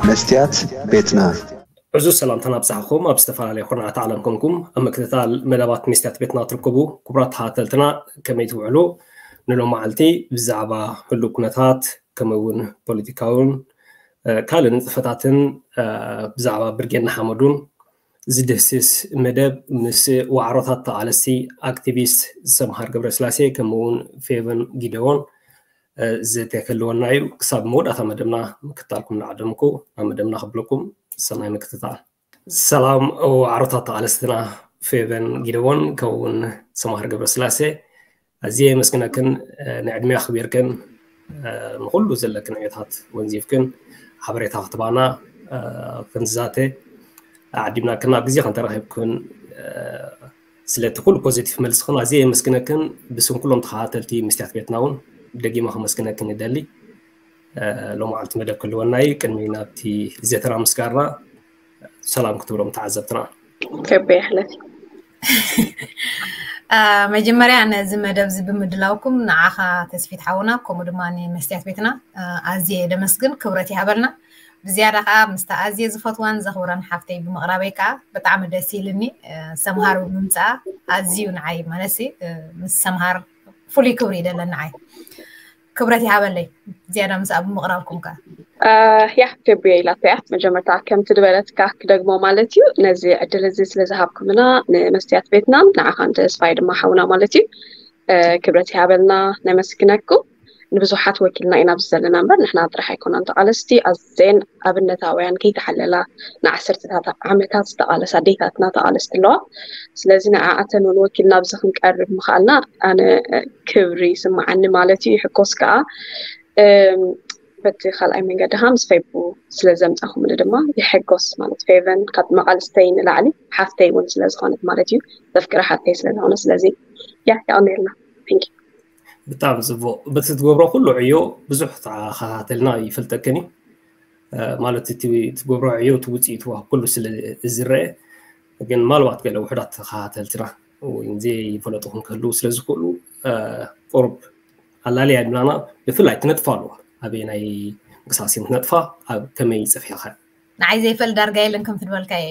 መስትያት ቤትና። ዕዙዝ ሰላምታና ኣብጻሕኹም ኣብ ዝተፈላለዩ ኩርናዓት ዓለም ኮንኩም ኣብ ምክትታል መደባት መስትያት ቤትና ትርከቡ ክቡራት ተኸታተልትና፣ ከመይ ትውዕሉ? ንሎማዓልቲ ብዛዕባ ህሉው ኩነታት ከምኡ እውን ፖለቲካውን ካልእ ንጥፈታትን ብዛዕባ ብርጌድ ንሓመዱን ዝድህስስ መደብ ምስ ዋዕሮታት ተቓለስቲ፣ ኣክቲቪስት ሰምሃር ገብረስላሴ ከምኡ እውን ፌቨን ጊደዎን ዘተ ክህልወና እዩ። ክሳብ መወዳእታ መደብና ምክታልኩም እናዓደምኩ ናብ መደብና ክብለኩም ሰናይ ምክትታል። ሰላም ዋዕሮታት ተቓለስትና ፌቨን ጊደዎን ከምኡውን ሰምሃር ገብረስላሴ፣ ኣዝየ የመስግነክን። ንዕድሜ ኣኽቢርክን ንኹሉ ዘለክን ዕዮታት ወንዚፍክን ሓበሬታ ክትባና ክንዛተ ዓዲምናክን ኣብ ግዜ ክንተረኺብክን ስለቲ ኩሉ ፖዚቲቭ መልስኽን ኣዝየ የመስግነክን። ብስም ኩሎም ተኸታተልቲ መስትያት ቤትና እውን ደጊመ ከመስግነክን ይደሊ። ሎማዓልቲ መደብ ክህልወና እዩ። ቅድሚ ናብቲ ዘተና ምስጋርና ሰላም ክትብሎም ተዓዘብትና። ከበ ይሕለፍ። መጀመርያ ነዚ መደብ እዚ ብምድላውኩም ንዓኻ ተስፊት ሓውና ከምኡ ድማ ንመስትያት ቤትና ኣዝየ ደመስግን፣ ክብረት ይሃበልና። ብዝያዳ ከዓ ምስታ ኣዝየ ዝፈትዋን ዘኽብረን ሓፍተይ ብምቕራበይ ከዓ ብጣዕሚ ደስ ኢልኒ። ሰምሃር ብምምፅኣ ኣዝዩ ንዓይ ማለት ምስ ሰምሃር ፍሉይ ክብሪ ይደለን ንዓይ። ክብረት ይሃበለይ ዝያዳ ምስኣ ብምቕራብኩም ከዓ። ያ ደብዮ ኢላተያ መጀመርታ ከምቲ ዝበለትካ ክደግሞ ማለት እዩ። ነዚ ዕድል እዚ ስለ ዝሃብኩምና ንመስትያት ቤትናን ንዓኻን ተስፋይ ድማ ሓውና ማለት እዩ ክብረት ይሃበልና፣ ነመስግነኩም። ንብዙሓት ወኪልና ኢና ኣብዚ ዘለና እምበር ንሕና ጥራሕ ኣይኮናን ተቓለስቲ። ኣዘን ኣብነታውያን ከይተሓለላ ንዓሰርተታት ዓመታት ዝተቓለሳ ኣዴታትና ተቓለስቲ ኣለዋ። ስለዚ ንዓኣተን እውን ወኪልና ኣብዚ ክንቀርብ ምኽኣልና ኣነ ክብሪ ይስምዓኒ ማለት እዩ። ይሕኮስ ከዓ በቲ ካልኣይ መንገዲ ከዓ ምስ ፌቡ ስለ ዘምፃኹምኒ ድማ ይሕጎስ ማለት ፌቨን ካብ መቓልስተይ ንላዕሊ ሓፍተይ እውን ስለ ዝኾነት ማለት እዩ። ዘፍቅራ ሓፍተይ ስለ ዝኾነ ስለዚ ያ ያቕኔልና። ብጣዕሚ ፅቡቕ። በቲ ትገብሮ ኩሉ ዕዮ ብዙሕ ተኸታተልና ይፈልጠክን እዩ ማለት እቲ ትገብሮ ዕዮ እቲ ውፅኢቱ ኩሉ ስለ ዝረአ ግን ማልባት ገለ ውሕዳት ተኸታተልትና ወይ ዘይፈለጥኹም ክህልው ስለ ዝኽእሉ ቁሩብ ኣላልያ ይብላና። ብፍላይ ክነጥፋ ኣለዎ ኣበየናይ እንቅስቃሴ ክነጥፋ ኣብ ከመይ ይፅፊኻ ንዓይ ዘይፈል ዳርጋ የለን ከም ትበልካ እየ።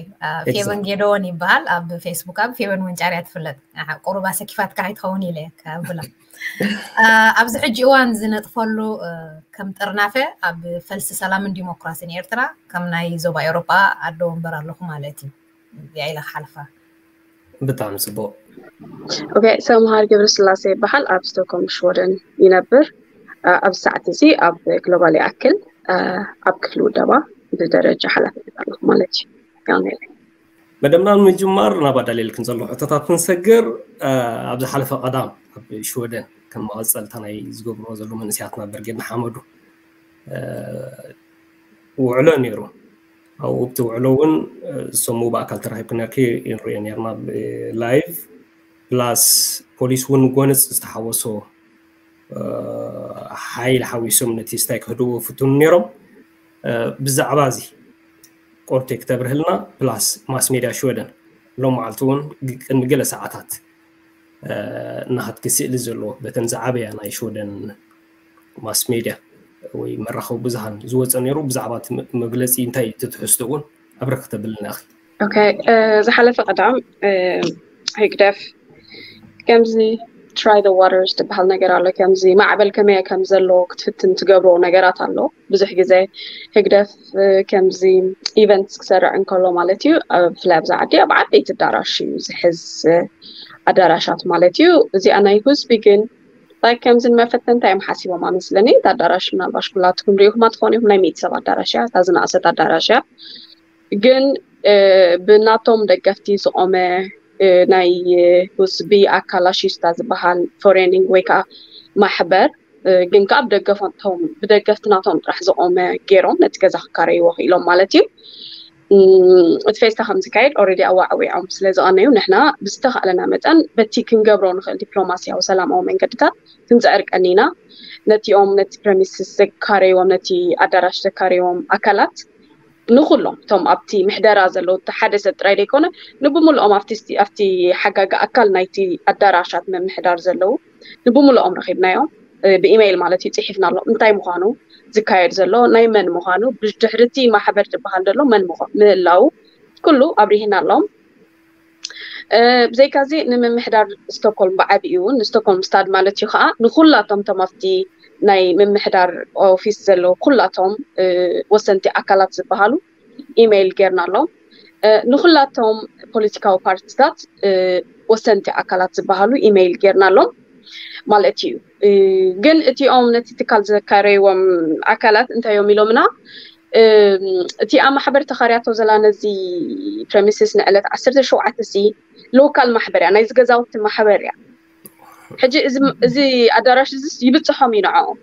ፌቨን ጌደዎን ይበሃል ኣብ ፌስቡክ ኣብ ፌቨን ወንጫርያ ትፍለጥ። ቁሩብ ኣሰኪፋትካ ኣይትኸውን ኢለ ከብላ ኣብዚ ሕጂ እዋን ዝነጥፈሉ ከም ጥርናፈ ኣብ ፈልሲ ሰላምን ዲሞክራሲን ኤርትራ ከም ናይ ዞባ ኤውሮጳ ኣዶ ወንበር ኣለኹ ማለት እዩ። እዚኣ ኢለ ክሓልፋ። ብጣዕሚ ፅቡቅ። ኦኬ፣ ሰምሃር ገብረስላሴ ይበሃል። ኣብ ስቶክሆልም ሽወደን ይነብር። ኣብዚ ሰዓት እዚ ኣብ ግሎባል ይኣክል ኣብ ክፍሊ ውደባ ብደረጃ ሓላፍነት ኣለኹ ማለት እዩ። ያው ነይረ። መደብና ንምጅማር ናብ ኣዳልየልክን ዘሎ ሕቶታት ክንሰግር ኣብ ዝሓለፈ ቀዳም ኣብ ሽወደን ከም መቐፀልታ ናይ ዝገብርዎ ዘለዉ መንእሰያትና ብርጌድ ንሓመዱ ውዕሎ ነይሩ። ኣብኡ ኣብቲ ውዕሎ እውን ዝሰሙ ብኣካል ተራኺብክን ነርኪ ንሪኦ ነርና ብላይቭ ፕላስ ፖሊስ እውን ጎነፅ ዝተሓወሶ ሓይል ሓዊሶም ነቲ ስታይ ክህድዎ ፍትኑ ነይሮም። ብዛዕባ እዚ ቆርቴ ክተብርህልና ፕላስ ማስ ሜድያ ሽወደን ሎም መዓልቲ እውን ቅድሚ ገለ ሰዓታት እናሃትኪ ስእሊ ዘለዎ በተን ዝዓበያ ናይ ሽወደን ማስ ሜድያ ወይ መራኸቢ ብዙሃን ዝወፀ ነይሩ። ብዛዕባ እቲ መግለፂ እንታይ እዩ ትትሕዝቶ እውን ኣብረ ክተብልና ኢኺ። ኦኬ፣ ዝሓለፈ ቀዳም ህግደፍ ከምዚ try the waters ትበሃል ነገር ኣሎ። ከምዚ ማዕበል ከመይ ከም ዘሎ ክትፍትን ትገብሮ ነገራት ኣሎ። ብዙሕ ግዜ ህግደፍ ከምዚ ኢቨንትስ ክሰርዕ እንከሎ ማለት እዩ፣ ብፍላይ ኣብዚ ዓዲ ኣብ ዓበይቲ ኣዳራሽ እዩ ዝሕዝ ኣዳራሻት ማለት እዩ። እዚኣ ናይ ህዝቢ ግን like ከምዚ ንመፈተንታ እዮም ሓሲቦም ኣመስለኒ። እታ ኣዳራሽ ምናልባሽ ኩላትኩም ሪኢኹማ ትኾኑ ኢኹም። ናይ ሚእቲ ሰብ ኣዳራሽ እያ፣ እታ ዝነኣሰት ኣዳራሽ እያ። ግን ብናቶም ደገፍቲ ዝቆመ ናይ ህዝቢ ኣካላሺስታ ዝበሃል ፎሬኒንግ ወይ ከዓ ማሕበር ግን ከዓ ብደገፍቶም ብደገፍቲ ናቶም ጥራሕ ዝቆመ ገይሮም ነቲ ገዛ ክካረይዎ ክኢሎም ማለት እዩ። እቲ ፌስታ ከም ዝካየድ ኦረዲ ኣዋዕዊዖም ስለ ዝቐነዩ ንሕና ብዝተኻእለና መጠን በቲ ክንገብሮ ንኽእል ዲፕሎማስያዊ ሰላማዊ መንገድታት ክንፅዕር ቀኒና። ነቲኦም ነቲ ፕረሚስስ ዘካረይዎም ነቲ ኣዳራሽ ዘካረይዎም ኣካላት ንኩሎም እቶም ኣብቲ ምሕደራ ዘለዉ እቲ ሓደ ሰብ ጥራይ ዘይኮነ ንብምልኦም ኣብቲ ኣብቲ ሓጋጊ ኣካል ናይቲ ኣዳራሻት ምምሕዳር ዘለዉ ንብምልኦም ረኺብናዮም። ብኢሜይል ማለት እዩ ፅሒፍና ኣሎ እንታይ ምዃኑ ዝካየድ ዘሎ ናይ መን ምዃኑ፣ ብድሕርቲ ማሕበር ዝበሃል ዘሎ መን ምዃ- ምህላው ኩሉ ኣብሪህና ኣለዎም። ብዘይካዚ ንምምሕዳር ስቶኮልም ብዓብኡ እውን ንስቶኮልም ስታድ ማለት እዩ ከዓ ንኩላቶም ቶም ኣብቲ ናይ ምምሕዳር ኦፊስ ዘለዉ ኩላቶም ወሰንቲ ኣካላት ዝበሃሉ ኢሜይል ጌርና ኣለዎም። ንኩላቶም ፖለቲካዊ ፓርቲታት ወሰንቲ ኣካላት ዝበሃሉ ኢሜይል ጌርና ኣለዎም ማለት እዩ። ግን እቲኦም ነቲ ትካል ዘካረይዎም ኣካላት እንታይ እዮም ኢሎምና? እቲኣ ማሕበር ተኻርያቶ ዘላ ነዚ ፕረሚስስ ንዕለት ዓሰርተ ሸውዓተ ሲ ሎካል ማሕበር እያ፣ ናይ ዝገዛውቲ ማሕበር እያ። ሕጂ እዚ ኣዳራሽ እዚ ይብፅሖም እዩ ንዕኦም።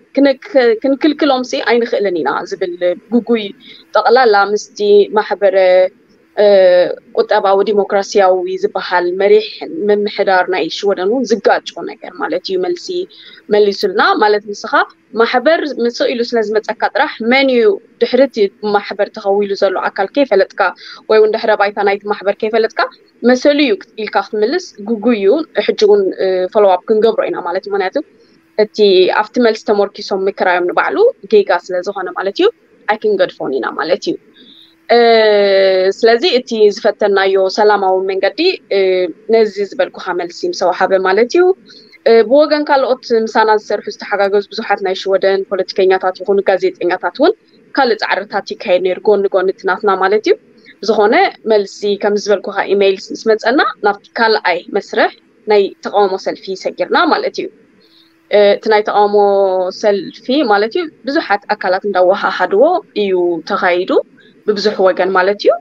ክንክልክሎም ሲ ኣይንኽእልን ኢና ዝብል ግጉይ ጠቕላላ ምስቲ ማሕበረ ቁጠባዊ ዲሞክራሲያዊ ዝበሃል መሪሕ ምምሕዳር ናይ ሽወደን እውን ዝጋጮ ነገር ማለት እዩ። መልሲ መሊሱልና ማለት ንስኻ ማሕበር ምስ ኢሉ ስለ ዝመፀካ ጥራሕ መን እዩ ድሕሪ እቲ ማሕበር ተኸዊሉ ዘሎ ኣካል ከይፈለጥካ ወይ እውን ድሕረ ባይታ ናይቲ ማሕበር ከይፈለጥካ መሰሉ እዩ ኢልካ ክትምልስ ግጉይ እዩ። ሕጂ እውን ፎሎዋፕ ክንገብሮ ኢና ማለት እዩ። ምክንያቱ እቲ ኣብቲ መልሲ ተመርኪሶም ምክራዮም ንባዕሉ ጌጋ ስለ ዝኾነ ማለት እዩ ኣይክንገድፎን ኢና ማለት እዩ። ስለዚ እቲ ዝፈተናዮ ሰላማዊ መንገዲ ነዚ ዝበልኩኻ መልሲ ምስ ወሃበ ማለት እዩ። ብወገን ካልኦት ምሳና ዝሰርሑ ዝተሓጋገዙ ብዙሓት ናይ ሽወደን ፖለቲከኛታት ይኹኑ ጋዜጠኛታት እውን ካልእ ፃዕርታት ይካየድ ነይሩ ጎኒ ጎኒ እቲ ናትና ማለት እዩ። ብዝኾነ መልሲ ከም ዝበልኩኻ ኢሜይል ምስ መፀና ናብቲ ካልኣይ መስርሕ ናይ ተቃውሞ ሰልፊ ሰጊርና ማለት እዩ። እቲ ናይ ተቃውሞ ሰልፊ ማለት እዩ ብዙሓት ኣካላት እንዳወሃሃድዎ እዩ ተኻይዱ ብብዙሕ ወገን ማለት እዩ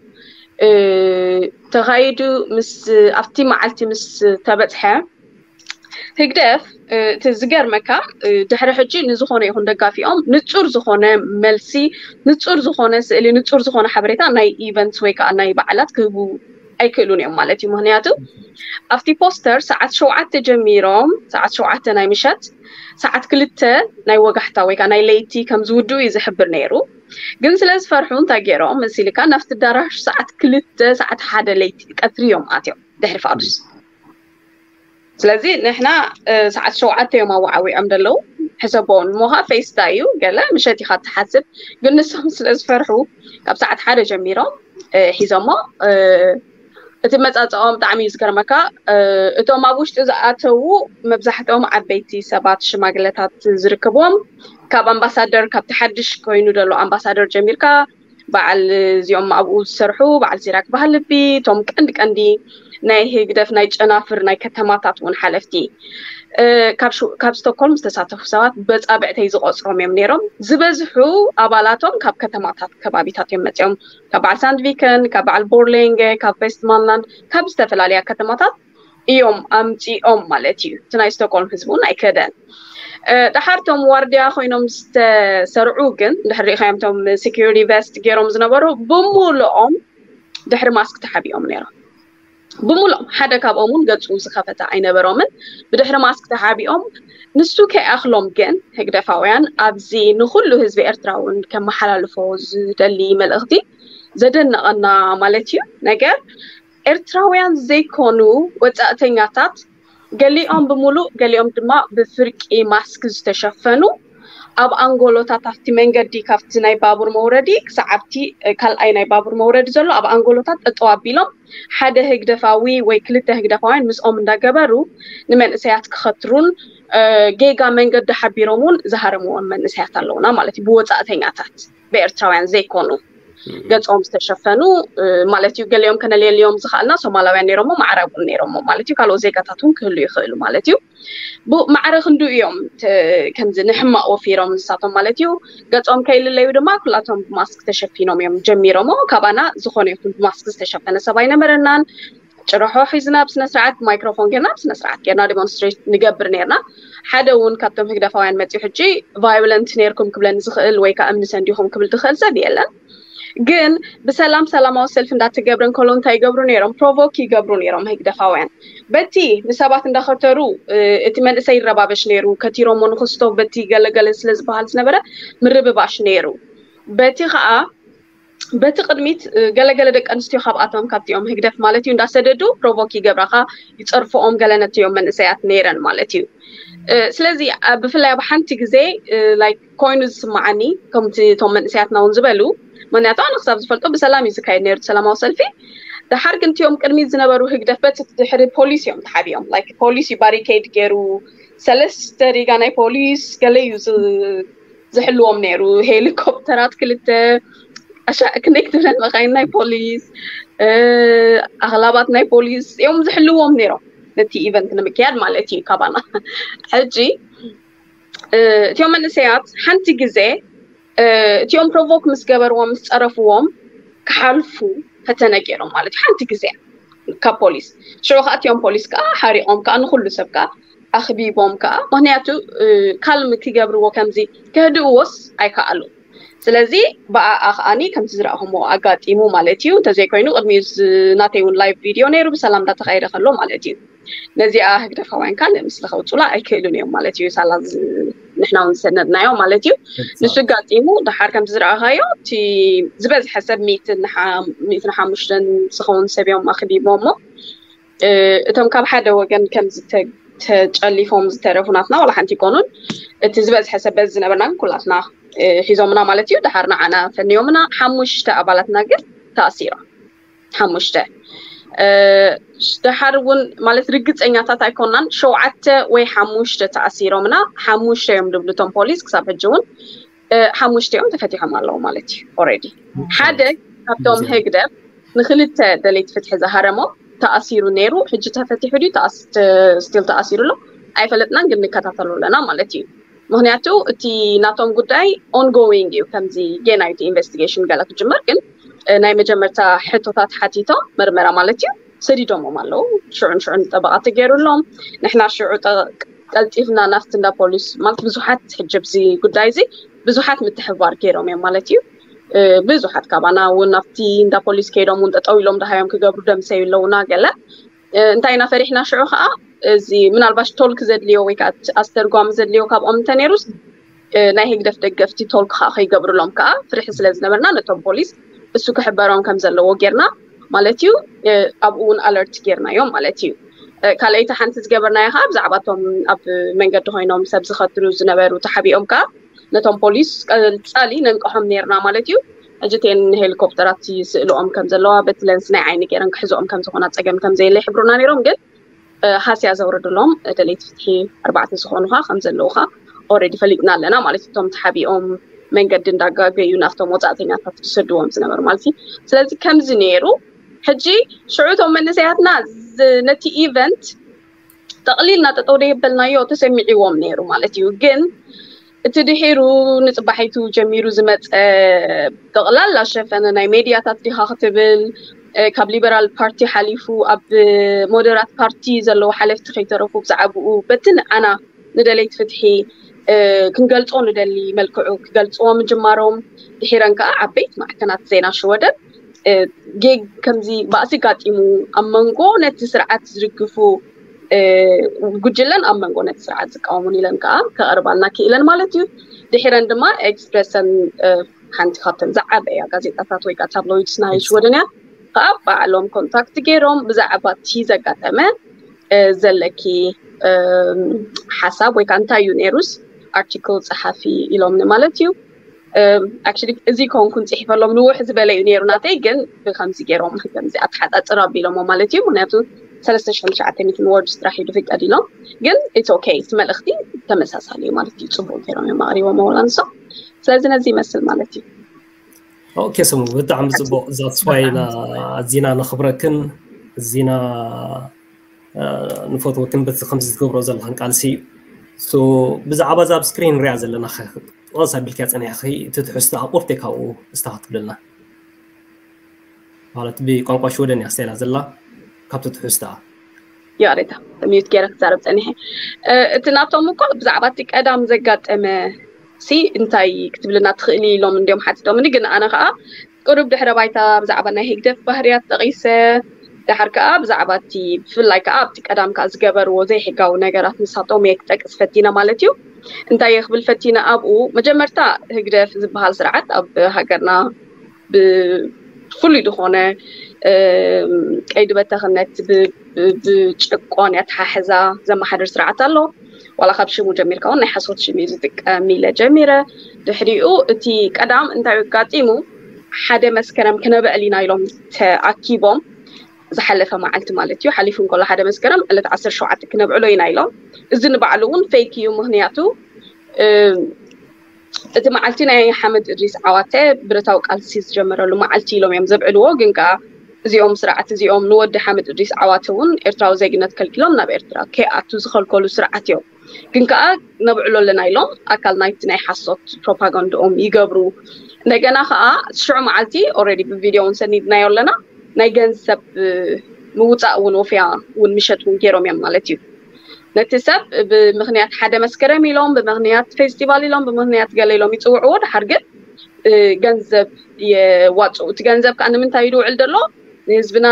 ተኻይዱ። ምስ ኣብቲ መዓልቲ ምስ ተበፅሐ ህግደፍ እቲ ዝገርመካ ድሕሪ ሕጂ ንዝኾነ ይኹን ደጋፊኦም ንፁር ዝኾነ መልሲ፣ ንፁር ዝኾነ ስእሊ፣ ንፁር ዝኾነ ሓበሬታ ናይ ኢቨንት ወይ ከዓ ናይ በዓላት ክህቡ ኣይክእሉን እዮም ማለት እዩ። ምክንያቱ ኣብቲ ፖስተር ሰዓት ሸውዓተ ጀሚሮም ሰዓት ሸውዓተ ናይ ምሸት ሰዓት ክልተ ናይ ወጋሕታ ወይ ከዓ ናይ ለይቲ ከም ዝውድኡ እዩ ዝሕብር ነይሩ። ግን ስለ ዝፈርሑ እንታይ ገይሮም መሲልካ ናብቲ ኣዳራሽ ሰዓት ክልተ ሰዓት ሓደ ለይቲ ቀትሪ እዮም ኣትዮም ድሕሪ ፋዱስ። ስለዚ ንሕና ሰዓት ሸውዓተ እዮም ኣወዓዊዖም ዘለዉ። ሕሰቦ እሞ ከዓ ፌስታ እዩ፣ ገለ ምሸት ኢኻ ትሓስብ። ግን ንሶም ስለ ዝፈርሑ ካብ ሰዓት ሓደ ጀሚሮም ሒዞሞ እቲ መፃፅኦም ብጣዕሚ እዩ ዝገርመካ። እቶም ኣብ ውሽጢ ዝኣተዉ መብዛሕትኦም ዓበይቲ ሰባት ሽማግለታት ዝርከብዎም ካብ ኣምባሳደር ካብቲ ሓድሽ ኮይኑ ዘሎ ኣምባሳደር ጀሚርካ በዓል እዚኦም ኣብኡ ዝሰርሑ በዓል ሲራክ ባህልቢ እቶም ቀንዲ ቀንዲ ናይ ህግደፍ ናይ ጨናፍር ናይ ከተማታት እውን ሓለፍቲ ካብ ስቶኮልም ዝተሳተፉ ሰባት በፃብዕተይ ዝቆፅሮም እዮም ነይሮም። ዝበዝሑ ኣባላቶም ካብ ከተማታት ከባቢታት እዮም መፅኦም። ካብ በዓል ሳንድቪከን፣ ካብ በዓል ቦርሌንገ፣ ካብ ቬስትማንላንድ፣ ካብ ዝተፈላለያ ከተማታት እዮም ኣምፂኦም ማለት እዩ። እቲ ናይ ስቶኮልም ህዝቢ እውን ኣይከደን። ደሓር ቶም ዋርድያ ኮይኖም ዝተሰርዑ ግን ድሕሪ ሪኢኻዮም ቶም ሴኪሪቲ ቨስት ገይሮም ዝነበሩ ብምልኦም ድሕሪ ማስክ ተሓቢኦም ነይሮም። ብምልኦም ሓደ ካብኦም እውን ገፁ ዝኸፈተ ኣይነበሮምን። ብድሕሪ ማስክ ተሓቢኦም ንሱ ከይኣኽሎም ግን ህግደፋውያን ኣብዚ ንኩሉ ህዝቢ ኤርትራ እውን ከመሓላልፎ ዝደሊ መልእኽቲ ዘደነቐና ማለት እዩ ነገር ኤርትራውያን ዘይኮኑ ወፃእተኛታት ገሊኦም ብምሉእ ገሊኦም ድማ ብፍርቂ ማስክ ዝተሸፈኑ ኣብ ኣንጎሎታት ኣብቲ መንገዲ ካብቲ ናይ ባቡር መውረዲ ክሳዕ ኣብቲ ካልኣይ ናይ ባቡር መውረዲ ዘሎ ኣብ ኣንጎሎታት ጠጠው ኣቢሎም ሓደ ህግደፋዊ ወይ ክልተ ህግደፋውያን ምስኦም እንዳገበሩ ንመንእሰያት ክኸትሩን ጌጋ መንገዲ ሓቢሮም እውን ዝሃረምዎም መንእሰያት ኣለውና ማለት እዩ። ብወፃእተኛታት ብኤርትራውያን ዘይኮኑ ገፆም ዝተሸፈኑ ማለት እዩ። ገሊኦም ከነልየልዮም ዝኽኣልና ሶማላውያን ነይሮሞ ማዕረ እውን ነይሮሞ ማለት እዩ። ካልኦት ዜጋታት እውን ክህሉ ይኽእሉ ማለት እዩ። ማዕረ ክንዱ እዮም ከምዚ ንሕማቕ ወፊሮም ንሳቶም ማለት እዩ። ገፆም ከይልለዩ ድማ ኩላቶም ብማስክ ተሸፊኖም እዮም ጀሚሮሞ። ካባና ዝኾነ ይኹን ብማስክ ዝተሸፈነ ሰብ ኣይነበረናን። ጭርሖ ሒዝና ብስነስርዓት ማይክሮፎን ጌርና ብስነስርዓት ጌርና ዲሞንስትሬት ንገብር ነርና። ሓደ እውን ካብቶም ህግደፋውያን መፅዩ ሕጂ ቫዮለንት ነርኩም ክብለኒ ዝኽእል ወይ ከዓ እምኒ ሰንዲኹም ክብል ዝኽእል ሰብ የለን። ግን ብሰላም ሰላማዊ ሰልፊ እንዳተገብረ እንከሎ እንታይ ይገብሩ ነይሮም? ፕሮቮክ ይገብሩ ነይሮም ህግደፋውያን። በቲ ንሰባት እንዳኸተሩ እቲ መንእሰይ ይረባበሽ ነይሩ። ከቲሮሞ ንክስቶ በቲ ገለገለ ስለ ዝበሃል ዝነበረ ምርብባሽ ነይሩ። በቲ ከዓ በቲ ቅድሚት ገለገለ ደቂ ኣንስትዮ ካብኣቶም ካብቲኦም ህግደፍ ማለት እዩ እንዳሰደዱ ፕሮቮክ ይገብራኻ ይፀርፍኦም ገለ ነትዮም መንእሰያት ነይረን ማለት እዩ። ስለዚ ብፍላይ ኣብ ሓንቲ ግዜ ላይክ ኮይኑ ዝስማዓኒ ከምቲ እቶም መንእሰያትና እውን ዝበሉ፣ ምክንያቱ ኣነ ክሳብ ዝፈልጦ ብሰላም እዩ ዝካየድ ነይሩ ሰላማዊ ሰልፊ። ደሓር ግን እቲኦም ቅድሚት ዝነበሩ ህግደፍ በቲ ድሕሪ ፖሊስ እዮም ተሓቢኦም። ላይክ ፖሊስ እዩ ባሪኬድ ገይሩ፣ ሰለስተ ሪጋ ናይ ፖሊስ ገለ እዩ ዝሕልዎም ነይሩ። ሄሊኮፕተራት ክልተ፣ ኣሻ ክንደይ ክትብለን መካይን ናይ ፖሊስ፣ ኣኽላባት ናይ ፖሊስ እዮም ዝሕልዎም ነይሮም፣ ነቲ ኢቨንት ንምክያድ ማለት እዩ ካባና። ሕጂ እቲኦም መንእሰያት ሓንቲ ግዜ እቲኦም ፕሮቮክ ምስ ገበርዎም ምስ ጸረፍዎም ክሓልፉ ፈተነ ገይሮም ማለት እዩ። ሓንቲ ግዜ ካብ ፖሊስ ሽዑ ከዓ እቲኦም ፖሊስ ከዓ ሓሪቖም ከዓ ንኩሉ ሰብ ከዓ ኣኽቢቦም ከዓ፣ ምክንያቱ ካልም ክገብርዎ ከምዚ ከህድእዎስ ኣይከኣሉ። ስለዚ ብኣኣ ከዓኒ ከምቲ ዝረኣኹምዎ ኣጋጢሙ ማለት እዩ። እንተዘይኮይኑ ቅድሚኡ ናተይ እውን ላይቭ ቪድዮ ነይሩ ብሰላም እንዳተኻየደ ከሎ ማለት እዩ። ነዚኣ ህግደፋውያን ካን ምስለ ከውፁላ ኣይክእሉን እዮም ማለት እዩ። ሳላ ንሕና እውን ዝሰነድናዮ ማለት እዩ። ንሱ ኣጋጢሙ ደሓር ከምቲ ዝረኣኻዮ እቲ ዝበዝሐ ሰብ ሚእትን ሓሙሽተን ዝኸውን ሰብ እዮም ኣኽቢቦሞ። እቶም ካብ ሓደ ወገን ከም ተጨሊፎም ዝተረፉ ናትና ዋላ ሓንቲ ይኮኑን። እቲ ዝበዝሐ ሰብ በዚ ዝነበርና ግን ኩላትና ሒዞምና ማለት እዩ። ደሓር ንዓና ፈንዮምና። ሓሙሽተ ኣባላትና ግን ተኣሲሮም። ሓሙሽተ ደሓር እውን ማለት ርግፀኛታት ኣይኮናን። ሸውዓተ ወይ ሓሙሽተ ተኣሲሮምና፣ ሓሙሽተ እዮም ዝብሉ እቶም ፖሊስ። ክሳብ ሕጂ እውን ሓሙሽተ እዮም ተፈቲሖም ኣለዉ ማለት እዩ። ኦልሬዲ ሓደ ካብቶም ህግደፍ ንክልተ ደለይቲ ፍትሒ ዝሃረሞ ተኣሲሩ ነይሩ። ሕጂ ተፈቲሑ ድዩ ስቲል ተኣሲሩ ኣሎ ኣይፈለጥናን፣ ግን ንከታተሎ ኣለና ማለት እዩ። ምክንያቱ እቲ ናቶም ጉዳይ ኦንጎዊንግ እዩ። ከምዚ ጌና እቲ ኢንቨስቲጌሽን ገለ ክጅመር፣ ግን ናይ መጀመርታ ሕቶታት ሓቲቶም መርመራ ማለት እዩ ሰዲዶሞም ኣለዉ። ሽዑን ሽዑን ጠበቓ ተገይሩሎም። ንሕና ሽዑ ቀልጢፍና ናፍቲ እንዳ ፖሊስ ማለት ብዙሓት ሕጂ ኣብዚ ጉዳይ እዚ ብዙሓት ምትሕባር ገይሮም እዮም ማለት እዩ። ብዙሓት ካባና እውን ናብቲ እንዳ ፖሊስ ከይዶም እውን ጠጠው ኢሎም ደሃዮም ክገብሩ ደምሰዩ ኣለውና ገለ። እንታይ ኢና ፈሪሕና ሽዑ ከዓ እዚ ምናልባሽ ቶልክ ዘድልዮ ወይ ከዓ ኣስተርጓሚ ዘድልዮ ካብኦም እንተነይሩስ ናይ ህግደፍ ደገፍቲ ቶልክ ከዓ ከይገብርሎም ከዓ ፍርሒ ስለ ዝነበርና ነቶም ፖሊስ እሱ ክሕበሮም ከም ዘለዎ ጌርና ማለት እዩ። ኣብኡ እውን ኣለርት ጌርናዮም ማለት እዩ። ካልኣይቲ ሓንቲ ዝገበርናዮ ከዓ ብዛዕባ እቶም ኣብ መንገዲ ኮይኖም ሰብ ዝኸትሉ ዝነበሩ ተሓቢኦም ከዓ ነቶም ፖሊስ ቀጻሊ ነንቀሖም ነይርና ማለት እዩ። ሕጂ እተን ሄሊኮፕተራት ይስእልኦም ከም ዘለዋ በቲ ለንስ ናይ ዓይኒ ገይረን ክሕዝኦም ከም ዝኾና ጸገም ከም ዘየለ ይሕብሩና ነይሮም። ግን ሃስያ ዘውርድሎም ደለይቲ ፍትሒ ኣርባዕተ ዝኾኑ ከዓ ከም ዘለዉ ከዓ ኦልሬዲ ፈሊጥና ኣለና ማለት እዩ። እቶም ተሓቢኦም መንገዲ እንዳጋገዩ ናብቶም ወጻእተኛታት ዝሰድዎም ዝነበሩ ማለት እዩ። ስለዚ ከምዚ ነይሩ። ሕጂ ሽዑ እቶም መንእሰያትና ነቲ ኢቨንት ጠቕሊልና ጠጠው ደየበልናዮ ተሰሚዕዎም ነይሩ ማለት እዩ። ግን እቲ ድሒሩ ንጽባሒቱ ጀሚሩ ዝመጸ ጠቕላላ ሸፈነ ናይ ሜድያታት ዲኻ ክትብል ካብ ሊበራል ፓርቲ ሓሊፉ ኣብ ሞደራት ፓርቲ ዘለዉ ሓለፍቲ ከይተረፉ ብዛዕባኡ በቲ ንዓና ንደለይቲ ፍትሒ ክንገልጾ ንደሊ መልክዑ ክገልጽዎ ምጅማሮም ድሒረን ከዓ ዓበይቲ ማዕከናት ዜና ሽወደን ጌግ ከምዚ ባእሲ ጋጢሙ ኣብ መንጎ ነቲ ስርዓት ዝድግፉ ጉጅለን ኣብ መንጎ ነቲ ስርዓት ዝቃወሙን ኢለን ከዓ ከቕርባልና ክኢለን ማለት እዩ። ድሒረን ድማ ኤክስፕረሰን ሓንቲ ካብተን ዝዓበያ ጋዜጣታት ወይ ከዓ ታብሎይድስ ናይ ሽወደን እያ። ከዓ ባዕሎም ኮንታክት ገይሮም ብዛዕባ እቲ ዘጋጠመ ዘለኪ ሓሳብ ወይ ከዓ እንታይ እዩ ነይሩስ ኣርቲክል ፀሓፊ ኢሎምኒ ማለት እዩ። ኣክቹሊ እዚ ከሆንኩን ፅሒፈሎም ንውሕ ዝበለ እዩ ነይሩ ናተይ፣ ግን ብከምዚ ገይሮም ከምዚ ኣተሓፃፅር ኣቢሎሞ ማለት እዩ። ምክንያቱ ሰለስተ ሽሕን ትሽዓተ ሚእትን ወርድስ ጥራሕ እዩ ዝፍቀድ ኢሎም፣ ግን ኢትስ ኦኬ፣ እቲ መልእኽቲ ተመሳሳሊ እዩ ማለት እዩ። ፅቡቅ ገይሮም እዮም ኣቅሪቦሞ ወላ ንሶም። ስለዚ ነዚ ይመስል ማለት እዩ። ኦኬ ስሙ ብጣዕሚ ፅቡቅ። ዛትስዋይ ኣዚና ነኽብረክን ኣዚና ንፈትወክን በቲ ከምዚ ትገብሮ ዘለኽን ቃልሲ። ብዛዕባ እዛ ኣብ ስክሪን ንሪኣ ዘለና ጠቐስ ኣቢልክያ ፀኒሕኺ፣ እቲ ትሕዝቶ ኣቁርተ ካብኡ እስታ ክትብለልና ማለት ብቋንቋ ሽወደን እያ ስቴላ ዘላ ካብቲ ትሕዝቶኣ። ይቕሬታ ሚዩት ገይረ ክዛረብ ፀኒሐ። እቲ ናቶም እኮ ብዛዕባ እቲ ቀዳም ዘጋጠመ ሲ እንታይ ክትብልና ትኽእሊ ኢሎም እንዲዮም ሓቲቶምኒ፣ ግን ኣነ ከዓ ቁሩብ ድሕረ ባይታ ብዛዕባ ናይ ህግደፍ ባህርያት ጠቒሰ፣ ድሓር ከዓ ብዛዕባ እቲ ብፍላይ ከዓ ኣብቲ ቀዳም ከዓ ዝገበርዎ ዘይሕጋዊ ነገራት ንሳቶም እየ ክጠቅስ ፈቲነ ማለት እዩ። እንታይ እየ ክብል ፈቲነ ኣብኡ፣ መጀመርታ ህግደፍ ዝበሃል ስርዓት ኣብ ሃገርና ብፍሉይ ዝኾነ ቀይዲ በተኽነት ብጭቆን ኣተሓሕዛ ዘመሓድር ስርዓት ኣሎ። ዋላ ካብ ሽሙ ጀሚርካ እውን ናይ ሓሶት ሽም እዩ ዝጥቀም ኢለ ጀሚረ። ድሕሪኡ እቲ ቀዳም እንታይ ኣጋጢሙ፣ ሓደ መስከረም ክነብዕል ኢና ኢሎም ተኣኪቦም ዝሓለፈ መዓልቲ ማለት እዩ። ሓሊፉ እንከሎ ሓደ መስከረም ዕለት ዓሰርተ ሸውዓተ ክነብዕሎ ኢና ኢሎም። እዚ ንባዕሉ እውን ፌክ እዩ። ምክንያቱ እቲ መዓልቲ ናይ ሓመድ እድሪስ ዓዋተ ብረታዊ ቃልሲ ዝጀመረሉ መዓልቲ ኢሎም እዮም ዘብዕልዎ። ግን ከዓ እዚኦም ስርዓት እዚኦም ንወዲ ሓመድ እድሪስ ዓዋተ እውን ኤርትራዊ ዜግነት ከልኪሎም ናብ ኤርትራ ከይኣቱ ዝኸልከሉ ስርዓት እዮም። ግን ከዓ ነብዕሎ ኣለና ኢሎም ኣካል ናይቲ ናይ ሓሶት ፕሮፓጋንዳኦም ይገብሩ። እንደገና ከዓ ሽዑ መዓልቲ ኦልሬዲ ብቪድዮ እውን ሰኒድናዮ ኣለና። ናይ ገንዘብ ምውፃእ እውን ወፍያ እውን ምሸት እውን ገይሮም እዮም ማለት እዩ። ነቲ ሰብ ብምክንያት ሓደ መስከረም ኢሎም፣ ብምክንያት ፌስቲቫል ኢሎም፣ ብምክንያት ገለ ኢሎም ይፅውዕዎ። ድሓር ግን ገንዘብ የዋፅኡ። እቲ ገንዘብ ከዓ ንምንታይ ይድውዕል ዘሎ? ንህዝብና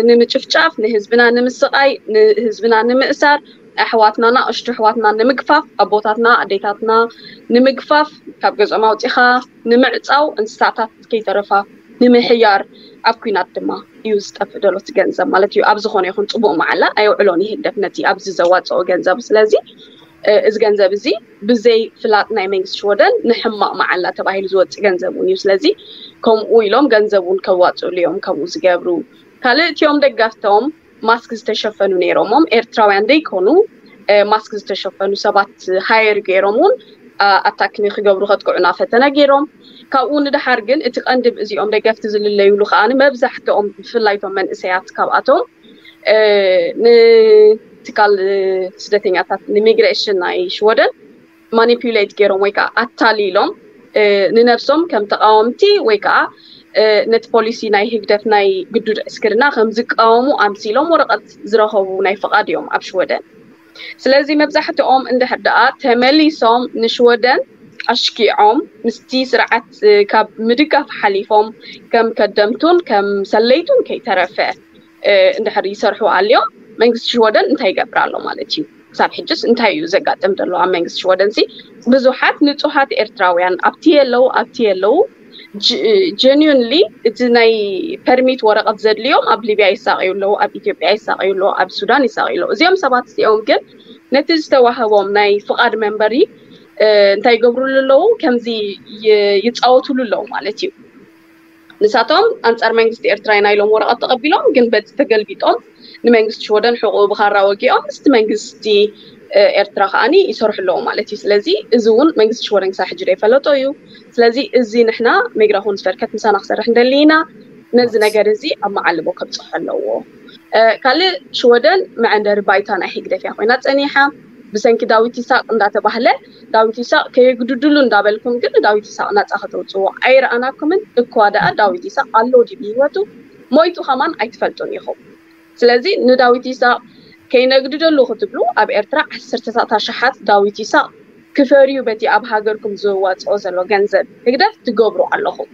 ንምጭፍጫፍ፣ ንህዝብና ንምስቃይ፣ ንህዝብና ንምእሳር፣ ኣሕዋትና፣ ናእሽቱ ኣሕዋትና ንምግፋፍ፣ ኣቦታትና ኣዴታትና ንምግፋፍ፣ ካብ ገዝኦም ኣውፂኻ ንምዕፃው፣ እንስሳታት ከይተረፋ ንምሕያር፣ ኣብ ኲናት ድማ እዩ ዝጠፍእ ዘሎ እቲ ገንዘብ ማለት እዩ። ኣብ ዝኾነ ይኹን ፅቡቅ መዓላ ኣየውዕሎን እዩ ህግደፍ ነቲ ኣብዚ ዘዋፅኦ ገንዘብ። ስለዚ እዚ ገንዘብ እዚ ብዘይ ፍላጥ ናይ መንግስቲ ሽወደን ንሕማቅ መዓላ ተባሂሉ ዝወፅእ ገንዘብ እውን እዩ። ስለዚ ከምኡ ኢሎም ገንዘብ እውን ከዋፅእሉ እዮም ከምኡ ዝገብሩ። ካልእ እቲኦም ደገፍቶም ማስክ ዝተሸፈኑ ነይሮሞም ኤርትራውያን ደይኮኑ ማስክ ዝተሸፈኑ ሰባት ሃየር ገይሮም እውን ኣታክ ንክገብሩ ከጥቅዑና ፈተነ ገይሮም። ካብኡ ንድሓር ግን እቲ ቀንዲ እዚኦም ደገፍቲ ዝልለዩሉ ከዓ መብዛሕትኦም ብፍላይ እቶም መንእሰያት ካብኣቶም ንትካል ስደተኛታት ንሚግሬሽን ናይ ሽወደን ማኒፑሌት ገይሮም ወይ ከዓ ኣታሊሎም ንነብሶም ከም ተቃወምቲ ወይ ከዓ ነቲ ፖሊሲ ናይ ህግደፍ ናይ ግዱድ ዕስክርና ከም ዝቃወሙ ኣምሲሎም ወረቀት ዝረኸቡ ናይ ፍቃድ እዮም ኣብ ሽወደን። ስለዚ መብዛሕትኦም እንድሕር ደኣ ተመሊሶም ንሽወደን ኣሽኪዖም ምስቲ ስርዓት ካብ ምድጋፍ ሓሊፎም ከም ከደምቱን ከም ሰለይቱን ከይተረፈ እንድሕር ይሰርሑ ኣልዮም መንግስቲ ሽወደን እንታይ ይገብር ኣሎ ማለት እዩ? ክሳብ ሕጅስ እንታይ እዩ ዘጋጥም ዘሎ ኣብ መንግስቲ ሽወደን ሲ? ብዙሓት ንጹሃት ኤርትራውያን ኣብቲ የለው ኣብቲ የለው genuinely እቲ ናይ ፐርሚት ወረቀት ዘድልዮም ኣብ ሊብያ ይሳቀዩ ኣለዉ፣ ኣብ ኢትዮጵያ ይሳቀዩ ኣለዉ፣ ኣብ ሱዳን ይሳቀዩ ኣለዉ። እዚኦም ሰባት እዚኦም ግን ነቲ ዝተዋህቦም ናይ ፍቃድ መንበሪ እንታይ ይገብሩሉ ኣለዉ? ከምዚ ይጻወቱሉ ኣለዉ ማለት እዩ። ንሳቶም ኣንጻር መንግስቲ ኤርትራ ኢና ኢሎም ወረቐት ተቐቢሎም፣ ግን በቲ ተገልቢጦም ንመንግስቲ ሽወደን ሕቑኡ ብኻራ ወጊኦም ምስቲ መንግስቲ ኤርትራ ከዓኒ ይሰርሑ ኣለዉ ማለት እዩ። ስለዚ እዚ እውን መንግስቲ ሽወደን ክሳብ ሕጂ ዘይፈለጦ እዩ። ስለዚ እዚ ንሕና ሜግራ ኹንስቨርከት ምሳና ክሰርሕ እንደሊ ኢና። ነዚ ነገር እዚ ኣብ መዓልቦ ከብፅሖ ኣለዎ። ካልእ ሽወደን መዐንደሪ ባይታ ናይ ህግደፍ እያ ኮይና ፀኒሓ። ብሰንኪ ዳዊት ይሳቅ እንዳተባህለ ዳዊት ይሳቅ ከየግድድሉ እንዳበልኩም ግን ዳዊት ይሳቅ ናፃ ከተውፅዎ ኣይረኣናኩምን። እኳ ደኣ ዳዊት ይሳቅ ኣሎ ድዩ ብህይወቱ ሞይቱ ከማን ኣይትፈልጡን ኢኹም። ስለዚ ንዳዊት ይሳቅ ከይነግድደሉ ክትብሉ ኣብ ኤርትራ ዓሰርተታት ኣሽሓት ዳዊት ይሳቅ ክፈርዩ በቲ ኣብ ሃገርኩም ዝዋፅኦ ዘሎ ገንዘብ ህግደፍ ትገብሩ ኣለኹም።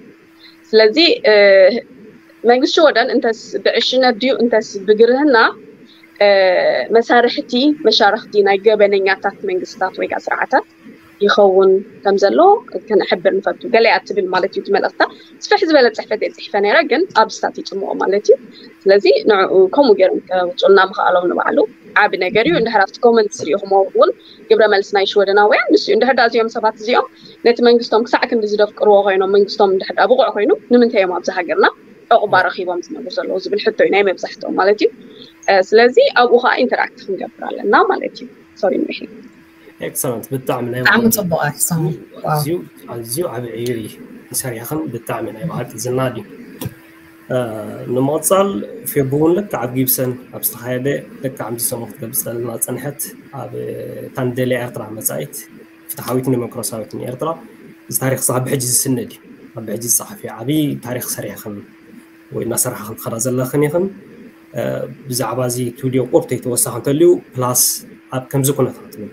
ስለዚ መንግስቲ ሽወደን እንተስ ብዕሽነት ድዩ እንተስ ብግርህና መሳርሕቲ መሻርክቲ ናይ ገበነኛታት መንግስታት ወይ ከዓ ስርዓታት ይኸውን ከም ዘሎ ክንሕብር ንፈቱ። ገለ እያ ትብል ማለት እዩ እቲ መልእክታ። ስፍሕ ዝበለ ፅሕፈት እየ ፅሒፈ ነይረ፣ ግን ኣብ ስታት ይፅምኦ ማለት እዩ። ስለዚ ንዕኡ ከምኡ ገይሮም ከውፅኡልና ምኽኣሎም ንባዕሉ ዓቢ ነገር እዩ። እንድሕር ኣብቲ ኮመንትስ ሪኢኹሞ እውን ግብረ መልሲ ናይ ሽወደናውያን ንሱ እዩ። እንድሕር ዳ እዚኦም ሰባት እዚኦም ነቲ መንግስቶም ክሳዕ ክንዲ ዝደፍቅርዎ ኮይኖም መንግስቶም እንድሕር ዳ ብቑዕ ኮይኑ ንምንታይ እዮም ኣብዚ ሃገርና ዕቑባ ረኺቦም ዝነብሩ ዘለዉ ዝብል ሕቶ እዩ ናይ መብዛሕትኦም ማለት እዩ። ስለዚ ኣብኡ ከዓ ኢንተራክት ክንገብር ኣለና ማለት እዩ። ሶሪ ምሒ ኤክሰለንት ብጣዕሚ ናይ ብጣዕሚ ፅቡቅ ኣክሰም ኣዝዩ ኣዝዩ ዓቢ ዕዮ እዩ ሰሪሕኽን ብጣዕሚ ናይ ብሓቂ ዝናድ እዩ። ንምቕፃል ፌቡ እውን ልክዕ ኣብ ጊብሰን ኣብ ዝተኻየደ ልክዕ ከምዚ ሰሙን ክትገልፀልና ፀንሐት ኣብ ታንደልያ ኤርትራ መፃኢት ፍትሓዊትን ዲሞክራሲያዊትን ኤርትራ እዚ ታሪክ ክሳብ ሕጂ ዝስነድ እዩ። ኣብ ሕጂ ዝፀሓፍ እዩ ዓብዪ ታሪክ ሰሪሕኽን ወይ እናሰራሕኽን ትኸዳ ዘለኽን ኢኽን። ብዛዕባ እዚ ትብልዮ ቁርተይ ተወሳኺ እንተልዩ ፕላስ ኣብ ከምዚ ኩነታት እውን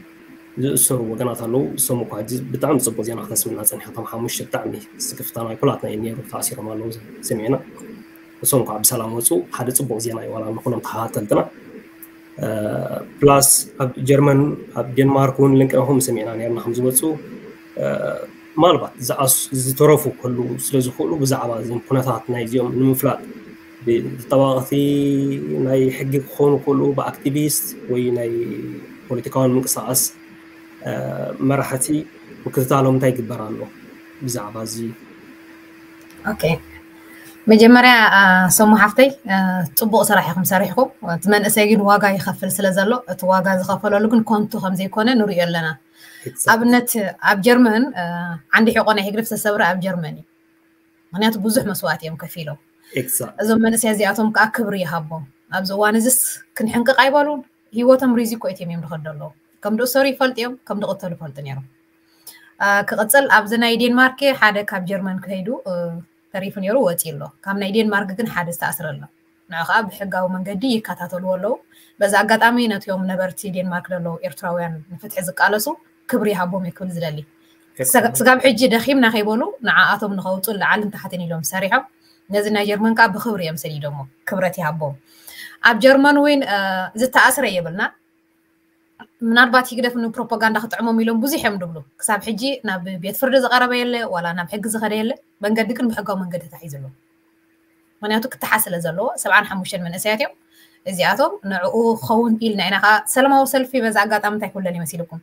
ዝእሰሩ ወገናት ኣለዉ። እሶም እኳ ሕጂ ብጣዕሚ ፅቡቅ ዜና ክተስምና ፀኒሓ እቶም ሓሙሽተ ብጣዕሚ ስክፍታ ናይ ኩላትና እዩ ነይሩ ተኣሲሮም ኣለዉ ሰሚዕና። እሶም እኳ ብሰላም ወፁ ሓደ ፅቡቅ ዜና እዩ ዋላ ንኩሎም ተኸታተልትና። ፕላስ ኣብ ጀርመን ኣብ ዴንማርክ እውን ልንቅረኹም ሰሚዕና ነርና ከም ዝወፁ ምናልባት ዝተረፉ ከሉ ስለ ዝኽእሉ ብዛዕባ እዚም ኩነታት ናይ እዚኦም ንምፍላጥ ብተጣባቕቲ ናይ ሕጊ ክኾኑ ከሉ ብኣክቲቪስት ወይ ናይ ፖለቲካውን ምንቅስቃስ መራሕቲ ምክትታሎም እንታይ ይግበር ኣሎ ብዛዕባ እዚ? ኦኬ፣ መጀመርያ ሰሙ ሓፍተይ፣ ፅቡቅ ስራሕ ኢኹም ሰሪሕኩም። እቲ መንእሰይ ግን ዋጋ ይኸፍል ስለ ዘሎ፣ እቲ ዋጋ ዝኸፈለሉ ግን ኮንቱ ከምዘይኮነ ንሪኦ ኣለና። ኣብነት ኣብ ጀርመን ዓንዲ ሕቆ ናይ ህግደፍ ዝተሰብረ ኣብ ጀርመን እዩ። ምክንያቱ ብዙሕ መስዋእቲ እዮም ከፊሎም። እዞም መንእሰያ እዚኣቶም ከዓ ክብሪ ይሃቦም። ኣብዚ እዋን እዚስ ክንሕንቅቕ ኣይበሉን። ህይወቶም ሪዚኮ እትዮም እዮም ዝኸዱ ኣለዉ። ከም ዝእሰሩ ይፈልጡ እዮም፣ ከም ዝቕተሉ ይፈልጡ ነይሮም። ክቕፅል ኣብዚ ናይ ዴንማርክ ሓደ ካብ ጀርመን ከይዱ ተሪፉ ነይሩ፣ ወፂኡ ኣሎ። ካብ ናይ ዴንማርክ ግን ሓደ ዝተኣስረ ኣሎ። ንዑ ከዓ ብሕጋዊ መንገዲ ይከታተልዎ ኣለዉ። በዚ ኣጋጣሚ ነቲኦም ነበርቲ ዴንማርክ ዘለዉ ኤርትራውያን ንፍትሒ ዝቃለሱ ክብሪ ይሃቦም እየ ክብል ዝደሊ። ስጋብ ሕጂ ደኺምና ከይበሉ ንዓኣቶም ንኸውፁ ላዕልን ታሕትን ኢሎም ሰሪሖም። ነዚ ናይ ጀርመን ከዓ ብክብሪ እዮም ሰዲዶሞ። ክብረት ይሃቦም። ኣብ ጀርመን እውን ዝተኣስረ የብልና። ምናልባት ህግደፍ ንፕሮፓጋንዳ ክጥዕሞም ኢሎም ብዙሕ እዮም ድብሉ። ክሳብ ሕጂ ናብ ቤት ፍርዲ ዝቐረበ የለ፣ ዋላ ናብ ሕጊ ዝኸደ የለ። መንገዲ ግን ብሕጋዊ መንገዲ ተታሒዙ ኣሎ። ምክንያቱ ክተሓዝ ስለ ዘለዎ። ሰብዓን ሓሙሽተን መንእሰያት እዮም እዚኣቶም። ንዕኡ ክኸውን ኢልና ኢና ከዓ ሰላማዊ ሰልፊ፣ በዛ ኣጋጣሚ እንታይ ክብለል ይመሲልኩም?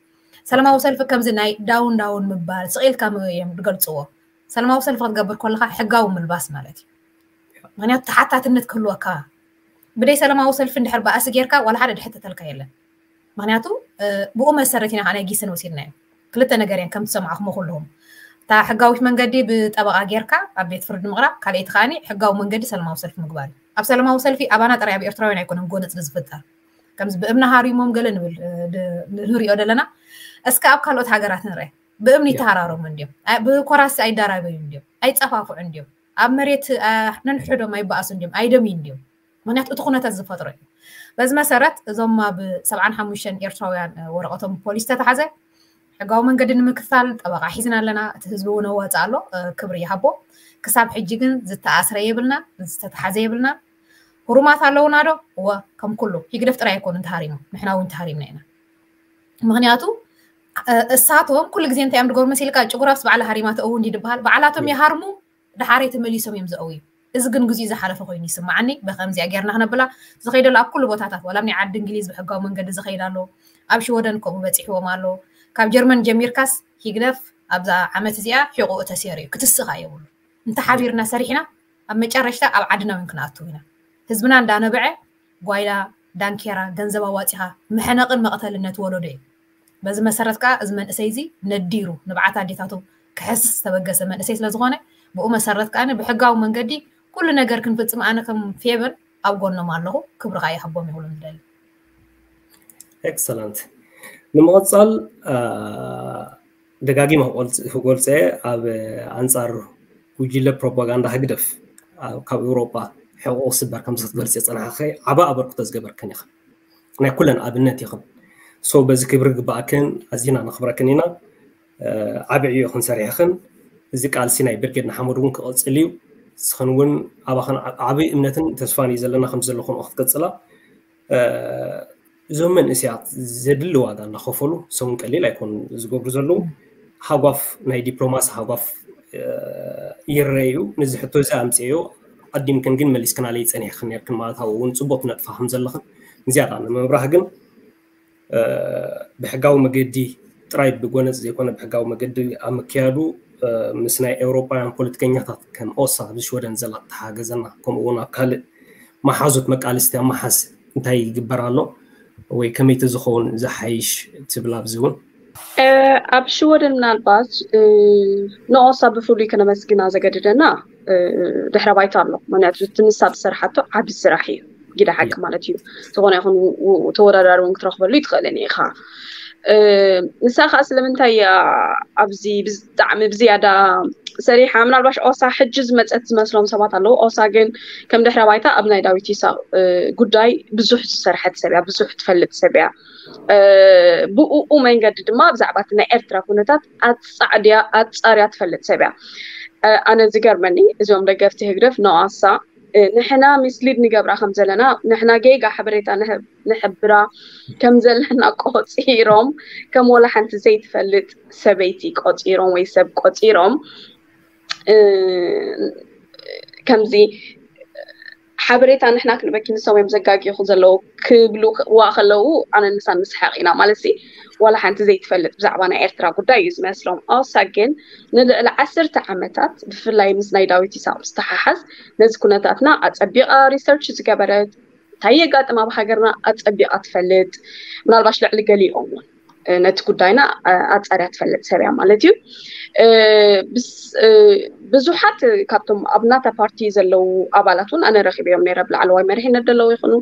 ሰላማዊ ሰልፊ ከምዚ ናይ ዳውን ዳውን ምባል ስቕ ኢልካ እዮም ዝገልፅዎ። ሰላማዊ ሰልፊ ክትገብር ከለካ ሕጋዊ ምልባስ ማለት እዩ። ምክንያቱ ተሓታትነት ክህልወካ፣ ብደይ ሰላማዊ ሰልፊ እንድሕር ባእሲ ጌርካ ዋላ ሓደ ድሕተተልካ የለን። ምክንያቱ ብኡ መሰረት ኢና ከዓ ናይ ጊሰን ወሲድናዮ። ክልተ ነገር እየን ከም ትሰማዕኹሞ ኩልኹም። እታ ሕጋዊት መንገዲ ብጠበቓ ጌርካ ኣብ ቤት ፍርዲ ምቕራብ፣ ካልኣይቲ ከዓኒ ሕጋዊ መንገዲ ሰላማዊ ሰልፊ ምግባር እዩ። ኣብ ሰላማዊ ሰልፊ ኣባና ጥራይ ኣብ ኤርትራውያን ኣይኮነን ጎነጽ ዝፍጠር። ከምዚ ብእምኒ ሃሪሞም ገለ ንብል ንሪኦ ዘለና። እስከ ኣብ ካልኦት ሃገራት ንርአ። ብእምኒ ይተሃራረሙ እንዲዮም፣ ብኮራሲ ኣይዳራበዩ እንዲዮም፣ ኣይጸፋፍዑ እንዲዮም፣ ኣብ መሬት ነንሕዶም ኣይበኣሱ እንዲዮም፣ ኣይደምዩ እንዲዮም። ምክንያቱ እቲ ኩነታት ዝፈጥሮ እዩ። በዚ መሰረት እዞም ኣብ ሰብዓን ሓሙሽተን ኤርትራውያን ወረቐቶም ፖሊስ ተተሓዘ። ሕጋዊ መንገዲ ንምክትታል ጠበቓ ሒዝና ኣለና። እቲ ህዝቢ እውን ኣዋፅእ ኣሎ፣ ክብሪ ይሃቦ። ክሳብ ሕጂ ግን ዝተኣስረ የብልና፣ ዝተተሓዘ የብልና። ህሩማት ኣለውና ዶ? እወ፣ ከም ኩሉ ህግደፍ ጥራይ ኣይኮኑን ተሃሪሞም፣ ንሕና እውን ተሃሪምና ኢና። ምክንያቱ እሳቶም ኩሉ ግዜ እንታይ እዮም ድገብሩ መሲልካ? ጭጉራፍስ ባዕላ ሃሪማ ተእዊ እንዲ ድበሃል፣ ባዕላቶም ይሃርሙ፣ ድሓረይ ተመሊሶም እዮም ዘእውዩ። እዚ ግን ግዜኡ ዝሓለፈ ኮይኑ ይስማዓኒ። ብከምዚኣ ጌርና ክነብላ ዝኸይደሉ ኣብ ኩሉ ቦታታት፣ ዋላ ኣብ ናይ ዓዲ እንግሊዝ ብሕጋዊ መንገዲ ዝኸይድ ኣሎ፣ ኣብ ሽወደን ከምኡ በፂሕዎም ኣሎ። ካብ ጀርመን ጀሚርካስ ሂግደፍ ኣብዛ ዓመት እዚኣ ሒቑኡ ተሰይሩ እዩ፣ ክትስኻ የብሉ። እንተሓቢርና ሰሪሕና ኣብ መጨረሽታ ኣብ ዓድና እውን ክንኣቱ ኢና። ህዝብና እንዳነበዐ ጓይላ፣ ዳንኬራ፣ ገንዘብ ኣዋፂኻ ምሕነቕን መቕተልን ነቲ ወለዶ እዩ። በዚ መሰረት ከዓ እዚ መንእሰይ እዚ ነዲሩ ንብዓት ኣዴታቱ ክሕስ ዝተበገሰ መንእሰይ ስለዝኾነ ብኡ መሰረት ከዓ ብሕጋዊ መንገዲ ኩሉ ነገር ክንፍፅም ኣነ ከም ፌቨን ኣብ ጎኖም ኣለኹ። ክብሪ ከዓ ይሃቦም ይብሎም ዝደሊ። ኤክሰለንት። ንምቕፃል ደጋጊመ ክገልፀ ኣብ ኣንፃር ጉጅለ ፕሮፓጋንዳ ህግደፍ ካብ ኤውሮጳ ሕቑ ክስበር ከም ክትገልፂ ዝፀናሕኸ ዓባ ኣበርክቶ ዝገበርክን ኢኽን። ናይ ኩለን ኣብነት ኢኽን። ሶ በዚ ክብሪ ግባኣክን ኣዚና ነኽብረክን ኢና። ዓቢ ዕዮ ኢኽን ሰሪሕኽን። እዚ ቃልሲ ናይ ብርጌድ ንሓመዱ እውን ክቕፅል እዩ። ንስኽን እውን ኣባኽን ዓቢ እምነትን ተስፋን እዩ ዘለና ከም ዘለኹን ክትቅፅላ እዞም መንእሰያት ዘድሊ ዋጋ እናኸፈሉ ሰሙን ቀሊል ኣይኮኑ ዝገብሩ ዘለዉ። ሃጓፍ ናይ ዲፕሎማሲ ሃጓፍ ይረዩ። ነዚ ሕቶ እዚ ኣምፅዮ ኣዲምክን ግን መሊስክናለይ ፀኒሕክን ነርክን ማለት ኣብኡ እውን ፅቡቅ ትነጥፋ ከም ዘለኽን ንዝያዳ ንምብራህ ግን ብሕጋዊ መገዲ ጥራይ ብጎነፅ ዘይኮነ ብሕጋዊ መገዲ ኣብ ምክያዱ ምስ ናይ ኤውሮጳውያን ፖለቲከኛታት ከም ኦሳ ኣብዚ ሽወደን ዘላ ተሓገዘና ከምኡ እውን ኣብ ካልእ መሓዙት መቃልስቲ ኣብ መሓዝ እንታይ ይግበር ኣሎ ወይ ከመይ ተዝኸውን ዝሓይሽ ትብል ኣብዚ እውን ኣብ ሽወደን ምናልባት ንኦሳ ብፍሉይ ከነመስግና ዘገድደና ድሕረ ባይታ ኣሎ። ምክንያቱ እቲ ንሳ ዝሰርሓቶ ዓቢ ስራሕ እዩ፣ ጊዳ ሓቂ ማለት እዩ። ዝኾነ ይኹን ተወዳዳሪ እውን ክትረኽበሉ ይትኽእልን ኢኻ። ንሳ ከዓ ስለምንታይ እያ ኣብዚ ብጣዕሚ ብዝያዳ ሰሪሓ? ምናልባሽ ኦሳ ሕጂ ዝመፀት ዝመስሎም ሰባት ኣለዉ። ኦሳ ግን ከም ድሕረ ባይታ ኣብ ናይ ዳዊት ይሳቅ ጉዳይ ብዙሕ ዝሰርሐት ሰብ እያ፣ ብዙሕ ትፈልጥ ሰብ እያ። ብኡኡ መንገዲ ድማ ብዛዕባ እቲ ናይ ኤርትራ ኩነታት ኣጻዕድያ ኣጻርያ ትፈልጥ ሰብ እያ። ኣነ ዝገርመኒ እዚኦም ደገፍቲ ህግደፍ ንኦሳ ንሕና ሚስሊድ ንገብራ ከም ዘለና ንሕና ጌጋ ሓበሬታ ንሕብራ ከም ዘለና ቆፂሮም ከም ወላ ሓንቲ ዘይትፈልጥ ሰበይቲ ቆፂሮም ወይ ሰብ ቆፂሮም ከምዚ ሓበሬታ ንሕና ክንበኪ ንሶም እዮም ዘጋጊኹ ዘለዉ ክብሉ ዋ ከለዉ ኣነ ንሳን ንስሓቕ ኢና ማለት ሲ ዋላ ሓንቲ ዘይትፈልጥ ብዛዕባ ናይ ኤርትራ ጉዳይ እዩ ዝመስሎም። ኣውሳ ግን ንልዕሊ ዓሰርተ ዓመታት ብፍላይ ምስ ናይ ዳዊት ይስሐቅ ዝተሓሓዝ ነዚ ኩነታትና ኣጸቢቓ ሪሰርች ዝገበረት እንታይ የጋጥም ኣብ ሃገርና ኣጸቢቓ ትፈልጥ ምናልባሽ ልዕሊ ገሊኦም እውን ነቲ ጉዳይና ኣጻርያ ትፈልጥ ሰብ እያ ማለት እዩ። ብዙሓት ካብቶም ኣብ ናታ ፓርቲ ዘለዉ ኣባላት እውን ኣነ ረኺበዮም ነይረ ብላዕለዋይ መሪሕነት ዘለዉ ይኹኑ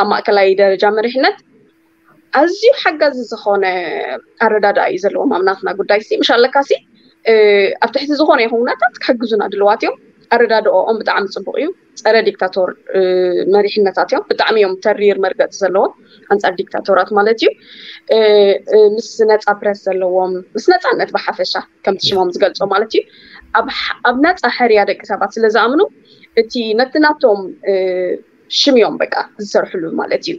ኣብ ማእከላይ ደረጃ መሪሕነት ኣዝዩ ሓጋዚ ዝኾነ ኣረዳድኣ እዩ ዘለዎም ኣብ ናትና ጉዳይ ሲ ምሽ ኣለካ ሲ ኣብ ትሕቲ ዝኾነ ይኹን ኩነታት ክሕግዙና ድልዋት እዮም። ኣረዳድኦም ብጣዕሚ ፅቡቅ እዩ። ፀረ ዲክታቶር መሪሕነታት እዮም። ብጣዕሚ እዮም ተሪር መርገፂ ዘለዎም ኣንፃር ዲክታቶራት ማለት እዩ። ምስ ነፃ ፕረስ ዘለዎም ምስ ነፃነት ብሓፈሻ ከምቲ ሽሞም ዝገልፆ ማለት እዩ። ኣብ ነፃ ሕርያ ደቂ ሰባት ስለ ዝኣምኑ እቲ ነቲ ናቶም ሽም እዮም በቃ ዝሰርሕሉ ማለት እዩ።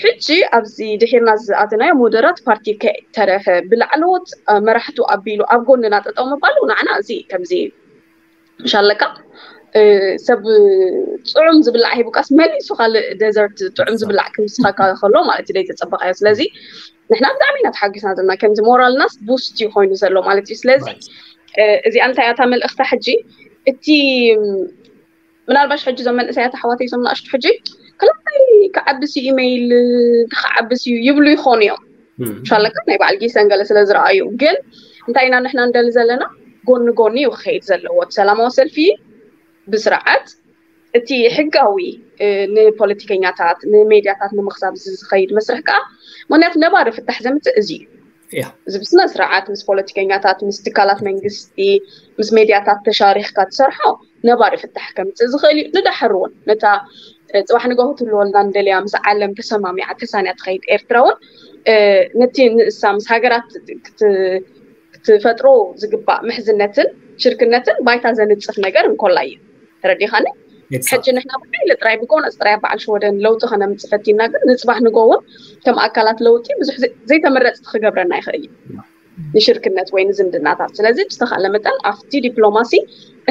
ሕጂ ኣብዚ ድሒርና ዝኣተናዮ ሞደራት ፓርቲ ከይተረፈ ብላዕለዎት መራሕቱ ኣቢሉ ኣብ ጎንና ጠጠው ምባሉ ንዓና እዚ ከምዚ ምሽ ኣለካ ሰብ ጥዑም ዝብላዕ ሂቡካስ መሊሱ ካልእ ደዘርት ጥዑም ዝብላዕ ክምስኻካ ከሎ ማለት እዩ ዘይተፀበቃዮ። ስለዚ ንሕና ብጣዕሚ ኢና ተሓጊስና ዘለና ከምዚ ሞራልናስ ቡስት እዩ ኮይኑ ዘሎ ማለት እዩ። ስለዚ እዚኣ እንታይ እያ እታ መልእኽታ ሕጂ እቲ ምናልባሽ ሕጂ እዞም መንእሰያት ኣሕዋተይ እዞም ንኣሽቱ ሕጂ ክላይ ክዓብስ እዩ ኢመይል ክዓብስ እዩ ይብሉ ይኾኑ እዮም። ሻለካ ናይ በዓል ጊሰን ገለ ስለ ዝረኣዩ ግን እንታይ ኢና ንሕና እንደሊ ዘለና ጎኒ ጎኒ እዩ ክኸይድ ዘለዎ እቲ ሰላማዊ ሰልፊ ብስርዓት እቲ ሕጋዊ ንፖለቲከኛታት ንሜድያታት ንምኽሳብ ዝኸይድ መስርሕ ከዓ ምክንያቱ ነባሪ ፍታሕ ዘምፅእ እዚ እዩ። እዚ ብስነ ስርዓት ምስ ፖለቲከኛታት ምስ ትካላት መንግስቲ ምስ ሜድያታት ተሻሪኽካ ትሰርሖ ነባሪ ፍታሕ ከምፅእ ዝኽእል እዩ። ንዳሕር እውን ነታ ፅባሕ ንጋሁ ትህልወልና ንደልያ ምስ ዓለም ተሰማሚዓ ተሳንያ ትኸይድ ኤርትራ እውን ነቲ ንእሳ ምስ ሃገራት ክትፈጥሮ ዝግባእ ምሕዝነትን ሽርክነትን ባይታ ዘንፅፍ ነገር እንኮላ እዩ። ተረዲኻኒ? ሕጂ ንሕና ብሓይሊ ጥራይ ብጎነፅ ጥራይ በዓል ሽወደን ለውጢ ከነምፅእ ፈቲና ግን ንፅባሕ ንጎ እውን ከም ኣካላት ለውጢ ብዙሕ ዘይተመረፅቲ ክገብረና ይኽእል እዩ ንሽርክነት ወይ ንዝምድናታት። ስለዚ ብዝተኻለ መጠን ኣብቲ ዲፕሎማሲ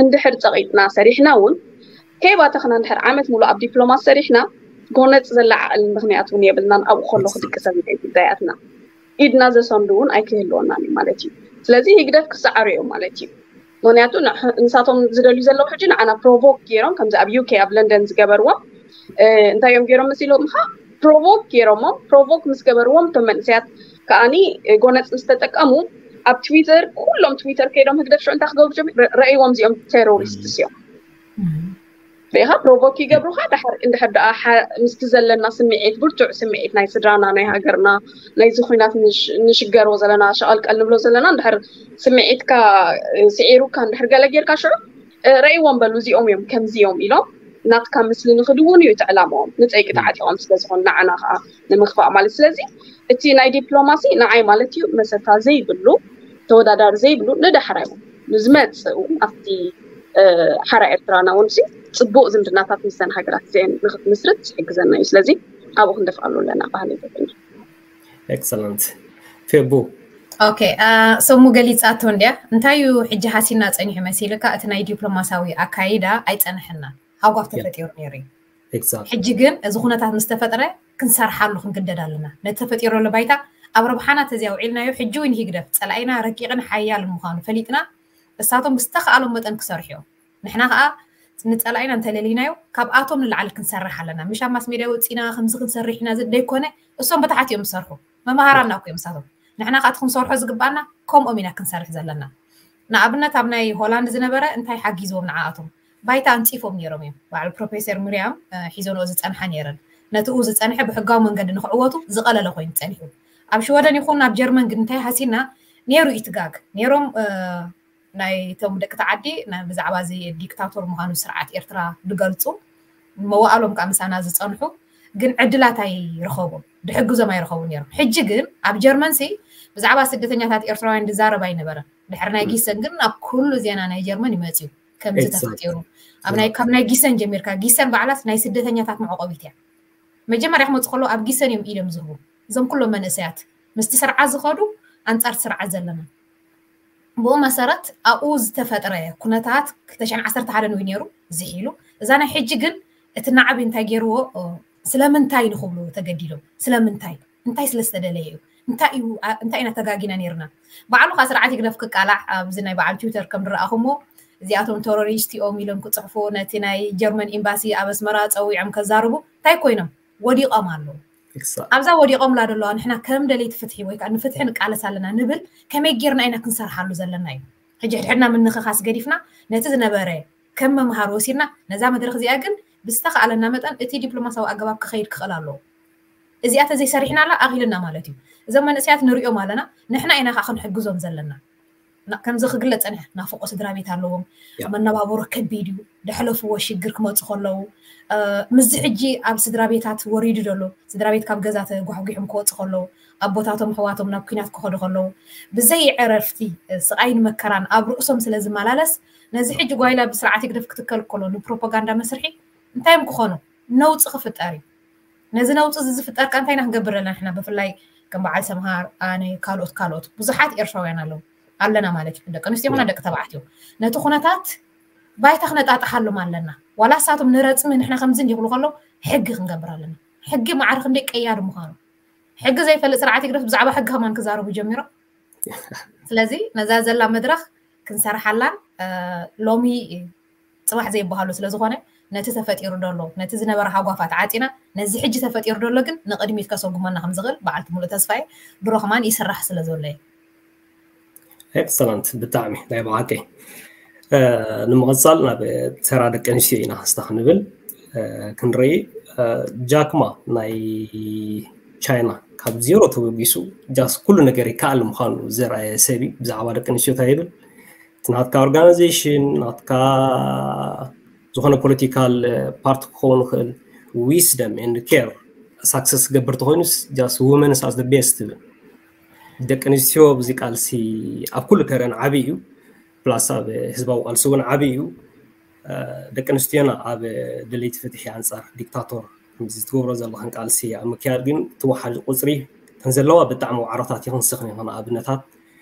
እንድሕር ፀቒጥና ሰሪሕና እውን ከይባተኽና እንድሕር ዓመት ሙሉ ኣብ ዲፕሎማሲ ሰሪሕና ጎነፅ ዘላ ዓቕሊ ምኽንያት እውን የብልናን። ኣብኡ ከሎ ክድቅሰ ጉዳያትና ኢድና ዘሰንዱ እውን ኣይክህልወናን እዩ ማለት እዩ። ስለዚ ህግደፍ ክሰዓሩ እዮም ማለት እዩ። ምክንያቱ ንሳቶም ዝደልዩ ዘለዉ ሕጂ ንዓና ፕሮቮክ ገይሮም ከምዚ ኣብ ዩኬ ኣብ ለንደን ዝገበርዎም እንታይ እዮም ገይሮም መሲሎም ካ ፕሮቮክ ገይሮሞ ፕሮቮክ ምስ ገበርዎም እቶም መንእሰያት ከዓኒ ጎነፅ ምስ ተጠቀሙ ኣብ ትዊተር ኩሎም ትዊተር ከይዶም ህግደፍ ሽዑ እንታይ ክገብሩ ጀሚሩ ረእይዎም እዚኦም ቴሮሪስት እዮም ሪኢኻ ፕሮቮክ ይገብሩኻ ድሓር እንድሕር ደኣ ምስቲ ዘለና ስምዒት ብርቱዕ ስምዒት ናይ ስድራና ናይ ሃገርና ናይዚ ኩናት ንሽገሮ ዘለና ሸቐልቀል ንብሎ ዘለና እንድሕር ስምዒትካ ስዒሩካ እንድሕር ገለ ጌርካ ሽዑ ረእይዎም በሉ እዚኦም እዮም ከምዚ እዮም ኢሎም ናትካ ምስሊ ንክድውን እዩ እቲ ዕላማኦም ንፀይቂ ተዓጢቖም ስለዝኾኑ ንዓና ከዓ ንምክፋእ ማለት ስለዚ እቲ ናይ ዲፕሎማሲ ንዓይ ማለት እዩ መሰታ ዘይብሉ ተወዳዳሪ ዘይብሉ ንዳሕራይ ንዝመፅእ እውን ኣብቲ ሓራ ኤርትራና እውን ሲ ፅቡቅ ዝምድናታት ምስተን ሃገራት እዚአን ንክትምስርት ዝሕግዘና እዩ። ስለዚ ኣብኡ ክንደፍኣሉ ኣለና ባህሊ ይገብርና። Excellent ፌቡ ኦኬ ሰሙ ገሊፃቶ እንድያ እንታይ እዩ ሕጂ ሃሲና ፀኒሑ መሲልካ እቲ ናይ ዲፕሎማሳዊ ኣካይዳ ኣይፀንሐና ሃጓፍ ተፈጢሩ ነይሩ እዩ ሕጂ ግን እዚ ኩነታት ምስ ተፈጥረ ክንሰርሓሉ ክንግደድ ኣለና ነቲ ተፈጢሩ ዘሎ ባይታ ኣብ ረብሓና ተዚያ ውዒልናዮ ሕጂ እውን ህግደፍ ፀላኢና ረቂቕን ሓያል ምዃኑ ፈሊጥና እሳቶም ብዝተኸኣሎም መጠን ክሰርሑ እዮም ንሕና ከዓ ንፀላኢና እንተለሊናዮ ካብኣቶም ንላዕሊ ክንሰርሕ ኣለና ምሽ ኣብ ማስ ሜድያ ወፂና ከምዚ ክንሰርሕ ኢና ደይኮነ እሶም ብታሕት እዮም ዝሰርሑ መምሃራና እኮ እዮም እሳቶም ንሕና ከዓ ክንሰርሖ ዝግባኣና ከምኦም ኢና ክንሰርሕ ዘለና ንኣብነት ኣብ ናይ ሆላንድ ዝነበረ እንታይ ሓጊዝዎም ንዓኣቶም ባይታ ኣንፂፎም ነይሮም እዮም በዓል ፕሮፌሰር ምርያም ሒዞንኦ ዝፀንሓ ነይረን ነትኡ ዝፀንሐ ብሕጋዊ መንገዲ ንክዕወቱ ዝቐለለ ኮይኑ ፀኒሑ ኣብ ሽወደን ይኹን ኣብ ጀርመን ግን እንታይ ሃሲና ነይሩ ኢትጋግ ነይሮም ናይቶም ደቂ ተዓዲ ብዛዕባ እዚ ዲክታቶር ምዃኑ ስርዓት ኤርትራ ዝገልፁ መዋእሎም ከዓ ምሳና ዝፀንሑ ግን ዕድላት ኣይረኸቡን ድሕግዞም ኣይረኸቡ ነይሮም ሕጂ ግን ኣብ ጀርመን ሲ ብዛዕባ ስደተኛታት ኤርትራውያን ዝዛረብ ኣይነበረን ድሕሪ ናይ ጊሰን ግን ኣብ ኩሉ ዜና ናይ ጀርመን ይመፅዩ ከምዚ ተፈጢሩ ካብ ናይ ጊሰን ጀሚርካ ጊሰን ባዕላስ ናይ ስደተኛታት መዕቆቢት እያ መጀመርያ ክመፁ ከለዉ ኣብ ጊሰን እዮም ኢዶም ዝህቡ እዞም ኩሎም መንእሰያት ምስቲ ስርዓት ዝኸዱ ኣንፃር ስርዓት ዘለና ብኡ መሰረት ኣብኡ ዝተፈጥረ ኩነታት ክልተ ሽሕን ዓሰርተ ሓደን እዩ ነይሩ ዝሒሉ እዛ ናይ ሕጂ ግን እቲ ናዕቢ እንታይ ገይርዎ? ስለምንታይ ንክብሉ ተገዲዶም። ስለምንታይ? እንታይ ስለዝተደለየ እዩ? እንታይ እዩ እንታይ ኢና ተጋጊና ነርና? ባዕሉ ከዓ ስርዓት ይግደፍ ክቃላዕ ኣብዚ ናይ በዓል ትዊተር ከም ዝረኣኹሞ፣ እዚኣቶም ተሮሪስት እዮም ኢሎም ክፅሕፉ ነቲ ናይ ጀርመን ኤምባሲ ኣብ ኣስመራ ፀዊዖም ከዛርቡ እንታይ ኮይኖም? ወዲቖም ኣለዉ። ኣብዛ ወዲቖምላ ዘለዋ ንሕና ከም ደለይቲ ፍትሒ ወይ ከዓ ንፍትሒ ንቃለስ ኣለና ንብል ከመይ ጌርና ኢና ክንሰርሓሉ ዘለና እዩ። ሕጂ ሕድሕድና ምንኽኻስ ገዲፍና ነቲ ዝነበረ ከም መምሃር ወሲድና ነዛ መድረኽ እዚኣ ግን ብዝተኻኣለና መጠን እቲ ዲፕሎማሲያዊ ኣገባብ ክኸይድ ክኽእል ኣለዎ። እዚኣ ተዘይሰሪሕናላ ኣኺልና ማለት እዩ። እዞም መንእሰያት ንሪኦም ኣለና፣ ንሕና ኢና ከዓ ክንሕግዞም ዘለና። ከምዚ ክግለጽ ጸኒሐ ናፍቆ ስድራ ቤት ኣለዎም። መነባብሮ ከቢድ እዩ። ደሕለፍዎ ሽግር ክመፁ ከለዉ ምስዚ ሕጂ ኣብ ስድራ ቤታት ወሪዱ ዘሎ ስድራ ቤት ካብ ገዛ ተጓሕጒሖም ክወፁ ከለዉ ኣቦታቶም ኣሕዋቶም ናብ ኩናት ክኸዱ ከለዉ ብዘይ ዕረፍቲ ስቓይን መከራን ኣብ ርእሶም ስለ ዝመላለስ ነዚ ሕጂ ጓይላ ብስርዓት ህግደፍ ክትከል ከሎ ንፕሮፓጋንዳ መስርሒ እንታይ እዮም ክኾኑ? ነውፂ ክፍጠር እዩ። ነዚ ነውፂ እዚ ዝፍጠር ከ እንታይ ኢና ክንገብር ዘለና ንሕና? ብፍላይ ከም በዓል ሰምሃር፣ ኣነ፣ ካልኦት ካልኦት ብዙሓት ኤርትራውያን ኣለዉ ኣለና ማለት እዩ። ደቂ ኣንስትዮ ይኹና ደቂ ተባዕትዮ ነቲ ኩነታት ባይታ ክነጣጥሓሎም ኣለና። ዋላ እሳቶም ንረፅሚ ንሕና ከምዚ እንዲክሉ ከሎ ሕጊ ክንገብር ኣለና። ሕጊ ማዕረ ክንደይ ቀያዲ ምዃኑ ሕጊ ዘይፈልጥ ስርዓት ይግደፍ ብዛዕባ ሕጊ ከማን ክዛረቡ ጀሚሮም። ስለዚ ነዛ ዘላ መድረኽ ክንሰርሓላን ሎሚ ፅባሕ ዘይበሃሉ ስለዝኾነ ነቲ ተፈጢሩ ደሎ ነቲ ዝነበረ ሃጓፋት ዓፂና ነዚ ሕጂ ተፈጢሩ ደሎ ግን ንቕድሚት ከሰጉመና ከም ዝኽእል በዓልቲ ሙሉእ ተስፋ እየ። ድሮ ከማን ይስራሕ ስለ ዘሎ እዩ። ኤክሰለንት ብጣዕሚ ናይ ብሓቂ። ንምቕፃል ናብ ተራ ደቂ ኣንስትዮ ኢና ስታ ክንብል ክንርኢ። ጃክማ ናይ ቻይና ካብ ዜሮ ተበጊሱ ጃስ ኩሉ ነገር ይከኣል ምዃኑ ዘርኣየ ሰብ እዩ። ብዛዕባ ደቂ ኣንስትዮ እንታይ ይብል? እቲ ናትካ ኦርጋናይዜሽን ናትካ ዝኾነ ፖለቲካል ፓርቲ ክኸውን ይኽእል wisdom and care success ክገብር ተኮይኑስ just women as the best ትብል። ደቂ ኣንስትዮ ኣብዚ ቃልሲ ኣብ ኩሉ ተረን ዓብዪ እዩ። ፕላስ ኣብ ህዝባዊ ቃልሲ እውን ዓብዪ እዩ። ደቂ ኣንስትዮና ኣብ ደለይቲ ፍትሒ ኣንፃር ዲክታቶር ከምዚ ትገብሮ ዘለኽን ቃልሲ ኣብ ምክያድ ግን ትወሓድ ቁፅሪ ተን ዘለዋ ብጣዕሚ ዋዕሮታት ይኽንስኽን ይኾን ኣብነታት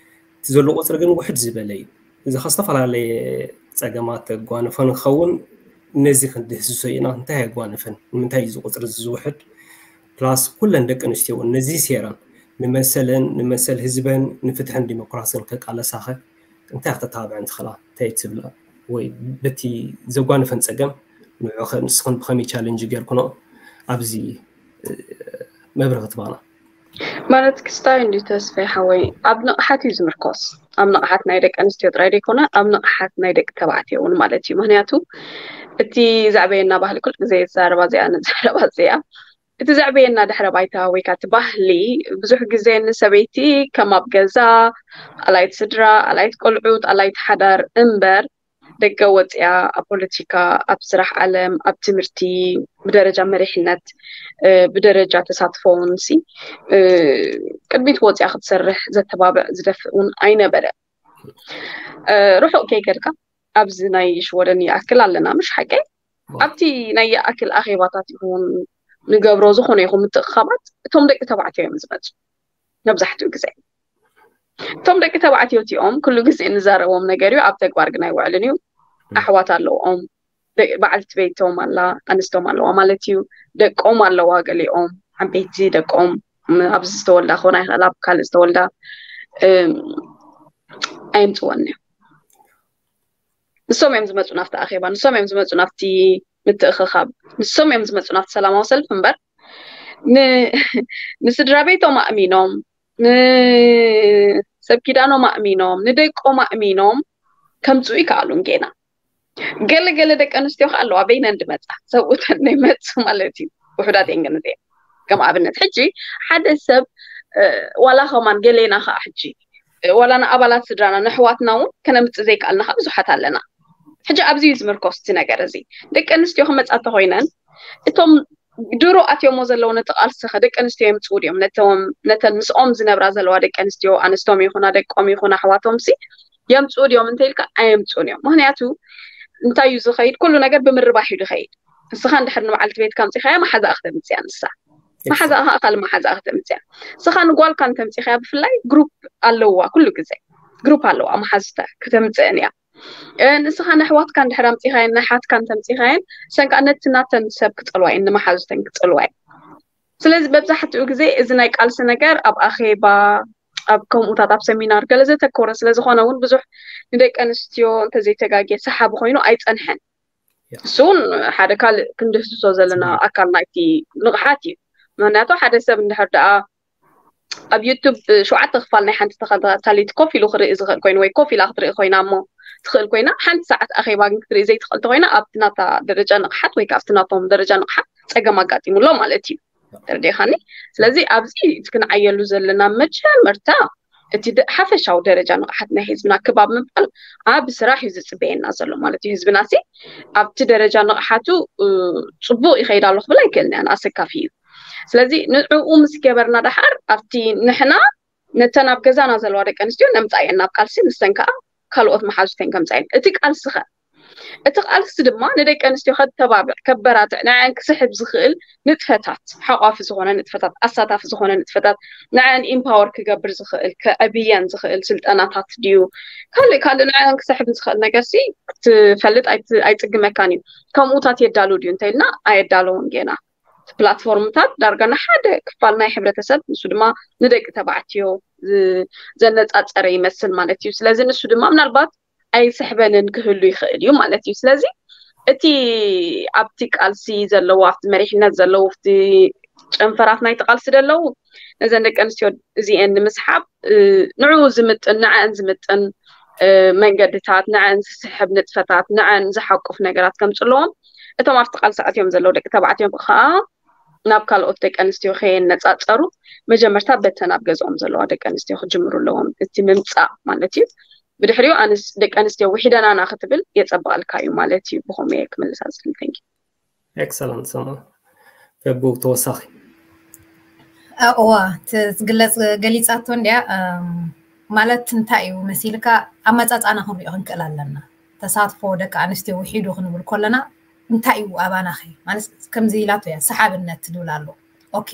እቲ ዘሎ ቁፅሪ ግን ውሕድ ዝበለ እዩ። እዚ ካብ ዝተፈላለየ ፀገማት ተጓንፎ ንክኸውን ነዚ ክንድህስሶ ኢና። እንታይ ኣጓንፈን? ንምንታይ እዩ እዚ ቁፅሪ እዚ ዝውሕድ? ፕላስ ኩለን ደቂ ኣንስትዮ እውን ነዚ ሴረን ንመሰለን ንመሰል ህዝበን ንፍትሕን ዲሞክራስን ከቃለሳኸ እንታይ ክተተባብዐን ትኽእላ? እንታይ ትብላ? ወይ በቲ ዘጓንፈን ፀገም ንዑኸ ንስኽን ብኸመይ ቻለንጅ ጌርኩኖ ኣብዚ መብርህ ክትባና ማለት ክስታይ እንዲ ተስፋይ ሓወይ ኣብ ንቕሓት እዩ ዝምርኮስ። ኣብ ንቕሓት ናይ ደቂ ኣንስትዮ ጥራይ ዘይኮነ ኣብ ንቕሓት ናይ ደቂ ተባዕትዮ እውን ማለት እዩ። ምክንያቱ እቲ ዘዕበየና ባህሊ ኩል ግዜ ዘረባ እዚኣ ንዘረባ እዚኣ እቲ ዘዕበየና ድሕረ ባይታ ወይ ከዓ እቲ ባህሊ ብዙሕ ግዜ ንሰበይቲ ከም ኣብ ገዛ ኣላይት ስድራ ኣላይት ቆልዑት ኣላይት ሓዳር እምበር ደገ ወፅያ ኣብ ፖለቲካ ኣብ ስራሕ ዓለም ኣብ ትምህርቲ ብደረጃ መሪሕነት ብደረጃ ተሳትፎ እውን ሲ ቅድሚት ወፅያ ክትሰርሕ ዘተባብዕ ዝደፍእ እውን ኣይነበረ። ርሑቕ ከይከድካ ኣብዚ ናይ ሽወደን ይኣክል ኣለና ምሽ ሓቀይ ኣብቲ ናይ ይኣክል ኣኼባታት ይኹን ንገብሮ ዝኾነ ይኹን ምትእኻባት እቶም ደቂ ተባዕትዮ እዮም ዝመፁ መብዛሕትኡ ግዜ እቶም ደቂ ተባዕትዮ እቲኦም ኩሉ ግዜ እንዛረቦም ነገር እዩ ኣብ ተግባር ግን ኣይውዕልን እዩ ኣሕዋት ኣለዎም በዓልቲ ቤቶም ኣላ ኣንስቶም ኣለዋ ማለት እዩ ደቆም ኣለዋ ገሊኦም ዓበይቲ ደቆም ኣብዚ ዝተወልዳ ክኾና ይኽእል ኣብ ካልእ ዝተወልዳ ኣይምፅወን እዮም ንሶም እዮም ዝመፁ ናብቲ ኣኼባ ንሶም እዮም ዝመፁ ናብቲ ምትእኽኻብ ንሶም እዮም ዝመፁ ናብቲ ሰላማዊ ሰልፍ እምበር ንስድራ ቤቶም ኣእሚኖም ንሰብ ኪዳኖም ኣእሚኖም ንደቆም ኣእሚኖም ከምፅኡ ይከኣሉን ጌና ገለ ገለ ደቂ ኣንስትዮ ከዓ ኣለዋ በይነን ድመፃ ሰብኡተን ናይ መፁ ማለት እዩ ውሕዳት እየን ግን እዚአን ከም ኣብነት ሕጂ ሓደ ሰብ ዋላ ከማን ገሌና ከዓ ሕጂ ዋላ ንኣባላት ስድራና ንኣሕዋትና እውን ከነምፅእ ዘይከኣልና ከዓ ብዙሓት ኣለና ሕጂ ኣብዚ እዩ ዝምርኮስ እቲ ነገር እዚ ደቂ ኣንስትዮ ክመፃ እንተኮይነን እቶም ድሮ ኣትዮሞ ዘለዉ ነቲ ቃልሲ ከ ደቂ ኣንስትዮ የምፅኡ ድዮም ነቶም ነተን ምስኦም ዝነብራ ዘለዋ ደቂ ኣንስትዮ ኣንስቶም ይኹና ደቆም ይኹን ኣሕዋቶም ሲ የምፅኡ ድዮም እንተ ኢልካ ኣየምፅኡን እዮም ምክንያቱ እንታይ እዩ ዝኸይድ ኩሉ ነገር ብምርባሕ እዩ ዝኸይድ ንስኻ እንድሕር ንበዓልቲ ቤትካ ኣምፂኻያ መሓዛኣ ክተምፅያ ንሳ መሓዛኣ ከዓ ካልእ መሓዛኣ ክተምፅያ ንስኻ ንጓልካ እንተምፂኻያ ብፍላይ ግሩፕ ኣለዋ ኩሉ ግዜ ግሩፕ ኣለዋ መሓዝተ ክተምፅእን እያ ንስኻ ንኣሕዋትካ እንድሕር ኣምፂኻየን፣ ንሓትካ እንተምፂኻየን፣ ሰንካ ነቲ ናተን ሰብ ክፀልዋ እየን፣ ንመሓዙተን ክፀልዋ እየን። ስለዚ መብዛሕትኡ ግዜ እዚ ናይ ቃልሲ ነገር ኣብ ኣኼባ፣ ኣብ ከምኡታት ኣብ ሰሚናር ገለ ዘተኮረ ስለ ዝኾነ እውን ብዙሕ ንደቂ ኣንስትዮ እንተዘይተጋግየ ሰሓቢ ኮይኑ ኣይፀንሐን። እሱ እውን ሓደ ካልእ ክንድህስሶ ዘለና ኣካል ናይቲ ንቕሓት እዩ። ምክንያቱ ሓደ ሰብ እንድሕር ደኣ ኣብ ዩቱብ ሸውዓተ ክፋል ናይ ሓንቲ ተኸታታሊት ኮፍ ኢሉ ክርኢ ዝኽእል ኮይኑ ወይ ኮፍ ኢላ ክትርኢ ኮይና እሞ ትኽእል ኮይና ሓንቲ ሰዓት ኣኼባ ግን ክትርኢ ዘይትኽእል ተኮይና ኣብቲ ናታ ደረጃ ንቕሓት ወይ ኣብቲ ናቶም ደረጃ ንቕሓት ፀገም ኣጋጢሙሎ ማለት እዩ። ተረዲኻኒ? ስለዚ ኣብዚ እቲ ክንዓየሉ ዘለና መጀመርታ እቲ ሓፈሻዊ ደረጃ ንቕሓት ናይ ህዝብና ክባብ ምባል ኣብ ስራሕ እዩ ዝፅበየና ዘሎ ማለት እዩ። ህዝብና ሲ ኣብቲ ደረጃ ንቕሓቱ ፅቡቕ ይኸይድ ኣሎ ክብል ኣይክእልን እያ፣ ኣሰካፊ እዩ። ስለዚ ንዕኡ ምስ ገበርና ደሓር ኣብቲ ንሕና ነተን ኣብ ገዛና ዘለዋ ደቂ ኣንስትዮ ነምፃ እየን ናብ ቃልሲ፣ ንሰን ከዓ ካልኦት መሓዙተን ከምፃ እየን። እቲ ቃልሲ ኸ እቲ ቃልሲ ድማ ንደቂ ኣንስትዮ ከተባብዕ፣ ከበራትዕ፣ ንዐን ክስሕብ ዝኽእል ንጥፈታት፣ ሓቋፊ ዝኾነ ንጥፈታት፣ ኣሳታፊ ዝኾነ ንጥፈታት፣ ንዐን ኢምፓወር ክገብር ዝኽእል፣ ከዕብየን ዝኽእል ስልጠናታት ድዩ፣ ካልእ ካልእ ንዐን ክስሕብ ዝኽእል ነገር ሲ ክትፈልጥ ኣይት- ኣይፅግመካን እዩ። ከምኡታት የዳሉ ድዩ እንተኢልና ኣየዳለውን ጌና። ፕላትፎርምታት ዳርጋ ንሓደ ክፋል ናይ ሕብረተሰብ፣ ንሱ ድማ ንደቂ ተባዕትዮ ዝ- ዘነፃፀረ ይመስል ማለት እዩ። ስለዚ ንሱ ድማ ምናልባት ኣይስሕበንን ክህሉ ይኽእል እዩ ማለት እዩ። ስለዚ እቲ ኣብቲ ቃልሲ ዘለዉ፣ ኣብቲ መሪሕነት ዘለዉ፣ ኣብቲ ጨንፈራት ናይቲ ቃልሲ ዘለዉ ነዘን ደቂ ኣንስትዮ እዚኤን ንምስሓብ ንዕኡ ዝምጥን፣ ንዐን ዝምጥን መንገድታት፣ ንዐን ዝስሕብ ንጥፈታት፣ ንዐን ዝሓቁፍ ነገራት ከምፅእ ኣለዎም። እቶም ኣብቲ ቃልሲ ኣትዮም ዘለዉ ደቂ ተባዕትዮ ከዓ ናብ ካልኦት ደቂ ኣንስትዮ ከየነፃፀሩ መጀመርታ በተን ኣብ ገዝኦም ዘለዋ ደቂ ኣንስትዮ ክጅምሩ ኣለዎም። እቲ ምምፃእ ማለት እዩ። ብድሕሪኡ ኣንስ ደቂ ኣንስትዮ ውሒደናና ክትብል የፀብቐልካ እዩ ማለት እዩ። ብኸምኡ እየ ክምልሳ ዝኽእል። Thank you። ኤክሰለንት ሰሙ። ፈቡ ተወሳኺ እዋ፣ ትግለፅ ገሊፃቶ እንዲያ። ማለት እንታይ እዩ መሲልካ? ኣመፃፃና ክንሪኦ ክንክእል ኣለና። ተሳትፎ ደቂ ኣንስትዮ ውሒዱ ክንብል ከለና እንታይ እዩ ኣባናኸ? ማለት ከምዚ ኢላቶ እያ፣ ሰሓብነት ትብል ኣሎ። ኦኬ፣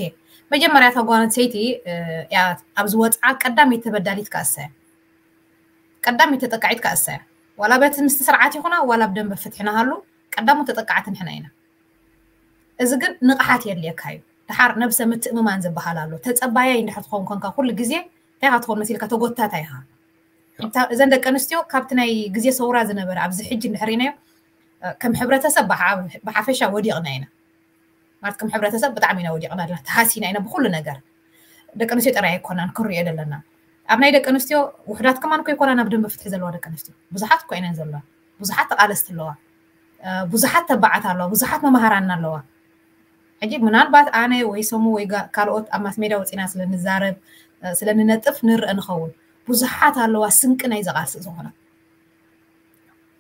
መጀመርያ እታ ጓል ኣንስተይቲ እያ ኣብዚ ወፅዓ ቀዳመይቲ ተበዳሊት ከኣሳ እያ። ቀዳመይቲ ተጠቃዒት ከኣሳ እያ። ዋላ በቲ ምስቲ ስርዓት ይኹና ዋላ ብደንበ ፍትሒ ንሃሉ ቀዳሞት ተጠቃዕቲ ንሕና ኢና። እዚ ግን ንቕሓት የድልየካ እዩ። ድሓር ነብሰ ምትእምማን ዝበሃል ኣሎ። ተጸባያይ እንድሕር ትኸውን ኮንካ ኩሉ ግዜ እንታይ ኢኻ ትኸውን መሲልካ? ተጎታታይ ኢኻ። እታ- እዘን ደቂ ኣንስትዮ ካብቲ ናይ ግዜ ሰውራ ዝነበረ ኣብዚ ሕጂ እንድሕር ኢናዮ ከም ሕብረተሰብ ብሓ- ብሓፈሻ ወዲቕና ኢና። ማለት ከም ሕብረተሰብ ብጣዕሚ ኢና ወዲቕና ኣለና፣ ተሃሲና ኢና ብኩሉ ነገር። ደቂ ኣንስትዮ ጥራይ ኣይኮናን ክንሪኦ ዘለና። ኣብ ናይ ደቂ ኣንስትዮ ውሕዳት ከማን እኮ ይኮናን ኣብ ደንበ ፍትሒ ዘለዋ ደቂ ኣንስትዮ ብዙሓት እኮ ኢነን ዘለዋ። ብዙሓት ተቓለስቲ ኣለዋ። ብዙሓት ተባዓት ኣለዋ፣ ብዙሓት መማሃራና ኣለዋ። ሕጂ ምናልባት ኣነ ወይ ሰሙ ወይ ካልኦት ኣብ ማስ ሜድያ ወፂና ስለንዛረብ ስለንነጥፍ ንርእ ንኸውን። ብዙሓት ኣለዋ ስንቂ ናይ ዘቃልሲ ዝኾና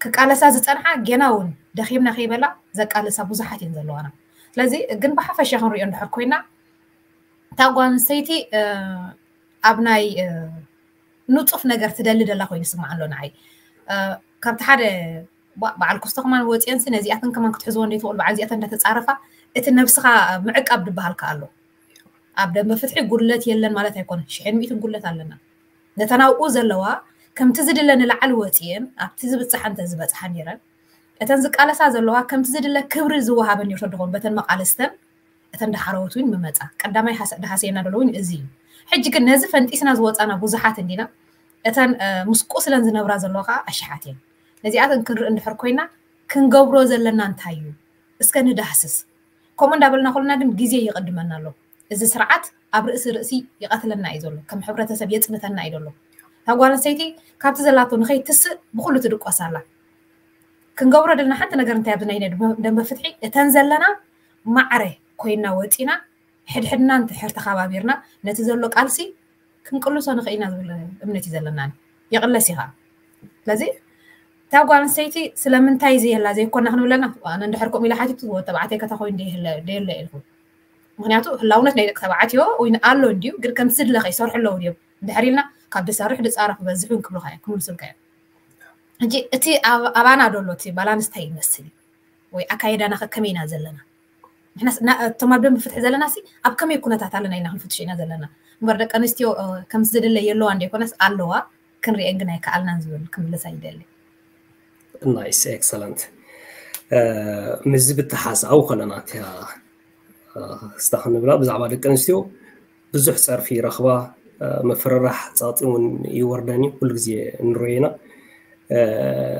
ክቃለሳ ዝፀንሓ ገና እውን ደኺምና ከይበላ ዘቃልሳ ብዙሓት እየን ዘለዋና። ስለዚ ግን ብሓፈሻ ክንሪኦ እንድሕር ኮይና እታ ጓል ኣንስተይቲ ኣብ ናይ ንፁፍ ነገር ትደሊ ደላ ኮይኑ ይስማዕ ኣሎ ንዓይ። ካብቲ ሓደ በዓል ክስቶ ከማን ወፅየንሲ ነዚኣተን ከማን ክትሕዝዎ እንደ ትኽእሉ በዓል እዚኣተን እንዳተፃረፋ እቲ ነብስኻ ምዕቃብ ዝበሃል ከ ኣሎ። ኣብ ደንበ ፍትሒ ጉድለት የለን ማለት ኣይኮነን፣ ሽሕን ሚእትን ጉድለት ኣለና። ነተን ኣብኡ ዘለዋ ከምቲ ዝድለ ንላዕሊ ወፅየን ኣብቲ ዝብፅሓ እንተ ዝበፅሓ ነይረን እተን ዝቃለሳ ዘለዋ ከምቲ ዝድለ ክብሪ ዝወሃበን ነርቶ ደኾን በተን መቃልስተን እተን ዳሓረዎት እውን ምመፃ ቀዳማይ ዳሃሰየና ደሎ እውን እዚ እዩ። ሕጂ ግን ነዚ ፈንጢስና ዝወፃና ብዙሓት እንዲና። እተን ምስ ቁስለን ዝነብራ ዘለዋ ከዓ ኣሽሓት እየን። ነዚኣተን ክንርኢ እንድሕር ኮይና ክንገብሮ ዘለና እንታይ እዩ? እስከ ንዳህስስ። ከምኡ እንዳበልና ከለና ግን ግዜ ይቕድመና ኣሎ። እዚ ስርዓት ኣብ ርእሲ ርእሲ ይቐትለና እዩ ዘሎ፣ ከም ሕብረተሰብ የፅንተና እዩ ዘሎ። እታ ጓል ኣንስተይቲ ካብቲ ዘላቶ ንኸይትስእ ብኩሉ ትድቆስ ኣላ። ክንገብሮ ደለና ሓንቲ ነገር እንታይ ኣብዚ ናይ ደንበ ፍትሒ እተን ዘለና ማዕረ ኮይና ወፂና ሕድሕድና እንድሕር ተኸባቢርና ነቲ ዘሎ ቃልሲ ክንቅልሶ ንኽእል ኢና ዝብል እምነት እዩ ዘለና። ይቕለስ ኢኻ። ስለዚ እታ ጓል ኣንስተይቲ ስለምንታይ ዘየላ ዘይኮና ክንብለና ኣነ እንድሕር ከምኡ ኢለ ሓቲቱ ወዲ ተባዕታይ ከታ ኮይኑ ደየለ ኢልኩ። ምክንያቱ ህላውነት ናይ ደቂ ተባዕትዮ ወይ ኣሎ እንድዩ ግን ከምቲ ዝድለ ከይሰርሑ ኣለዉ ድዮም እንድሕር ኢልና ካብ ድሰርሕ ድፃረፍ በዝሑ ክብሉካ እዮም ክምልሱልካ እዮም። ሕጂ እቲ ኣባና ደሎ እቲ ባላንስ እንታይ ይመስል ወይ ኣካየዳና ከከመይ ኢና ዘለና? ንሕና እቶም ኣብ ደንቢ ፍትሒ ዘለና ሲ ኣብ ከመይ ኩነታት ኣለና ኢልና ክንፍትሽ ኢና ዘለና እምበር ደቂ ኣንስትዮ ከምቲ ዝድለ የለዋ እንደ ኮነስ ኣለዋ ክንሪኤን ግን ኣይከኣልናን ዝብል ክምልሳ ይደሊ። Nice, excellent. ምስዚ ብተሓሳዊ ከለና እቲያ ስታ ክንብላ ብዛዕባ ደቂ ኣንስትዮ ብዙሕ ጸርፊ ይረኽባ፣ ምፍርራሕ ጸቕጢ እውን ይወርደን እዩ፣ ኩሉ ግዜ ንሪኦ ኢና።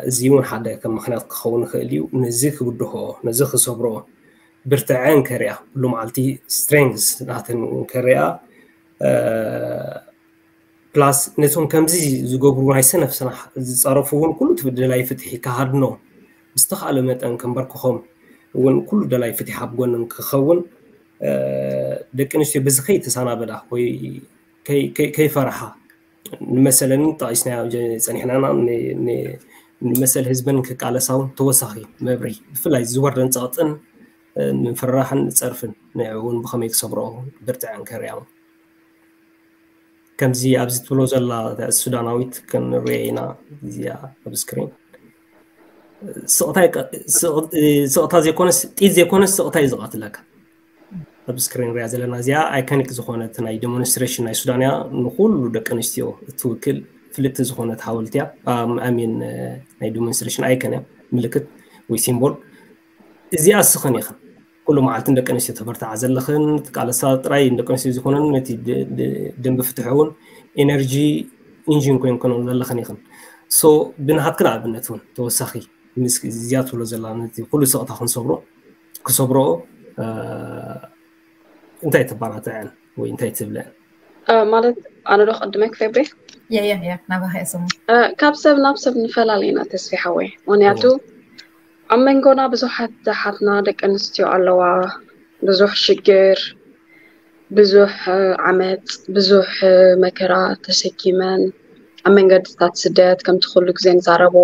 እዚ እውን ሓደ ከም ምኽንያት ክኸውን ይኽእል እዩ። ነዚ ክብድሆ፣ ነዚ ክሰብሮ፣ ብርትዐን ከሪኣ፣ ኩሉ መዓልቲ ስትሬንግስ ናተን እውን ከሪኣ፣ ፕላስ ነቶም ከምዚ ዝገብሩ ናይ ሰነፍ ስራሕ ዝፀረፉ እውን ኩሉ እቲ ደላይ ፍትሒ ክሃድኖ ብዝተኻእለ መጠን ከንበርክኾም እውን ኩሉ ደላይ ፍትሒ ኣብ ጎንን ክኸውን ደቂ ኣንስትዮ በዚ ከይተሰናበዳ ወይ ከይፈርሓ ንመሰለን ጠቒስናዮ ጸኒሕናና ንመሰል ህዝበን ክቃለሳ እውን ተወሳኺ መብሪ ብፍላይ ዝወርደን ጸቕጥን ምፍርራሕን ጸርፍን ንዕኡ እውን ብኸመይ ክሰብሮ ብርትዐን ከርእያ እውን ከምዚ ኣብዚ ትብሎ ዘላ ሱዳናዊት ክንሪኦ ኢና እዚኣ ኣብ ስክሪን ስቕታ ዘይኮነስ ጢት ዘይኮነስ ስቕታ እዩ ዝቐትለካ ኣብ ስክሪን ሪያ ዘለና እዚኣ ኣይኮኒክ ዝኾነት ናይ ዴሞንስትሬሽን ናይ ሱዳን እያ ንኩሉ ደቂ ኣንስትዮ እትውክል ፍልጥቲ ዝኾነት ሓወልቲ እያ ኣሚን ናይ ዴሞንስትሬሽን ኣይኮን እያ ምልክት ወይ ሲምቦል እዚኣ እስኽን ኢኽን ኩሉ መዓልቲ ንደቂ ኣንስትዮ ተበርትዓ ዘለኽን ትቃለሳ ጥራይ ንደቂ ኣንስትዮ ዝኾነን ነቲ ደንቢ ፍትሒ እውን ኤነርጂ ኢንጂን ኮይንክን ዘለኽን ኢኽን ሶ ብናሃትክን ኣብነት እውን ተወሳኺ ምስ እዚኣ ትብሎ ዘላ ነቲ ኩሉ ስቕታ ክንሰብሮ ክሰብሮ እንታይ ተባራትዐን ወይ እንታይ ትብለን ማለት ኣነ ዶ ክቅድመ ክፈብሬ የየ ናባኻ እየ ስሙ ካብ ሰብ ናብ ሰብ ንፈላለ ኢና ተስፊ ሓወይ ምክንያቱ ኣብ መንጎና ብዙሓት ዝሓትና ደቂ ኣንስትዮ ኣለዋ ብዙሕ ሽግር ብዙሕ ዓመፅ ብዙሕ መከራ ተሰኪመን ኣብ መንገድታት ስደት ከምቲ ኩሉ ግዜ ንዛረቦ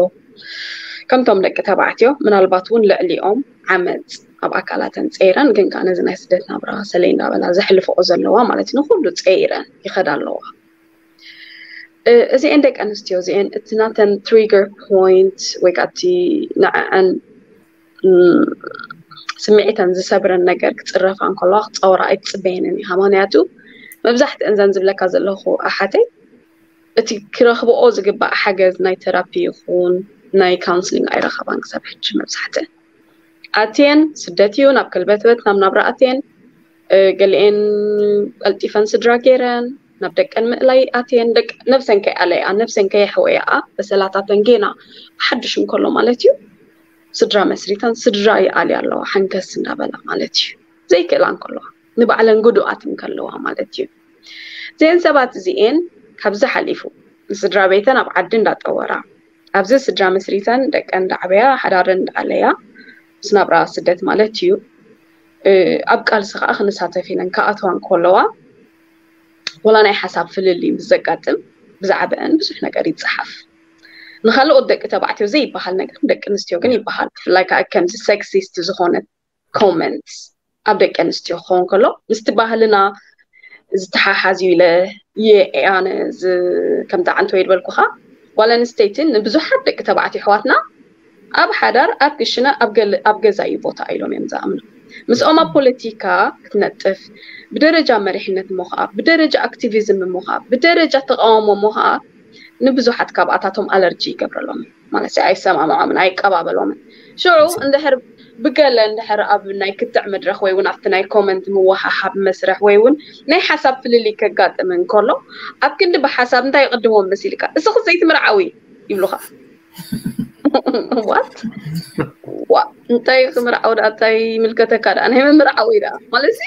ከምቶም ደቂ ተባዕትዮ ምናልባት እውን ልዕሊኦም ዓመፅ ኣብ ኣካላተን ፀይረን ግን ከዓ ነዚ ናይ ስደት ናብራ ሰለይ እንዳበላ ዘሕልፈኦ ዘለዋ ማለት እዩ ንኩሉ ፀይረን ይኸዳ ኣለዋ እዚአን ደቂ ኣንስትዮ እዚአን እቲ ናተን ትሪገር ፖይንት ወይ ከዓ እቲ ንዕዐን ስምዒተን ዝሰብረን ነገር ክፅረፋ እንከለዋ ክፀወራ ኣይትፅበየንን ኢኻ ምክንያቱ መብዛሕትአን ዘን ዝብለካ ዘለኹ ኣሓተይ እቲ ክረኽብኦ ዝግባእ ሓገዝ ናይ ተራፒ ይኹን ናይ ካውንስሊንግ ኣይረኸባን ክሳብ ሕጂ መብዛሕትአን ኣትየን ስደት እዩ ናብ ከልበትበት ናብ ናብራ ኣትየን ገሊኤን ቀልጢፈን ስድራ ገይረን ናብ ደቀን ምእላይ ኣትየን ነብሰን ከይኣለያ ነብሰን ከየሕወያ በሰላታተን ጌና ሓድሽ እንከሎ ማለት እዩ ስድራ መስሪተን ስድራ ይኣልያ ኣለዋ ሓንከስ እንዳበላ ማለት እዩ ዘይክእላ እንከለዋ ንባዕለን ጉዱኣት እንከለዋ ማለት እዩ እዚአን ሰባት እዚኤን ካብዚ ሓሊፉ ንስድራ ቤተን ኣብ ዓዲ እንዳጠወራ ኣብዚ ስድራ መስሪተን ደቀን እንዳዕበያ ሓዳረን እንዳኣለያ ምስ ናብራ ስደት ማለት እዩ ኣብ ቃልሲ ከዓ ክንሳተፍ ኢለን ክኣትዋ እንከለዋ ወላ ናይ ሓሳብ ፍልልይ ምስ ዘጋጥም ብዛዕባአን ብዙሕ ነገር ይፀሓፍ ንካልኦት ደቂ ተባዕትዮ ዘይበሃል ነገር ደቂ ኣንስትዮ ግን ይበሃል ብፍላይ ከዓ ከምዚ ሴክሲስት ዝኾነ ኮመንት ኣብ ደቂ ኣንስትዮ ክኸውን ከሎ ምስቲ ባህልና ዝተሓሓዝ እዩ ኢለ የኣነ ከምቲ ዓንተ ወይ ዝበልኩኻ ጓል ኣንስተይቲ ንብዙሓት ደቂ ተባዕትዮ ኣሕዋትና ኣብ ሓዳር ኣብ ክሽነ ኣብ ገዛ እዩ ቦታ ኢሎም እዮም ዝኣምኑ ምስኦም ኣብ ፖለቲካ ክትነጥፍ ብደረጃ መሪሕነት እሞ ከዓ ብደረጃ ኣክቲቪዝም እሞ ከዓ ብደረጃ ተቃውሞ እሞ ከዓ ንብዙሓት ካብኣታቶም ኣለርጂ ይገብረሎም ማለት ኣይሰማምዖምን ኣይቀባበሎምን ሽዑ እንድሕር ብገለ እንድሕር ኣብ ናይ ክትዕ መድረክ ወይ እውን ኣብቲ ናይ ኮመንት ምወሃሃብ መስርሕ ወይ እውን ናይ ሓሳብ ፍልልይ ከጋጥም እንከሎ ኣብ ክንዲ ብሓሳብ እንታይ ይቅድሞም መሲልካ እስኺ ዘይትምርዓዊ ይብሉካ ዋት እንታይ ክምርዓው ዳ እንታይ ይምልከተካ ዳ ናይ ምምርዓው ኢዳ ማለት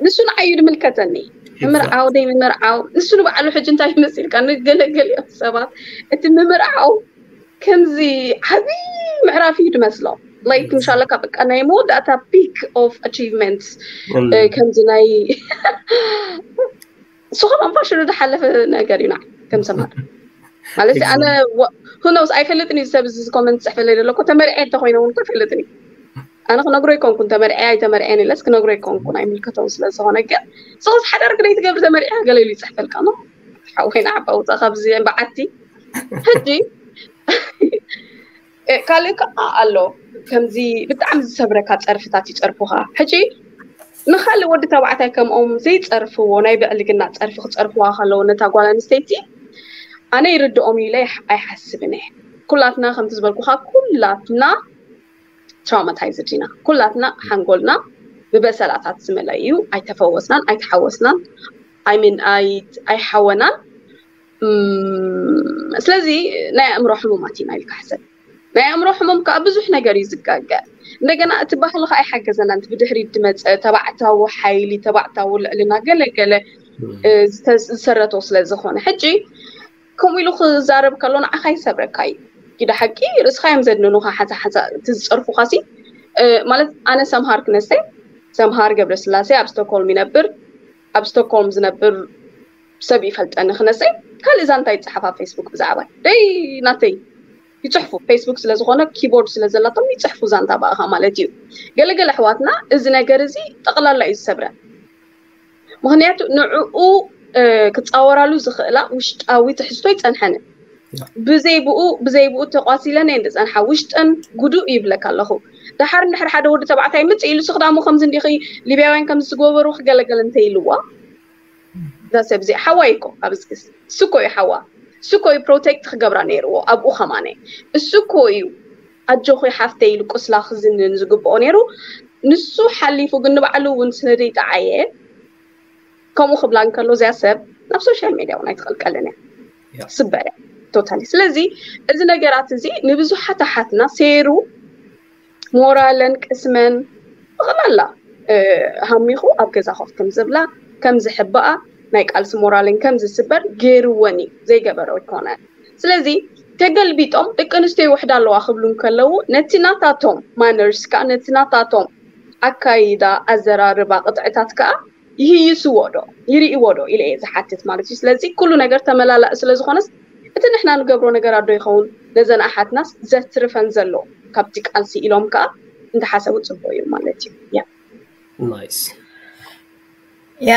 ንሱ ንዓዩ ድምልከተኒ ምምርዓው ደይ ምምርዓው ንሱ ንባዕሉ ሕጂ እንታይ ይመስልካ ንገለገሊኦም ሰባት እቲ ምምርዓው ከምዚ ዓብይ ምዕራፍ እዩ ድመስሎም ላይክ ምሻለካ በቃ ናይ መወዳእታ ፒክ ኦፍ ኣቺቭመንት ከምዚ ናይ እሱ ከም ኣንፋሽሉ ዝሓለፈ ነገር እዩ ንዓይ ከም ሰማር ማለት ኣነ ሁኖስ ኣይፈልጥን እዩ ሰብ እዚ ኮመንት ዝፅሕፈለይ ዘሎ እኮ ተመሪዐ እንተኮይነ እውን እኮ ኣይፈልጥን እዩ ኣነ ክነግሮ ይኮንኩን ተመርዐ ኣይተመርዐን ኢለስ ክነግሮ ይኮንኩን ኣይምልከተውን ስለ ዝኾነ ግን ሰውስ ሓዳር ግደይ ትገብር ተመሪዐ ገለ ኢሉ ይፅሕፈልካ ኖ ሓወይና ዓባ ውፃ ካብዚ በዓቲ ሕጂ ካልእ ከዓ ኣሎ ከምዚ ብጣዕሚ ዝሰብረካ ፀርፍታት ይፀርፉካ ሕጂ ንካልእ ወዲ ተባዕታይ ከምኦም ዘይፀርፍዎ ናይ ብዕልግና ፀርፊ ክፀርፍዋ ከለዉ ነታ ጓል ኣንስተይቲ ኣነ ይርድኦም ኢለ ኣይሓስብን እየ። ኩላትና ከምቲ ዝበልኩኻ ኩላትና ትራውማታይዝድ ኢና። ኩላትና ሓንጎልና ብበሰላታት ዝመለ እዩ። ኣይተፈወስናን ኣይተሓወስናን ኣይሚን ኣይሓወናን። ስለዚ ናይ ኣእምሮ ሕሙማት ኢና ኢልካ ሕሰብ። ናይ ኣእምሮ ሕሙም ከዓ ብዙሕ ነገር እዩ ዝጋገ። እንደገና እቲ ባህሊ ከዓ ኣይሓገዘና። እቲ ብድሕሪት ዝመፀ ተባዕታዊ ሓይሊ፣ ተባዕታዊ ልዕልና ገለ ገለ ዝሰረቶ ስለ ዝኾነ ሕጂ ከምኡ ኢሉ ክዛረብ ከሎ ንዓኻ ይሰብረካ እዩ። ጊዳ ሓቂ ርእስኻ እዮም ዘድንኑኻ። ሓንሳ ሓንሳ እቲ ዝፀርፉኻ ሲ ማለት ኣነ ሰምሃር ክነሰ ሰምሃር ገብረስላሴ ኣብ ስቶክሆልም ይነብር። ኣብ ስቶክሆልም ዝነብር ሰብ ይፈልጠኒ ክነሰ ካልእ ዛንታ ይፀሓፍ ኣብ ፌስቡክ ብዛዕባ ደይ ናተይ ይፅሕፉ። ፌስቡክ ስለ ዝኾነ ኪቦርድ ስለ ዘላቶም ይፅሕፉ ዛንታ ብኣኻ ማለት እዩ። ገለገለ ኣሕዋትና እዚ ነገር እዚ ጠቕላላ እዩ ዝሰብረን። ምኽንያቱ ንዕኡ ክፃወራሉ ዝኽእላ ውሽጣዊ ትሕዝቶ ይፀንሐንን። ብዘይ ብኡ ብዘይ ብኡ ተቋሲለን እየን ዝፀንሓ። ውሽጠን ጉዱእ ይብለካ ኣለኹ። ደሓር እንድሕር ሓደ ወዲ ተባዕታይ ምፅ ኢሉ ስኽዳሙ ከምዚ እንዲኺ ሊብያውያን ከምዚ ዝገበሩ ክገለገል እንተ ኢልዋ እዛ ሰብ እዚኣ ሓዋ እዩ እኮ ኣብዚ ግስ እሱ እኮ እዩ ሓዋ እሱ እኮ እዩ ፕሮቴክት ክገብራ ነይርዎ ኣብኡ ከማነ እሱ እኮ እዩ ኣጆኺ ሓፍተይ ኢሉ ቁስላ ክዝንን ዝግብኦ ነይሩ። ንሱ ሓሊፉ ግን ንባዕሉ እውን ስለ ዘይጠዓየ ከምኡ ክብላ እንከሎ እዚኣ ሰብ ናብ ሶሻል ሜድያ እውን ኣይትቐልቀልን እያ። ስበረ ቶታሊ። ስለዚ እዚ ነገራት እዚ ንብዙሓት ኣሓትና ሴሩ ሞራለን ቅስመን ብቐላላ ሃሚኹ ኣብ ገዛ ኮፍ ከም ዝብላ ከም ዝሕብኣ ናይ ቃልሲ ሞራልን ከም ዝስበር ገይርወን እዩ። ዘይገበሮ ኣይኮነን። ስለዚ ተገልቢጦም ደቂ ኣንስትዮ ይውሕዳ ኣለዋ ክብሉ እንከለዉ ነቲ ናታቶም ማነርስ ከዓ ነቲ ናታቶም ኣካይዳ ኣዘራርባ ቅጥዕታት ከዓ ይህይስዎ ዶ ይርእዎ ዶ ኢለ እየ ዝሓትት ማለት እዩ። ስለዚ ኩሉ ነገር ተመላላእ ስለ ዝኾነስ እቲ ንሕና ንገብሮ ነገር ኣዶ ይኸውን ነዘን ኣሓትናስ ዘትርፈን ዘሎ ካብቲ ቃልሲ ኢሎም ከዓ እንተሓሰቡ ፅቡቅ እዩ ማለት እዩ። ያ ናይስ ያ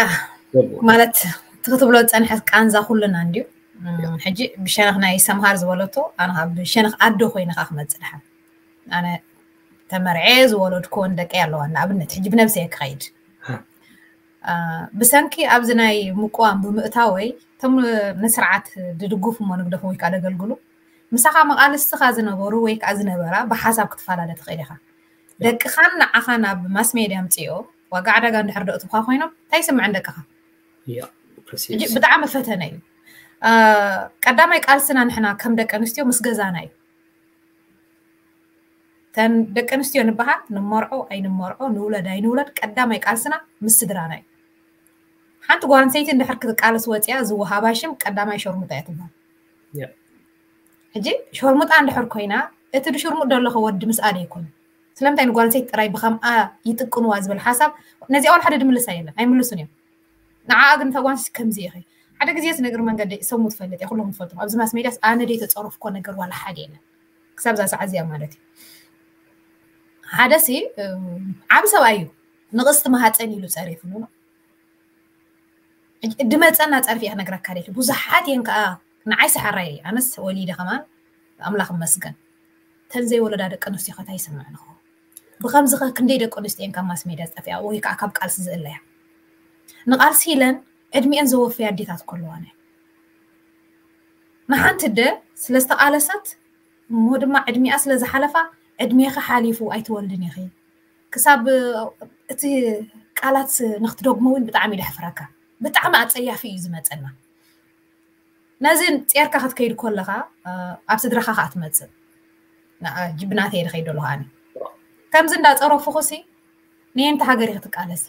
ማለት እቲ ክትብሎ ዝፀንሐት ቃንዛ ኩልና እንድዩ። ሕጂ ብሸነኽ ናይ ሰምሃር ዝበለቶ ኣነ ብሸነኽ ኣዶ ኮይነ ከዓ ክመፅእ ድሓን ኣነ ተመርዐ ዝወለድኮን ደቂ ኣለዋ ንኣብነት ሕጂ ብነብሰ ክኸይድ ብሰንኪ ኣብዚ ናይ ምቅዋም ብምእታወይ እቶም ንስርዓት ድድጉፍ እሞ ንግደፎም ወይ ከዓ ደገልግሉ ምሳኻ መቃልስትኻ ዝነበሩ ወይ ከዓ ዝነበራ ብሓሳብ ክትፈላለ ትኽእል ኢኻ። ደቅኻን ንዓኻን ኣብ ማስ ሜድያ ምፅኦ ዋጋ ዕዳጋ እንድሕር ደእትብካ ኮይኖም እንታይ ይስምዐን ደቅኻ? ሕጂ ብጣዕሚ ፈተነ እዩ። ቀዳማይ ቃልስና ንሕና ከም ደቂ ኣንስትዮ ምስ ገዛና እዩ። ተን ደቂ ኣንስትዮ ንበሃል ንመርዖ ኣይንመርዖ ንውለድ ኣይንውለድ ቀዳማይ ቃልስና ምስ ስድራና እዩ። ሓንቲ ጓል ኣንስተይቲ እንድሕር ክትቃለስ ወፂኣ ዝወሃባ ሽም ቀዳማይ ሸርሙጣ እያ ትበሃል። ሕጂ ሸርሙጣ እንድሕር ኮይና እቲ ድሽርሙጥ ደለኸ ወዲ ምስኣ ዶ ኣይኮነ? ስለምንታይ ንጓል ኣንስተይቲ ጥራይ ብኸምኣ ይጥቅንዋ ዝብል ሓሳብ ነዚኣ ዋላ ሓደ ድምልሳ የለን ኣይምልሱን እዮም። ንዓኣ ግን እታ ጓል ኣንስተይቲ ከምዚ ኢኺ ሓደ ግዜ እዚ ነገር መንገዲ ሰሙ ትፈልጥ እየ ኩሎም ትፈልጡ ኣብዚ ማስ ሜድያስ ኣነ ደይ ተፀረፍኮ ነገር ዋላ ሓደ የለን። ክሳብ እዛ ሰዓት እዚኣ ማለት እዩ። ሓደ ሲ ዓብ ሰብኣይ እዩ ንቕስቲ መሃፀን ኢሉ ፀሪፉ ድመፀና ፀርፊ እየ ክነግረካ ደሊ ብዙሓት እየን ከዓ ንዓይ ሰሓራይ ኣነስ ወሊደ ከማን ኣምላኽ መስገን ተን ዘይወለዳ ደቂ ኣንስትዮ ከታ ይሰምዕ ንኸ ብከምዚ ከ ክንደይ ደቂ ኣንስትዮ እየን ካብ ማስ ሜድያ ዝጠፊኣ ወይ ከዓ ካብ ቃልሲ ዝእለያ ንቃልሲ ኢለን ዕድሚኤን ዘወፈያ ኣዴታት ከለዋን ንሓንቲ ደ ስለዝተቃለሰት እሞ ድማ ዕድሚኣ ስለ ዝሓለፋ ዕድሜኺ ሓሊፉ ኣይትወልድን ኢኺ ክሳብ እቲ ቃላት ንክትደግሞ እውን ብጣዕሚ ደሕፍረካ ብጣዕሚ ኣፀያፊ እዩ ዝመፀና ነዚ ፂርካ ክትከይድ ከለካ ኣብ ስድራካ ከዓ ትመፅእ ጅብናተ የደ ከይድ ኣለኩ ኣነ ከምዚ እንዳፀረፉኩሲ ንየንቲ ሃገር ክትቃለሲ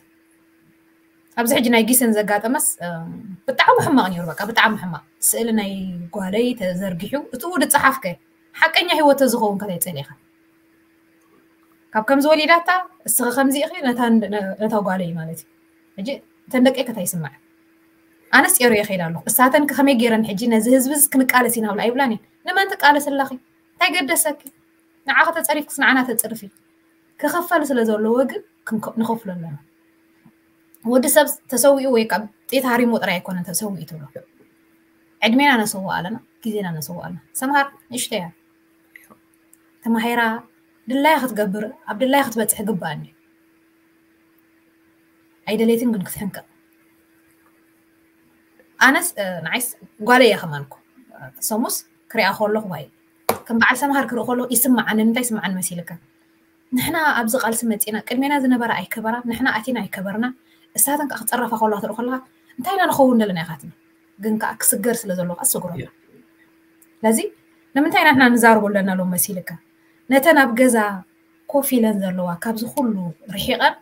ኣብዚ ሕጂ ናይ ጊሰን ዘጋጠመስ ብጣዕሚ ሕማቅ ነይሩ በቃ ብጣዕሚ ሕማቅ ስእሊ ናይ ጓለይ ተዘርጊሑ እትኡ ድፀሓፍከ ሓቀኛ ህይወት ተዝኸውን ከታይ ፀሊእካ ካብ ከምዚ ወሊዳታ እስኺ ከምዚ ኢኺ ነታ ጓለይ ማለት እዩ ሕጂ እተን ደቂ ከታይ ይስማዕ ኣነስ ጨሩ የኸይድ ኣለኹ እሳተን ከመይ ገይረን ሕጂ ነዚ ህዝቢ ክንቃለስ ኢና ብላ ኣይብላን እየን ንመን ትቃለስ ኣለኺ እንታይ ገደሰኪ ንዓ ከተፀሪፍክስ ንዓና ተፅርፊ ክኸፈል ስለ ዘለዎ ግን ንኸፍሎ ኣለና ወዲ ሰብ ተሰዊኡ ወይ ከዓ ጥይት ሃሪሞ ጥራይ ኣይኮነን ተሰዊኡ ትብሎ ዕድሜና ነሰውእ ኣለና ግዜና ነሰውእ ኣለና ሰምሃር ንእሽተያ ተማሂራ ድላያ ክትገብር ኣብ ድላያ ክትበፅሕ ግባእ እንዲ ኣይደሌትን ግን ክትሕንቀቕ ኣነስ ንዓይስ ጓለ እያ ከማንኩ ሰሙስ ክሪኣ ከለኹ ዋይ ከም በዓል ሰምሃር ክርኢ ከለኹ ይስምዓኒ። እንታይ ይስምዓኒ መሲልካ? ንሕና ኣብዚ ቃልሲ መፂና ቅድሜና ዝነበራ ኣይከበራ፣ ንሕና ኣቲና ኣይከበርና፣ እሳተን ከዓ ክፀረፋ ከለዋ ትርኢ ከለካ እንታይ ኢና ንኸውን ዘለና ኢካ ትብል። ግን ከዓ ክስገር ስለ ዘለዎ ከዓ ትሰግሮ ኣለካ። ስለዚ ንምንታይ ኢና ንሕና ንዛረቦ ኣለና ሎም መሲልካ? ነተን ኣብ ገዛ ኮፍ ኢለን ዘለዋ ካብዚ ኩሉ ርሒቐን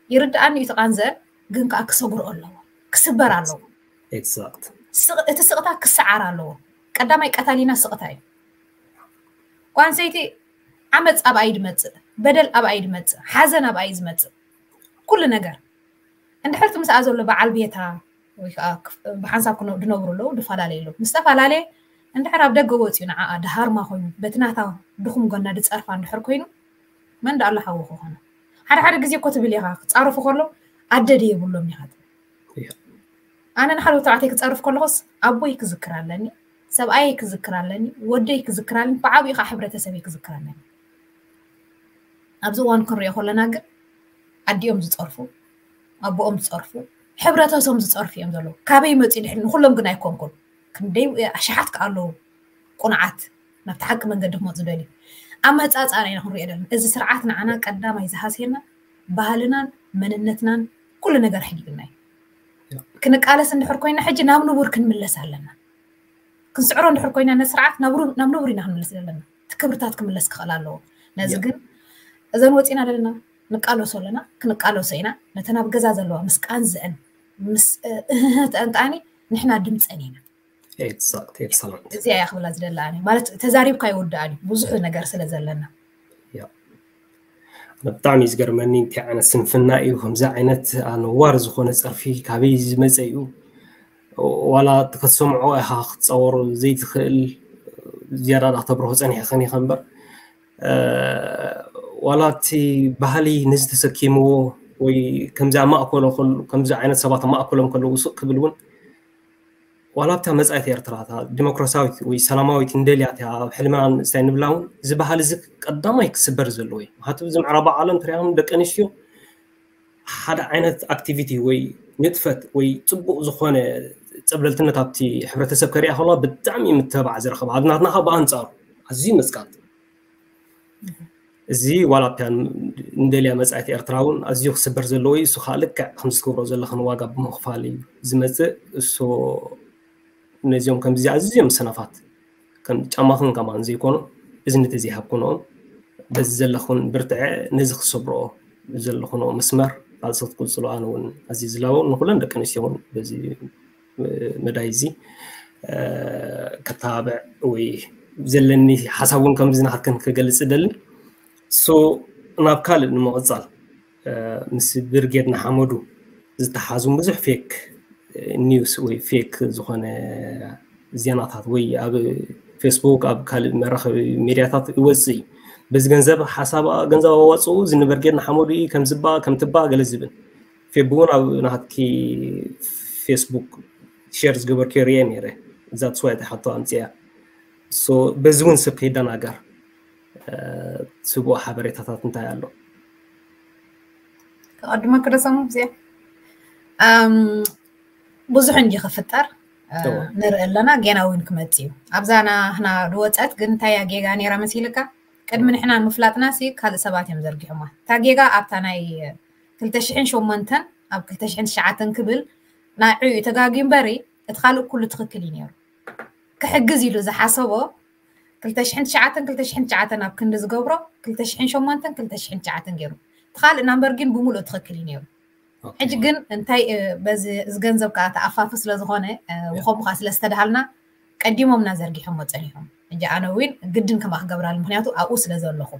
ይርድኣኒ እዩ እቲ ቃንዘአን፣ ግን ከዓ ክሰግሮ ኣለዎ፣ ክስበር ኣለዎ። Exact. ስቕ- እቲ ስቕታ ክሰዓር ኣለዎ። ቀዳማይ ቀታሊና ስቕታ እዩ። ጓል ኣንስተይቲ ዓመፅ ኣብኣ እዩ ዝመፅእ፣ በደል ኣብኣ እዩ ዝመፅእ፣ ሓዘን ኣብኣ እዩ ዝመፅእ። ኩሉ ነገር እንድሕር እቲ ምስኣ ዘሎ በዓል ቤታ ወይ ከዓ ክፍ- ብሓንሳብ ክነ- ዝነብሩ ኣለዉ፣ ዝፈላለዩ ኣለዉ። ምስ ተፈላለየ እንድሕር ኣብ ደገ ወፂኡ ንዓኣ ድሃርማ ኮይኑ በቲ ናታ ድኹም ጎና ድፀርፋ እንድሕር ኮይኑ መን ደኣ ኣሎ ሓዊ ክኾነ? ሓደ ሓደ ግዜ እኮ ትብል ኢኻ ክፃረፉ ከሎ ኣደ ድየ የብሎም ኢኻ ትብል። እያ። ኣነ ንሓደ ተባዕታይ ክፀርፍ ከለኹስ ኣቦይ ክዝክር ኣለኒ፣ ሰብኣየይ ክዝክር ኣለኒ፣ ወደይ ክዝክር ኣለኒ፣ ብዓብኡ ከዓ ሕብረተሰበይ ክዝክር ኣለኒ። ኣብዚ እዋን ክንሪኦ ከለና ግን ኣዲኦም ዝፀርፉ፣ ኣቦኦም ዝፀርፉ፣ ሕብረተሰቦም ዝፀርፉ እዮም ዘለዉ። ካበይ መፅኡ ድሕሪ ንኩሎም ግን ኣይኮንኩን። ክንደይ ኣሽሓት ከኣ ኣለዉ ቁኑዓት ናብቲ ሓቂ መንገዲ ክመፁ ደልዩ። ኣመፃፅኣና ኢና ክንሪኦ ዘለና። እዚ ስርዓት ንዓና ቀዳማይ ዝሃስየና ባህልናን መንነትናን ኩሉ ነገር ሕጊብና እዩ። ክንቃለስ እንድሕር ኮይና ሕጂ ናብ ንቡር ክንምለስ ኣለና። ክንስዕሮ እንድሕር ኮይና ነቲ ስርዓት ናብ ሩ- ናብ ንቡር ኢና ክንምለስ ዘለና። እቲ ክብርታት ክምለስ ክኽእል ኣለዎ። ነዚ ያ። ግን እዘን ወፂና ዘለና ንቃለሶ ኣለና፣ ክንቃለሶ ኢና። ነተን ኣብ ገዛ ዘለዋ ምስ ቃንዝአን ምስ እህህ ተንጣኒ ንሕና ድምፀን ኢና። Exact. Excellent. እዚኣ እያ ክብላ ዝደላ ኣነ። ማለት ተዛሪብካ ይውዳእ እዩ ብዙሕ ነገር ስለ ዘለና። ያ። ኣነ ብጣዕሚ እዩ ዝገርመኒ እንታይ ዓይነት ስንፍና እዩ ከምዚ ዓይነት ኣነዋር ዝኾነ ፀርፊ ካበይ ዝመፀ እዩ? ዋላ እቲ ክትሰምዖ ኢኻ ክትፀወሮ ዘይትኽእል ዝያዳ ዳ ክተብርሆ ፀኒሕኽን ኢኻ እምበር እ፣ ዋላ እቲ ባህሊ ነዚ ተሰኪምዎ ወይ ከምዚ ኣብ ማእከሎ ከሎ ከምዚ ዓይነት ሰባት ኣብ ማእከሎም ከለዉ ስቕ ክብል እውን ዋላ ኣብታ መጻኢት ኤርትራ እታ ዲሞክራሲያዊት ወይ ሰላማዊት እንደልያ እቲኣ ኣብ ሕልምና ንእስታይ ንብላ እውን እዚ ባህሊ እዚ ቀዳማይ ክስበር ዘለዎ እዩ። ምክንያቱ እዚ ምዕራብ ዓለም ትሪኣም ደቂ ኣንስትዮ ሓደ ዓይነት ኣክቲቪቲ ወይ ንጥፈት ወይ ፅቡቕ ዝኾነ ፀብለልትነት ኣብቲ ሕብረተሰብ ከሪኣ ከለዋ ብጣዕሚ ምትብባዕ ዝረኽብ ኣብ ናትና ከዓ ብኣንፃሩ ኣዝዩ መፅቃጥ እዚ ዋላ ኣብታ እንደልያ መፃኢት ኤርትራ እውን ኣዝዩ ክስበር ዘለዎ እዩ። እሱ ከዓ ልክዕ ከምዚ ትገብሮ ዘለኽን ዋጋ ብምኽፋል እዩ ዝመፅእ። እሱ ነዚኦም ከምዚ ኣዝዮም ሰነፋት ከም ጫማኽን ከማን ዘይኮኑ እዝኒ ተዘይሃብክንኦም በዚ ዘለኹን ብርትዐ ነዚ ክሰብርኦ ዘለኹንኦ መስመር ቃልሲ ክትቅፅሉ ኣነ እውን ኣዝየ ዝላቦ ንኩለን ደቂ ኣንስትዮ እውን በዚ መዳይ እዚ ከተባብዕ ወይ ዘለኒ ሓሳብ እውን ከምዚ ናትክን ክገልፅ እደሊ። ሶ ናብ ካልእ ንምቕፃል ምስ ብርጌድ ንሓመዱ ዝተሓዙ ብዙሕ ፌክ ኒውስ ወይ ፌክ ዝኾነ ዜናታት ወይ ኣብ ፌስቡክ ኣብ ካልእ መራኸቢ ሚድያታት ይወፅእ እዩ። በዚ ገንዘብ ሓሳብ ገንዘብ ኣዋፅኡ እዚ ንብርጌድ ንሓመዱ እዩ ከምዝባ ከምትባ ገለ ዝብል ፌብ እውን ኣብ ናትኪ ፌስቡክ ሼር ዝገበርክዮ ሪኤ ነይረ። ዛትስ ዋይ እታ ሕቶ ኣምፅያ። ሶ በዚ እውን ሰብ ከይደናገር ስቡእ ሓበሬታታት እንታይ ኣሎ? ከቐድመ ክደሰሙ እዚኣ ብዙሕ እንዲ ክፍጠር ንርኢ ኣለና። ጌና እውን ክመፅ እዩ። ኣብዛ ናህና ዝወፀት ግን እንታይ እያ ጌጋ ነይራ መሲልካ? ቅድሚ ንሕና ምፍላጥና ሲ ካልእ ሰባት እዮም ዘርጊሖማ። እታ ጌጋ ኣብታ ናይ ክልተ ሽሕን ሸሞንተን ኣብ ክልተ ሽሕን ትሽዓተን ክብል ናይ ዕዩ ተጋግዩ እምበሪ እቲ ካልእ ኩሉ ትኽክል እዩ ነይሩ። ክሕግዝ ኢሉ ዝሓሰቦ ክልተ ሽሕን ትሽዓተን ክልተ ሽሕን ትሽዓተን ኣብ ክንዲ ዝገብሮ ክልተ ሽሕን ሸሞንተን ክልተ ሽሕን ትሽዓተን ገይሩ። እቲ ካልእ ናምበር ግን ብምሉእ ትኽክል እዩ ነይሩ። ሕጂ ግን እንታይ በዚ እዚ ገንዘብ ከዓ ተኣፋፊ ስለ ዝኾነ ብኸምኡ ከዓ ስለ ዝተድሃልና ቀዲሞምና ዘርጊሖሞ ፀኒሖም። ሕጂ ኣነ እውን ግድን ከምኣ ክገብራሉ ምክንያቱ ኣብኡ ስለ ዘለኹ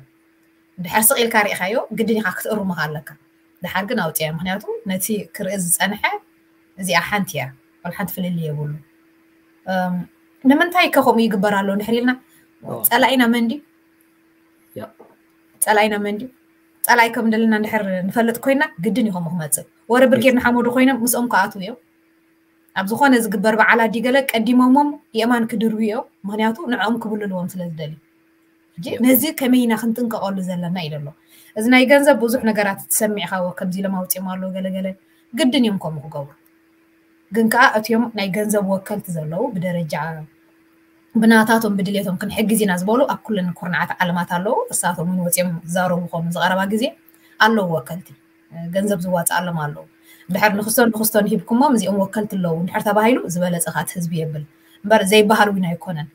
ድሕር ስቕ ኢልካ ሪኢኻዮ ግድን ኢኻ ክትእርምኻ ኣለካ። ድሓር ግን ኣውፅያ ምክንያቱ ነቲ ክርኢ ዝፀንሐ እዚኣ ሓንቲ እያ። ወላ ሓንቲ ፍልልይ የብሉ። ንምንታይ ከ ከምኡ ይግበር ኣሎ እንድሕር ኢልና ፀላኢና መን ድዩ? ፀላኢና መን ድዩ? ፀላኢ ከም እንደለና እንድሕር ንፈልጥ ኮይና ግድን እዩ ከምኡ ክመፅእ። ወረ ብርጌድ ንሓመዱ ኮይኖም ምስኦም ክኣትዉ እዮም። ኣብ ዝኾነ ዝግበር በዓል ኣዲ ገለ ቀዲሞሞም የእማን ክድርቡ እዮም። ምክንያቱ ንዕኦም ክብልልዎም ስለ ዝደልዩ። ሕጂ ነዚ ከመይ ኢና ክንጥንቀቐሉ ዘለና ኢለ ኣሎ። እዚ ናይ ገንዘብ ብዙሕ ነገራት ትሰሚዕኻዎ ከምዚ ኢሎም ኣውፂኦም ኣለዉ ገለገለ ግድን እዮም ከምኡ ክገብሩ። ግን ከዓ እቲኦም ናይ ገንዘብ ወከልቲ ዘለዉ ብደረጃ ብናታቶም ብድሌቶም ክንሕግዝ ኢና ዝበሉ ኣብ ኩለን ኩርናዓት ዓለማት ኣለዉ። እሳቶም እውን ወፂኦም ዝዛረቡ ኮኑ ዝቐረባ ግዜ ኣለዉ ወከልቲ፣ ገንዘብ ዝዋፅኣሎም ኣለዉ። ድሕር ንክስቶን ንክስቶን ሂብኩሞም እዚኦም ወከልቲ ኣለዉ እንድሕር ተባሂሉ ዝበለፀ ካት ህዝቢ የብል እምበር ዘይበሃል እውን ኣይኮነን።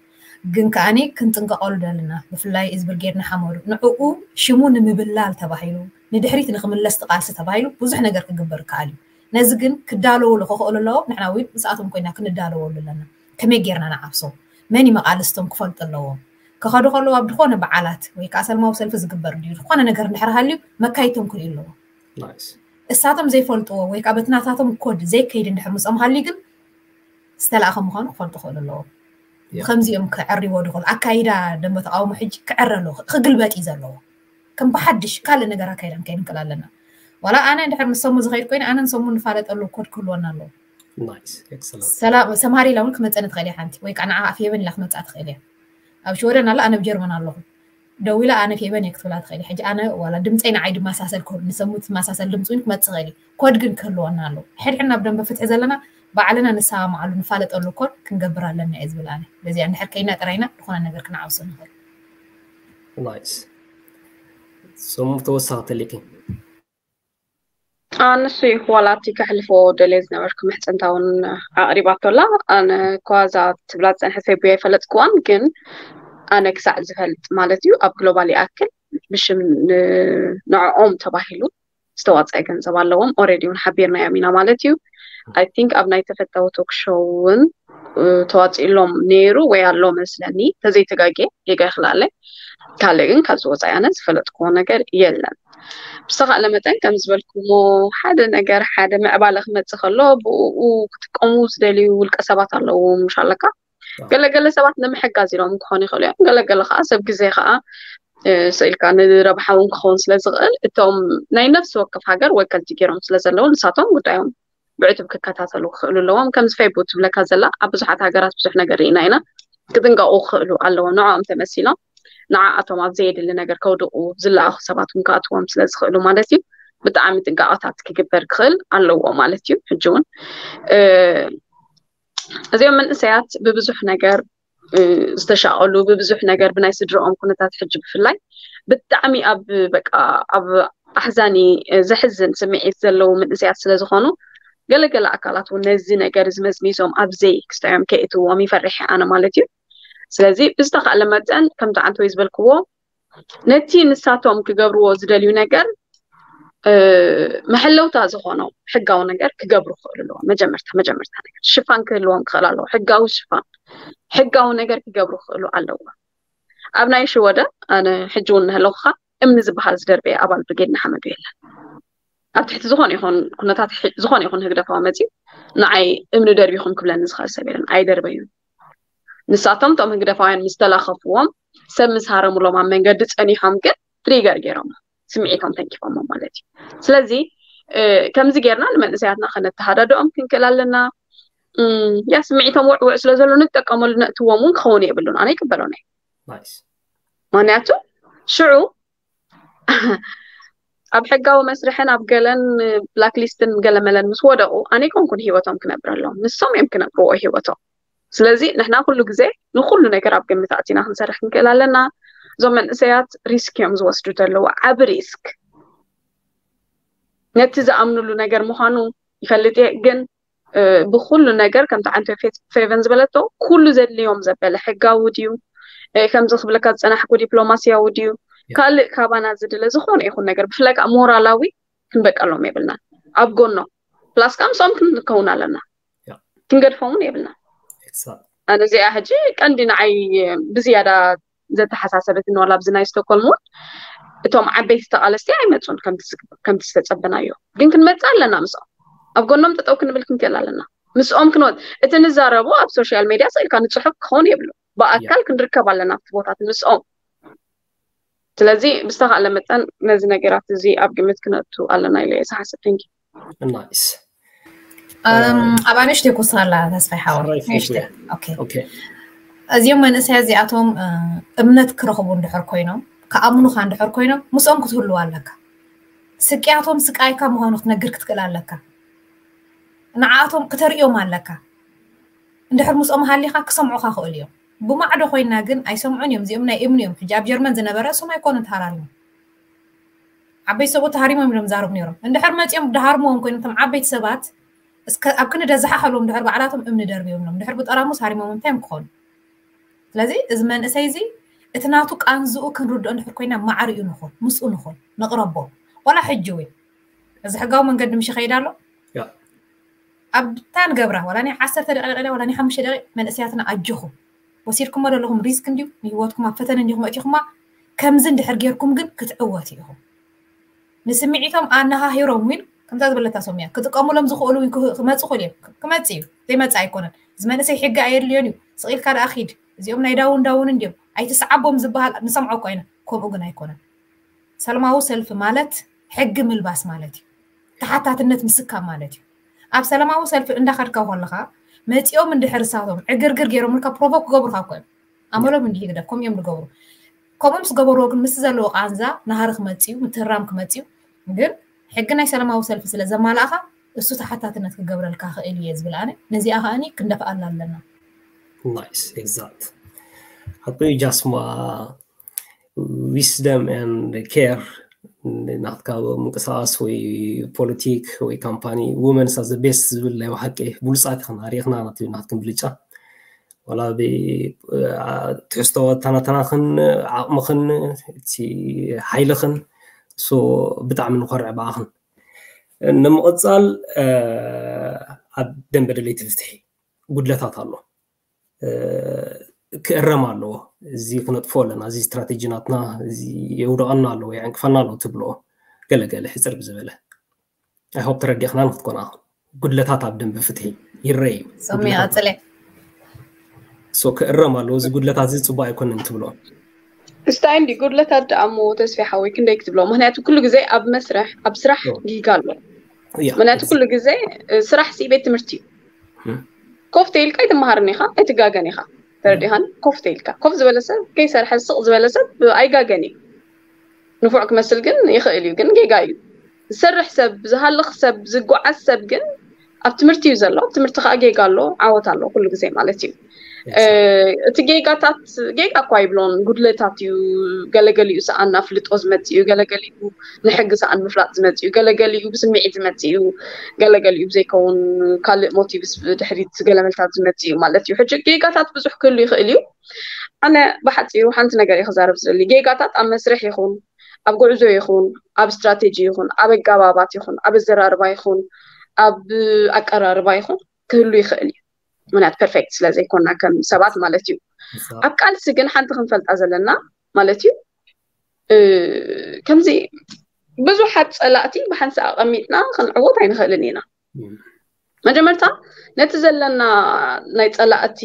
ግን ከኣኒ ክንጥንቀቐሉ ደልና፣ ብፍላይ እዚ ብርጌድ ንሓመዱ ንዕኡ ሽሙ ንምብላል ተባሂሉ፣ ንድሕሪት ንክምለስ ትቃልሲ ተባሂሉ ብዙሕ ነገር ክግበር ይከኣል እዩ። ነዚ ግን ክዳለውሉ ክኽእሉ ኣለዎም። ንሕና እውን ምስኣቶም ኮይና ክንዳለወሉ ኣለና። ከመይ ጌርና ንዓብሶ፣ መን እዩ መቃልስቶም ክፈልጡ ኣለዎም። ክኸዱ ከለዉ ኣብ ዝኾነ በዓላት ወይ ከዓ ሰልማዊ ሰልፊ ዝግበር ድዩ ዝኾነ ነገር እንድሕር ሃልዩ መካይቶም ክርእዩ ኣለዎም። እሳቶም ዘይፈልጥዎ ወይ ከዓ በቲ ናታቶም ኮድ ዘይከይድ እንድሕር ምስኦም ሃልዩ ግን ዝተላእኸ ምዃኑ ክፈልጡ ክኽእሉ ኣለዎም። ከምዚኦም ክዕርዎ ድኽእሉ ኣካይዳ ደንበ ተቃውሞ ሕጂ ክዕረ ኣለዎ፣ ክግልበጥ እዩ ዘለዎ። ከም ብሓድሽ ካልእ ነገር ኣካይዳ ንከይድ ንክእል ኣለና። ዋላ ኣነ እንድሕር ምስ ሰሙ ዝኸይድ ኮይኑ ኣነ ንሰሙ ንፋለጠሉ ኮድ ክህልወና ኣለዎ። ሰማሪ ኢላ እውን ክመፀኒ ትኽእል እያ ሓንቲ ወይ ከዓ ንዓ ኣፍየበን ኢላ ክመፅኣ ትኽእል እያ። ኣብ ሽወደን ኣላ ኣነ ኣብ ጀርመን ኣለኹ። ደው ኢላ ኣነ ፌበን እየ ክትብላ ትኽእል እያ። ሕጂ ኣነ ዋላ ድምፀይ ንዓይ ድመሳሰል ኮድ ንሰሙ ትመሳሰል ድምፂ እውን ክመፅእ ይኽእል እዩ። ኮድ ግን ክህልወና ኣለዎ። ሕድሕድና ኣብ ደንበ ፍትሒ ዘለና ባዕልና ንሰማማዓሉ ንፋለጠሉ ኮድ ክንገብር ኣለና እየ ዝብል ኣነ። በዚኣ እንድሕር ከይና ጥራይና ዝኾነ ነገር ክንዓብሶ ንኽእል። ናይስ። ስሙ ተወሳኺ ተሊኪ። ኣንሱ እዩ ዋላ እቲ ከሕልፎ ደልየ ዝነበርኩ ምሕፅንታ እውን ኣቕሪባቶ ኣላ። ኣነ ኳዛ ትብላ ዝፀንሐ ሰብያ ይፈለጥክዋን ግን ኣነ ክሳዕ ዝፈልጥ ማለት እዩ ኣብ ግሎባል ይኣክል ብሽም ንዕኦም ተባሂሉ ዝተዋፀአ ገንዘብ ኣለዎም። ኦሬዲ እውን ሓቢርናዮም ኢና ማለት እዩ። ኣይ ቲንክ ኣብ ናይ ተፈታዊ ቶክ ሾው እውን ተዋፂእሎም ነይሩ ወይ ኣሎ መስለኒ፣ ተዘይተጋጌ ጌጋ ይኽልኣለይ። ካልእ ግን ካብዚ ወፃኢ ኣነ ዝፈለጥክዎ ነገር የለን። ብዝተኻእለ መጠን ከም ዝበልኩሞ ሓደ ነገር ሓደ ምዕባለ ክመፅእ ከሎ ብኡ ክጥቀሙ ዝደልዩ ውልቀ ሰባት ኣለዉ ምሽ ኣለካ። ገለገለ ሰባት ንምሕጋዝ ኢሎም ክኾኑ ይኽእሉ እዮም። ገለገለ ከዓ ሰብ ግዜ ከዓ ስኢልካ ንረብሓ እውን ክኸውን ስለ ዝኽእል እቶም ናይ ነፍሲ ወከፍ ሃገር ወከልቲ ገይሮም ስለ ዘለዉ ንሳቶም ጉዳዮም ብዕቱብ ክከታተሉ ክኽእሉ ኣለዎም። ከምዚ ፌቡ ትብለካ ዘላ ኣብ ብዙሓት ሃገራት ብዙሕ ነገር ርኢና ኢና። ክጥንቀቑ ክኽእሉ ኣለዎም። ንዕኦም ተመሲሎም ንዓኣቶም ኣብ ዘየድሊ ነገር ከውድቑ ዝለኣኹ ሰባት እውን ክኣትዎም ስለ ዝኽእሉ ማለት እዩ። ብጣዕሚ ጥንቃቐታት ክግበር ክኽእል ኣለዎ ማለት እዩ። ሕጂ እውን እዚኦም መንእሰያት ብብዙሕ ነገር ዝተሻቐሉ ብብዙሕ ነገር ብናይ ስድረኦም ኩነታት ሕጂ ብፍላይ ብጣዕሚ ኣብ በቃ ኣብ ኣሕዛኒ ዘሕዝን ስምዒት ዘለዉ መንእሰያት ስለ ዝኾኑ ገለገለ ኣካላት እውን ነዚ ነገር እዚ መዝሚዞም ኣብዘይ ክስታዮም ከእትዎም ይፈርሕ ኣነ ማለት እዩ። ስለዚ ብዝተኻእለ መጠን ከምቲ ዓንተወይ ዝበልክዎ ነቲ ንሳቶም ክገብርዎ ዝደልዩ ነገር መሐለውታ ዝኾኖ ሕጋዊ ነገር ክገብሩ ክኽእሉ ኣለዎ። መጀመርታ መጀመርታ ነገር ሽፋን ክህልዎም ክኽእል ኣለዎ። ሕጋዊ ሽፋን ሕጋዊ ነገር ክገብሩ ክኽእሉ ኣለዎ። ኣብ ናይ ሽወደ ኣነ ሕጂ እውን ንህለኹኻ እምኒ ዝበሃል ዝደርበየ ኣባል ብርጌድ ንሓመዱ የለን። ኣብ ትሕቲ ዝኾነ ይኹን ኩነታት ዝኾነ ይኹን ህግደፋዊ መፂኡ ንዓይ እምኒ ደርቢኹም ክብለኒ ዝኽእል ሰብ የለን። ኣይደርበዩን። ንሳቶም እቶም ህግደፋውያን ምስ ተላኸፍዎም ሰብ ምስ ሃረሙሎም ኣብ መንገዲ ፀኒሖም ግን ትሪገር ገይሮም ስምዒቶም ተንኪፎሞ ማለት እዩ። ስለዚ ከምዚ ጌርና ንመንእሰያትና ከነተሃዳድኦም ክንክእል ኣለና። ያ ስምዒቶም ውዕውዕ ስለ ዘሎ ንጥቀመሉ ነእትዎም እውን ክኸውን የብሉን። ኣነ ይቅበሎን እየ። ምክንያቱ ሽዑ ኣብ ሕጋዊ መስርሕን ኣብ ገለን ብላክ ሊስትን ገለመለን ምስ ወደቑ ኣነ ይኮንኩን ሂወቶም ክነብረሎም፣ ንሶም እዮም ክነብርዎ ሂወቶም። ስለዚ ንሕና ኩሉ ግዜ ንኩሉ ነገር ኣብ ግምት ኣእቲና ክንሰርሕ ክንክእል ኣለና። እዞም መንእሰያት ሪስክ እዮም ዝወስዱ ዘለዉ፣ ዓቢ ሪስክ። ነቲ ዝኣምኑሉ ነገር ምዃኑ ይፈልጥ እየ፣ ግን ብኩሉ ነገር ከምቲ ዓንቶ ፌቨን ዝበለቶ ኩሉ ዘድልዮም ዘበለ ሕጋዊ ድዩ፣ ከምዚ ክብለካ ዝፀናሕኩ ዲፕሎማስያዊ ድዩ፣ ካልእ ካባና ዝድለ ዝኾነ ይኹን ነገር ብፍላይ ከዓ ሞራላዊ ክንበቀሎም የብልናን። ኣብ ጎኖም ፕላስ ከዓ ምስኦም ክንከውን ኣለና። ክንገድፎም እውን የብልናን። ኣነ እዚኣ ሕጂ ቀንዲ ንዓይ ብዝያዳ ዘተሓሳሰበትኒ ዋላ ኣብዚ ናይ ስቶኮልም እውን እቶም ዓበይቲ ተቓለስቲ ኣይመፁን ከምቲ ዝተፀበናዮ፣ ግን ክንመፅእ ኣለና ምስኦም። ኣብ ጎኖም ጠጠው ክንብል ክንክእል ኣለና። ምስኦም ክንወ እቲ ንዛረቦ ኣብ ሶሻል ሜድያ ስኢልካ ንፅሑፍ ክኸውን የብሉ። ብኣካል ክንርከብ ኣለና ኣብቲ ቦታት ምስኦም። ስለዚ ብዝተኻእለ መጠን ነዚ ነገራት እዚ ኣብ ግምት ክነእቱ ኣለና ኢለ እየ ዝሓስብ። ንኪ ናይስ። ኣብ ኣንሽተይ ኩሳላ ተስፋይ ሓወ እዚኦም መንእሰያ እዚኣቶም እምነት ክረኽቡ እንድሕር ኮይኖም ክኣምኑካ እንድሕር ኮይኖም ምስኦም ክትህልው ኣለካ። ስቅያቶም ስቃይካ ምዃኑ ክትነግር ክትክእል ኣለካ። ንዓኣቶም ክተርእዮም ኣለካ። እንድሕር ምስኦም ሃሊኻ ክሰምዑኻ ክእሉ እዮም። ብማዕዶ ኮይና ግን ኣይሰምዑን እዮም። እዚኦም ናይ እምኒ እዮም። ሕጂ ኣብ ጀርመን ዝነበረ እሶም ኣይኮኑን ተሃራሪሞም። ዓበይቲ ሰብኡት ተሃሪሞም እዮም ዛረቡ ነይሮም። እንድሕር መፂኦም ድሃርምዎም ኮይኖም እቶም ዓበይቲ ሰባት እስከ ኣብ ክንደ ዝሓሓሎም ድሕር ባዕላቶም እምኒ ደርብዮም እዮም። ድሕር ብጠራሙስ ሃሪሞም እንታይ እዮም ክኾኑ? ስለዚ እዚ መንእሰይ እዚ እቲ ናቱ ቃንዝኡ ክንርድኦ እንድሕር ኮይና ማዕሪኡ ንኹን፣ ምስኡ ንኹን፣ ንቕረቦ። ዋላ ሕጂ እውን እዚ ሕጋዊ መንገዲ ምሽ ይኸይድ ኣሎ። ኣብ ታን ገብራ ዋላ ናይ ዓሰርተ ደቂቕ ዋላ ናይ ሓሙሽተ ደቂቕ መንእሰያትና ኣጆኹም ወሲድኩሞ ዘለኹም ሪስክ እንድዩ፣ ንህይወትኩም ኣብ ፈተነ እንዲኹም ኣእቲኹማ። ከምዚ እንድሕር ጌርኩም ግን ክትዕወቱ ኢኹም። ንስምዒቶም ኣነሃሂሮም እውን ከምዛ ዝበለታ ሶምያ ክጥቀሙሎም ዝኽእሉ እውን ክህ- ክመፁ ክእሉ እዮም። ክመፅ እዩ ዘይመፅ ኣይኮነን። እዚ መንእሰይ ሕጊ ኣየድልዮን እዩ። ስቕ ኢልካ ደኣ ኺድ። እዚኦም ናይ ዳውን ዳውን እንድዮም ኣይትስዓቦም ዝበሃል ንሰምዖ እኮ ኢና። ከምኡ ግን ኣይኮነን። ሰላማዊ ሰልፊ ማለት ሕጊ ምልባስ ማለት እዩ። ተሓታትነት ምስካም ማለት እዩ። ኣብ ሰላማዊ ሰልፊ እንዳኸድካ ከለኻ መፂኦም እንድሕር እሳቶም ዕግርግር ገይሮምልካ ፕሮቮክ ክገብሩካ እኮ እዮም። ኣመሎም እንዲህ ግደፍ ከምኡ እዮም ዝገብሩ። ከምኡ ምስ ገበርዎ ግን ምስ ዘለዎ ቃንዛ ናሃሪ ክመፅዩ ምትህራም ክመፅዩ ግን ሕጊ ናይ ሰላማዊ ሰልፊ ስለ ዘማላእኻ እሱ ተሓታትነት ክገብረልካ ክእል እየ ዝብል ኣነ ነዚኣ ከኣኒ ክንደፍኣላ ኣለና። Nice, exact. ሓቂ ጃስማ wisdom and care ናትካ ምንቅስቃስ ወይ ፖለቲክ ወይ ካምፓኒ ውመንስ ኣዘ ቤስት ዝብል ናይ ብሓቂ ብሉፃት ኢኽን ኣሪኽና ናት ናትክን ብልጫ ዋላ ትሕዝቶ ተናተናኽን ዓቕምኽን እቲ ሓይልኽን ሶ ብጣዕሚ ንኮርዕ ብኣኽን ንምቕፃል ኣብ ደንበ ደለይቲ ፍትሒ ጉድለታት ኣሎ ክእረም ኣለዎ። እዚ ክነጥፎ ኣለና። እዚ ስትራቴጂ ናትና እዚ የውደቐና ኣለዎ፣ የዕንቅፈና ኣለዎ ትብልኦ ገለገለ ሕፅር ብዝበለ ኣይሆፕ ተረዲእኽና ንክትኮና ጉድለታት ኣብ ደንበ ፍትሒ ይረይ እዩ። ሶሚ ቀፅለ። ሶ ክእረም ኣለዎ። እዚ ጉድለታት እዚ ፅቡቅ ኣይኮነን ትብልኦ። እስታይ እንዲ ጉድለታት ደኣ እሞ ተስፊ ሓወይ ክንደይ ክትብሎ? ምክንያቱ ኩሉ ግዜ ኣብ መስርሕ ኣብ ስራሕ ጊጋ ኣሎ። ምክንያቱ ኩሉ ግዜ ስራሕ ሲ ቤት ትምህርቲ እዩ። ኮፍ ተይልካ ኣይትመሃርን ኢኻ፣ ኣይትጋገን ኢኻ። ተረዲኻን? ኮፍ ተይልካ ኮፍ ዝበለ ሰብ ከይሰርሐ ስቕ ዝበለ ሰብ ኣይጋገን እዩ። ንፉዕ ክመስል ግን ይኽእል እዩ፣ ግን ጌጋ እዩ። ዝሰርሕ ሰብ፣ ዝሃልኽ ሰብ፣ ዝጓዓዝ ሰብ ግን ኣብ ትምህርቲ እዩ ዘሎ። ኣብ ትምህርቲ ከዓ ጌጋ ኣሎ፣ ዓወት ኣሎ ኩሉ ግዜ ማለት እዩ። እቲ ጌጋታት ጌጋ እኳ ይብሎን ጉድለታት እዩ። ገለገሊኡ ሰኣን ኣፍልጦ ዝመፅእ እዩ፣ ገለገሊኡ ንሕጊ ሰኣን ምፍላጥ ዝመፅእ እዩ፣ ገለገሊኡ ብስምዒት ዝመፅእ እዩ፣ ገለገሊኡ ብዘይከውን ካልእ ሞቲቭስ ብድሕሪት ገለመልታት ዝመፅእ እዩ ማለት እዩ። ሕጂ ጌጋታት ብዙሕ ክህሉ ይኽእል እዩ። ኣነ ብሓፂሩ ሓንቲ ነገር እየ ክዛረብ ዝደሊ። ጌጋታት ኣብ መስርሕ ይኹን ኣብ ጉዕዞ ይኹን ኣብ ስትራቴጂ ይኹን ኣብ ኣጋባባት ይኹን ኣብ ኣዘራርባ ይኹን ኣብ ኣቀራርባ ይኹን ክህሉ ይኽእል እዩ። ምክንያት ፐርፌክት ስለ ዘይኮና ከም ሰባት ማለት እዩ። ኣብ ቃልሲ ግን ሓንቲ ክንፈልጣ ዘለና ማለት እዩ ከምዚ ብዙሓት ፀላእቲ ብሓንሳእ ኣቐሚጥና ክንዕወት ኣይንኽእልን ኢና። መጀመርታ ነቲ ዘለና ናይ ፀላእቲ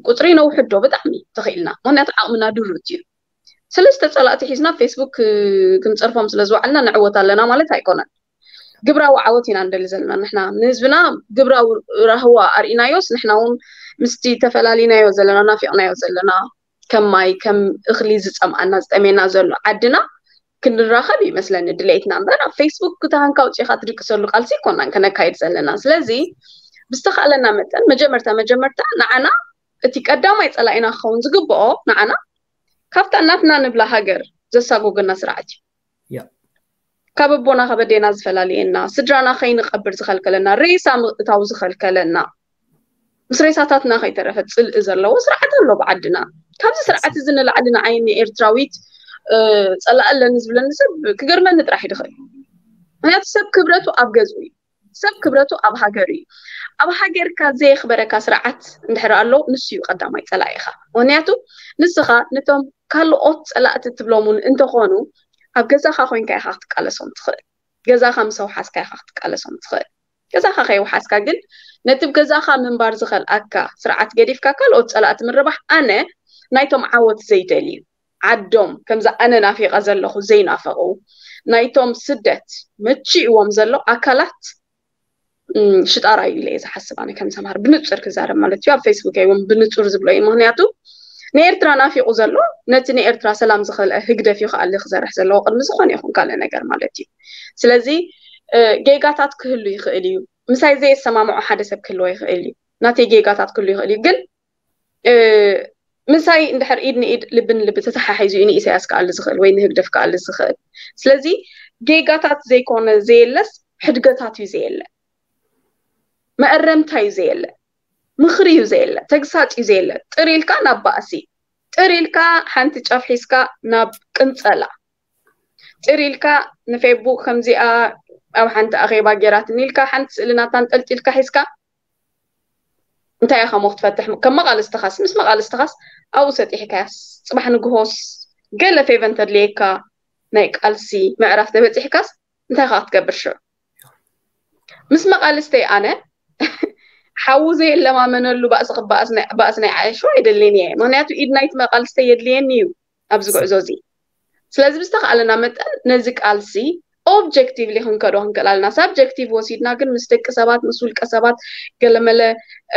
ቁፅሪ ነውሕዶ ብጣዕሚ ተኽኢልና፣ ምክንያቱ ዓቕምና ድሩት እዩ። ሰለስተ ፀላእቲ ሒዝና ፌስቡክ ክንፀርፎም ስለ ዝወዓልና ንዕወት ኣለና ማለት ኣይኮነን። ግብራዊ ዓወት ኢና ንደሊ ዘለና ንሕና ንህዝብና ግብራዊ ራህዋ ኣርኢናዮስ ንሕና እውን ምስቲ ተፈላሊናዮ ዘለና ናፊቕናዮ ዘለና ከም ማይ ከም እኽሊ ዝፀምኣና ዝጠሜና ዘሎ ዓድና ክንራኸብ ይመስለኒ ድሌትና እምበር ኣብ ፌስቡክ ክተሃንካ ውፅኢኻ ትድቅሰሉ ቃልሲ ይኮናን ከነካይድ ዘለና። ስለዚ ብዝተኻእለና መጠን መጀመርታ መጀመርታ ንዓና እቲ ቀዳማይ ፀላኢና ክኸውን ዝግብኦ ንዓና ካብታ እናትና ንብላ ሃገር ዘሳጎገና ስርዓት እዩ። ካብ ኣቦና ካብ ኣዴና ዝፈላልየና፣ ስድራና ከይንቐብር ዝኸልከለና፣ ሬሳ ምእታው ዝኸልከለና፣ ምስ ሬሳታትና ከይተረፈ ፅልኢ ዘለዎ ስርዓት ኣሎ ብዓድና። ካብዚ ስርዓት እዚ ንላዕሊ ንዓይ ንኤርትራዊት ፀላእ ኣለኒ ዝብለኒ ሰብ ክገርመኒ ጥራሕ ይድኽእል። ምክንያቱ ሰብ ክብረቱ ኣብ ገዝኡ እዩ። ሰብ ክብረቱ ኣብ ሃገር እዩ። ኣብ ሃገርካ ዘየኽበረካ ስርዓት እንድሕር ኣሎ ንሱ እዩ ቀዳማይ ፀላኢኻ። ምክንያቱ ንስኻ ነቶም ካልኦት ፀላእቲ ትብሎም እውን እንተኾኑ ኣብ ገዛኻ ኮይንካ ኢኻ ክትቃለሶም ትኽእል። ገዛኻ ምስ ኣውሓስካ ኢኻ ክትቃለሶም ትኽእል። ገዛኻ ከይውሓስካ ግን ነቲ ብ ገዛኻ ምንባር ዝኸልኣካ ስርዓት ገዲፍካ ካልኦት ፀላእቲ ምርባሕ ኣነ ናይቶም ዓወት ዘይደልዩ ዓዶም ከምዚ ኣነ ናፊቐ ዘለኹ ዘይናፈቑ ናይቶም ስደት መቺእዎም ዘሎ ኣካላት ሽጣራ እዩ ኢለ እየ ዝሓስብ ኣነ ከም ሰምሃር ብንፁር ክዛረብ ማለት እዩ ኣብ ፌስቡክ እውን ብንፁር ዝብሎ እዩ ምክንያቱ ንኤርትራ ናፊቑ ዘሎ ነቲ ንኤርትራ ሰላም ዝኸልአ ህግደፍ እዩ ከኣሊ ክሰርሕ ዘለዎ ቅድሚ ዝኾነ ይኹን ካልእ ነገር ማለት እዩ ስለዚ ጌጋታት ክህሉ ይኽእል እዩ ምሳይ ዘየሰማምዖ ሓደ ሰብ ክህልዎ ይኽእል እዩ ናተይ ጌጋታት ክህሉ ይኽእል እዩ ግን ምሳይ እንድሕር ኢድ ንኢድ ልቢ ንልቢ ተተሓሒዙ እዩ ንኢሳያስ ክኣሊ ዝኽእል ወይ ንህግደፍ ክኣሊ ዝኽእል። ስለዚ ጌጋታት ዘይኮነ ዘየለስ ሕድገታት እዩ ዘየለ፣ መእረምታ እዩ ዘየለ፣ ምኽሪ እዩ ዘየለ፣ ተግሳጽ እዩ ዘየለ። ጥር ኢልካ ናብ ባእሲ፣ ጥር ኢልካ ሓንቲ ጫፍ ሒዝካ ናብ ቅንጸላ፣ ጥር ኢልካ ንፌስቡክ ከምዚኣ ኣብ ሓንቲ ኣኼባ ጌራትኒ ኢልካ ሓንቲ ስእሊ ናታ ኣንጠልጢልካ ሒዝካ እንታይ ኢኻ ሞ ክትፈትሕ? ከም መቓልስትኻስ፣ ምስ መቓልስትኻስ ኣብኡ ሰጢሕካያስ፣ ጽባሕ ንግሆስ ገለ ፌቨን ተድልየካ ናይ ቃልሲ ምዕራፍ ተበጺሕካስ እንታይ ኢኻ ክትገብር ሽዑ? ምስ መቓልስተይ ኣነ ሓዊ ዘየለማመነሉ ባእሲ ክበኣስ ናይ- ባእሲ ናይ ዓየሹ ኣይደልን እየ። ምክንያቱ ኢድ ናይቲ መቓልስተይ የድልየኒ እዩ ኣብዚ ጉዕዞ እዚ። ስለዚ ብዝተኻእለና መጠን ነዚ ቃልሲ ኦብጀክቲቭሊ ክንከዶ ክንክእል ኣለና። ሳብጀክቲቭ ወሲድና ግን ምስ ደቂ ሰባት ምስ ውልቀ ሰባት ገለመለ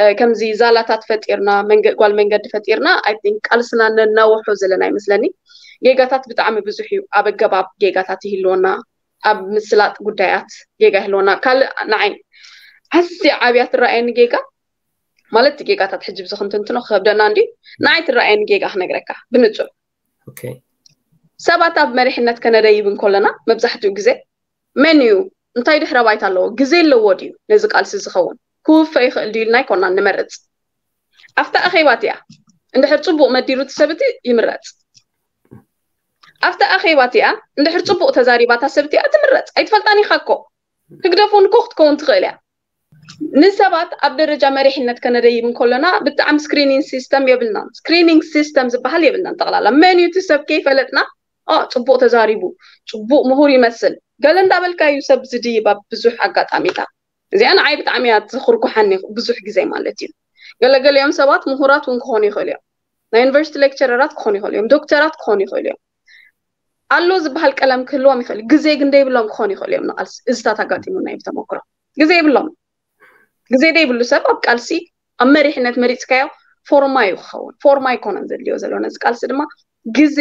እ፣ ከምዚ ዛላታት ፈጢርና መንገ- ጓል መንገዲ ፈጢርና I think ቃልስና ነናውሖ ዘለና ይመስለኒ። ጌጋታት ብጣዕሚ ብዙሕ እዩ። ኣብ ኣገባብ ጌጋታት ይህልወና፣ ኣብ ምስላጥ ጉዳያት ጌጋ ይህልወና። ካልእ ንዓይ ኣዝያ ዓብያ ትረኣየኒ ጌጋ ማለት እቲ ጌጋታት ሕጂ ብዚ ክንትንትኖ ክከብደና እንዲ ንዓይ ትረኣየኒ ጌጋ ክነግረካ ብንጹር ኦኬ ሰባት ኣብ መሪሕነት ከነደይብ እንከለና መብዛሕትኡ ግዜ መን እዩ እንታይ ድሕረ ባይታ ኣለዎ ግዜ ኣለዎ ድዩ ነዚ ቃልሲ ዝኸውን ክውፈ ይኽእል ድዩ ኢልና ኣይኮናን ንመርፅ ኣብታ ኣኼባ እቲኣ እንድሕር ፅቡቕ መዲሩ እቲ ሰብ እቲ ይምረፅ ኣብታ ኣኼባ እቲኣ እንድሕር ፅቡቕ ተዛሪባ እታ ሰብ እቲኣ ትምረፅ ኣይትፈልጣን ኢኻ እኮ ህግደፍ እውን እኮ ክትከውን ትኽእል እያ ንሰባት ኣብ ደረጃ መሪሕነት ከነደይብ እንከለና ብጣዕሚ ስክሪኒንግ ሲስተም የብልናን ስክሪኒንግ ሲስተም ዝበሃል የብልናን ጠቕላላ መን እዩ እቲ ሰብ ከይፈለጥና ኦ ፅቡቕ ተዛሪቡ ፅቡቕ ምሁር ይመስል ገለ እንዳበልካ እዩ ሰብ ዝድይብ ኣብ ብዙሕ ኣጋጣሚታት እዚኣ ንዓይ ብጣዕሚ እያ ትኽርኩሓኒ ብዙሕ ግዜ ማለት እዩ ገለገሊኦም ሰባት ምሁራት እውን ክኾኑ ይኽእሉ እዮም ናይ ዩኒቨርሲቲ ሌክቸረራት ክኾኑ ይኽእሉ እዮም ዶክተራት ክኾኑ ይኽእሉ እዮም ኣሎ ዝበሃል ቀለም ክህልዎም ይኽእል ግዜ ግን ደይብሎም ክኾኑ ይኽእሉ እዮም ንቃልሲ እዚታት ኣጋጢሙና እዩ ብተመክሮ ግዜ የብሎም ግዜ ደይብሉ ሰብ ኣብ ቃልሲ ኣብ መሪሕነት መሪፅካዮ ፎርማ እዩ ክኸውን ፎርማ ኣይኮነን ዘድልዮ ዘሎ ነዚ ቃልሲ ድማ ግዜ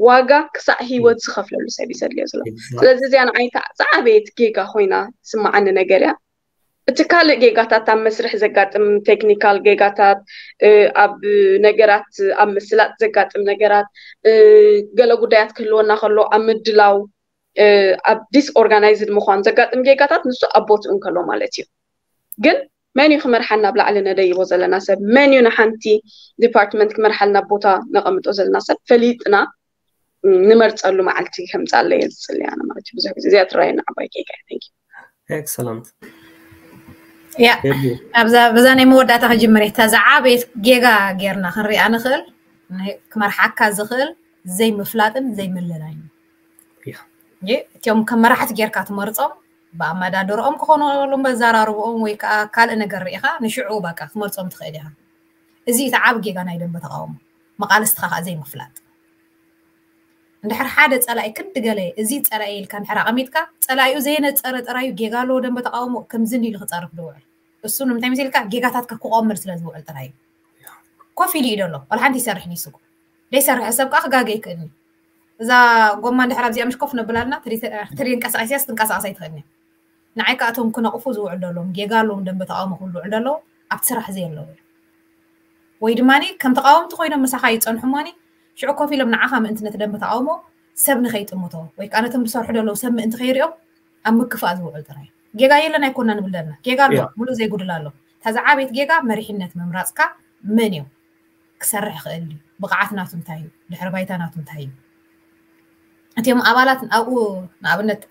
ዋጋ ክሳዕ ህይወት ዝኸፍለሉ ሰብ እዩ ዘድልዮ ዘሎ ስለዚ እዚኣ ንዓይታ ዝዓበየት ጌጋ ኮይና ስማዓኒ ነገር እያ እቲ ካልእ ጌጋታት ኣብ መስርሕ ዘጋጥም ቴክኒካል ጌጋታት ኣብ ነገራት ኣብ ምስላጥ ዘጋጥም ነገራት ገለ ጉዳያት ክህልወና ከሎ ኣብ ምድላው ኣብ ዲስኦርጋናይዝድ ምኳን ዘጋጥም ጌጋታት ንሱ ኣብ ቦትኡ እንከሎ ማለት እዩ ግን መን እዩ ክመርሓና ኣብ ላዕሊ ነደይቦ ዘለና ሰብ መን እዩ ንሓንቲ ዲፓርትመንት ክመርሓልና ቦታ ነቐምጦ ዘለና ሰብ ፈሊጥና ንመርፀሉ መዓልቲ ከምፃለ እየ ዝፅሊ ኣነ ማለት እዩ ብዙሕ ግዜ እዚኣ ትረኣየና ዓባይ ጌጋ እዩ ኤክሰለንት ያ ኣብዛ በዛ ናይ መወዳእታ ክጅምር እየ እታ ዝዓበየት ጌጋ ጌርና ክንሪኣ ንኽእል ክመርሓካ ዝኽእል ዘይምፍላጥን ዘይምልላይን እቲኦም ከም መራሕቲ ጌርካ ትመርፆም ብኣመዳድርኦም ክኾኑ በዛራርብኦም ወይ ከዓ ካልእ ነገር ርኢኻ ንሽዑ በቃ ክትመርፆም ትኽእል ኢኻ እዚ እቲ ዓብ ጌጋ ናይ ደንበ ተቃውሞ መቃልስትኻ ከዓ ዘይምፍላጥ እንድሕር ሓደ ፀላኢ ክዲ ገለ እዚ ፀላኢ ኢልካ እንድሕር ኣቐሚጥካ ፀላኢኡ ዘየነፀረ ጥራዩ ጌጋ ኣለዎ ደንበ ተቃውሞ ከምዚ ኢሉ ክፀርፍ ዝውዕል እሱ ንምንታይ መሲልካ ጌጋታትካ ክቆምር ስለ ዝውዕል ጥራይ እዩ ኮፍ ኢሉ እዩ ደሎ ዋላ ሓንቲ ይሰርሕ ንይስኩ ዘይሰርሕ ሰብ ከዓ ክጋገ ይክእልኒ እዛ ጎማ እንድሕር ኣብዚኣ ምሽ ኮፍ ነብላልና ትሪንቀሳቀስያስ ትንቀሳቀስ ኣይትኽእልኒ ንዓይ ከኣቶም ክነቕፉ ዝውዕል ደሎም ጌጋ ኣለዎም ደንበ ተቃውሞ ክብሉ ውዕል ደለዉ ኣብቲ ስራሕ ዘየለዉ ወይ ድማ ከም ተቃወምቲ ኮይኖም ምሳኻ ይፀንሑ እሞኒ ሽዑ ኮፍ ኢሎም ንዓኻ ምእንቲ ነቲ ደንበ ተቃውሞ ሰብ ንኸይጥምቶ ወይ ከዓ ነቶም ዝሰርሑ ደለዉ ሰብ ምእንቲ ከይሪኦም ኣብ ምክፋእ ዝውዕል ጥራይ ጌጋ የለን ኣይኮና ንብል ዘለና ጌጋ ኣሎ ሙሉእ ዘይጉድል ኣሎ እታ ዝዓበየት ጌጋ መሪሕነት ምምራፅካ መን እዩ ክሰርሕ ይኽእል ድዩ ብቕዓት ናቱ እንታይ እዩ ድሕሪ ባይታ ናቱ እንታይ እዩ እቲኦም ኣባላት ኣብኡ ንኣብነት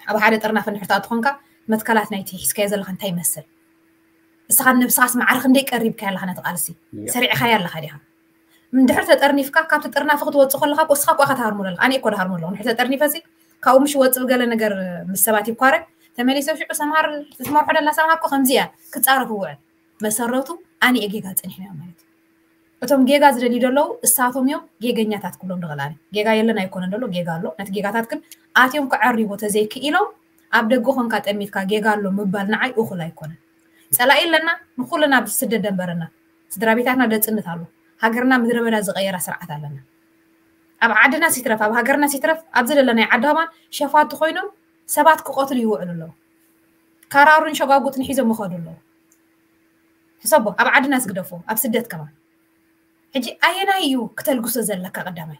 ኣብ ሓደ ጥርናፈ ንሕርታ ትኾንካ መትከላት ናይቲ ሒዝካዮ ዘለካ እንታይ ይመስል እስኻ ነብስኻስ ማዕረ ክንደይ ቀሪብካ ኣለኻ ነቲ ቃልሲ ሰሪዕኻያ ኣለኻ ዲኻ እንድሕር ተጠርኒፍካ ካብቲ ጥርናፈ ክትወፅእ ከለካ እስኻ ኳ ከተሃርሞ ኣለካ ኣነ እኮ ድሃርሞ ኣለኹ ንድሕር ተጠርኒፈ ሲ ካብኡ ምሽ ወፅእ ገለ ነገር ምስ ሰባት ይኳረ ተመሊሰ ሽዑ ሰምሃር ትመርሖ ደላ ሰምሃር እኮ ከምዚ እያ ክፃረፍ ውዕል መሰረቱ ኣነ እየ ጌጋ ፀኒሕና ማለት እዩ እቶም ጌጋ ዝደልዩ ዘለዉ እሳቶም እዮም ጌገኛታት ክብሎም ንኽእል ኣነ ጌጋ የለን ኣይኮነን ዘሎ ጌጋ ኣሎ ነቲ ጌጋታት ግን ኣትዮም ክዐርይዎ ተዘይክኢሎም ኣብ ደገ ኮንካ ጠሚትካ ጌጋ ኣሎ ምባል ንዓይ እኹል ኣይኮነን ፀላኢ ኣለና ንኩልና ብስደት ደንበረና ስድራ ቤታትና ደፅንት ኣሎ ሃገርና ምድረ በዳ ዝቀየራ ስርዓት ኣለና ኣብ ዓድና ሲትረፍ ኣብ ሃገርና ሲትረፍ ኣብዚ ደለናይ ዓዲ ከማን ሸፋቱ ኮይኖም ሰባት ክቀትሉ ይውዕሉ ኣለዉ ካራሩን ሸጓጉጥን ሒዞም ይኸዱ ኣለዉ ሕሰቦ ኣብ ዓድና ዝግደፎ ኣብ ስደት ከማን ሕጂ ኣየናይ እዩ ክተልግሶ ዘለካ? ቀዳማይ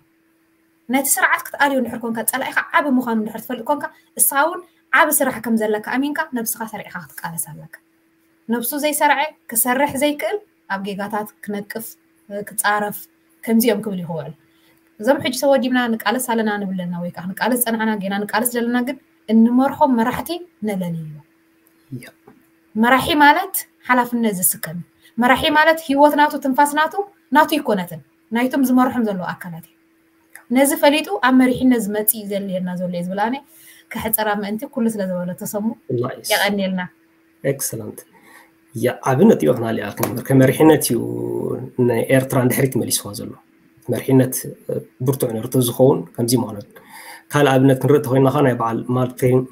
ነቲ ስርዓት ክትኣልዮ እንድሕር ኮንካ፣ ጸላኢኻ ዓቢ ምዃኑ እንድሕር ትፈልጥ ኮንካ፣ እሳ እውን ዓቢ ስራሕ ከም ዘለካ ኣሚንካ ነብስኻ ሰሪዕኻ ክትቃለስ ኣለካ። ነብሱ ዘይሰርዐ፣ ክሰርሕ ዘይክእል፣ ኣብ ጌጋታት ክነቅፍ፣ ክጻረፍ፣ ከምዚኦም ክብል ይኽውዕል። እዞም ሕጂ ተወዲብና ንቃለስ ኣለና ንብለና ወይ ከዓ ንቃለስ ጸናዕና፣ ጌና ንቃለስ ዘለና ግን እንመርሖም መራሕቲ ነለልዮ። መራሒ ማለት ሓላፍነት ዝስከም እዩ። መራሒ ማለት ህይወት ናቱ፣ ትንፋስ ናቱ፣ ናቱ ይኮነትን፣ ናይቶም ዝመርሖም ዘለዉ ኣካላት እዩ። ነዚ ፈሊጡ ኣብ መሪሕነት ዝመጽእ እዩ ዘድልየና ዘሎ እየ ዝብል ኣነ። ከሕጸራ ምእንቲ ኩሉ ስለ ዝበለ ተሰሙ የቐንየልና። ኤክሰለንት። ዓቢ ነጥቢ ክናልኣልክ ነበር። ከመሪሕነት እዩ ንኤርትራ ንድሕሪት መሊስዋ ዘሎ። መሪሕነት ብርቱዕ ነርቶ ዝኸውን ከምዚ ማለት። ካልእ ኣብነት ክንርኢ ተኮይና፣ ናይ በዓል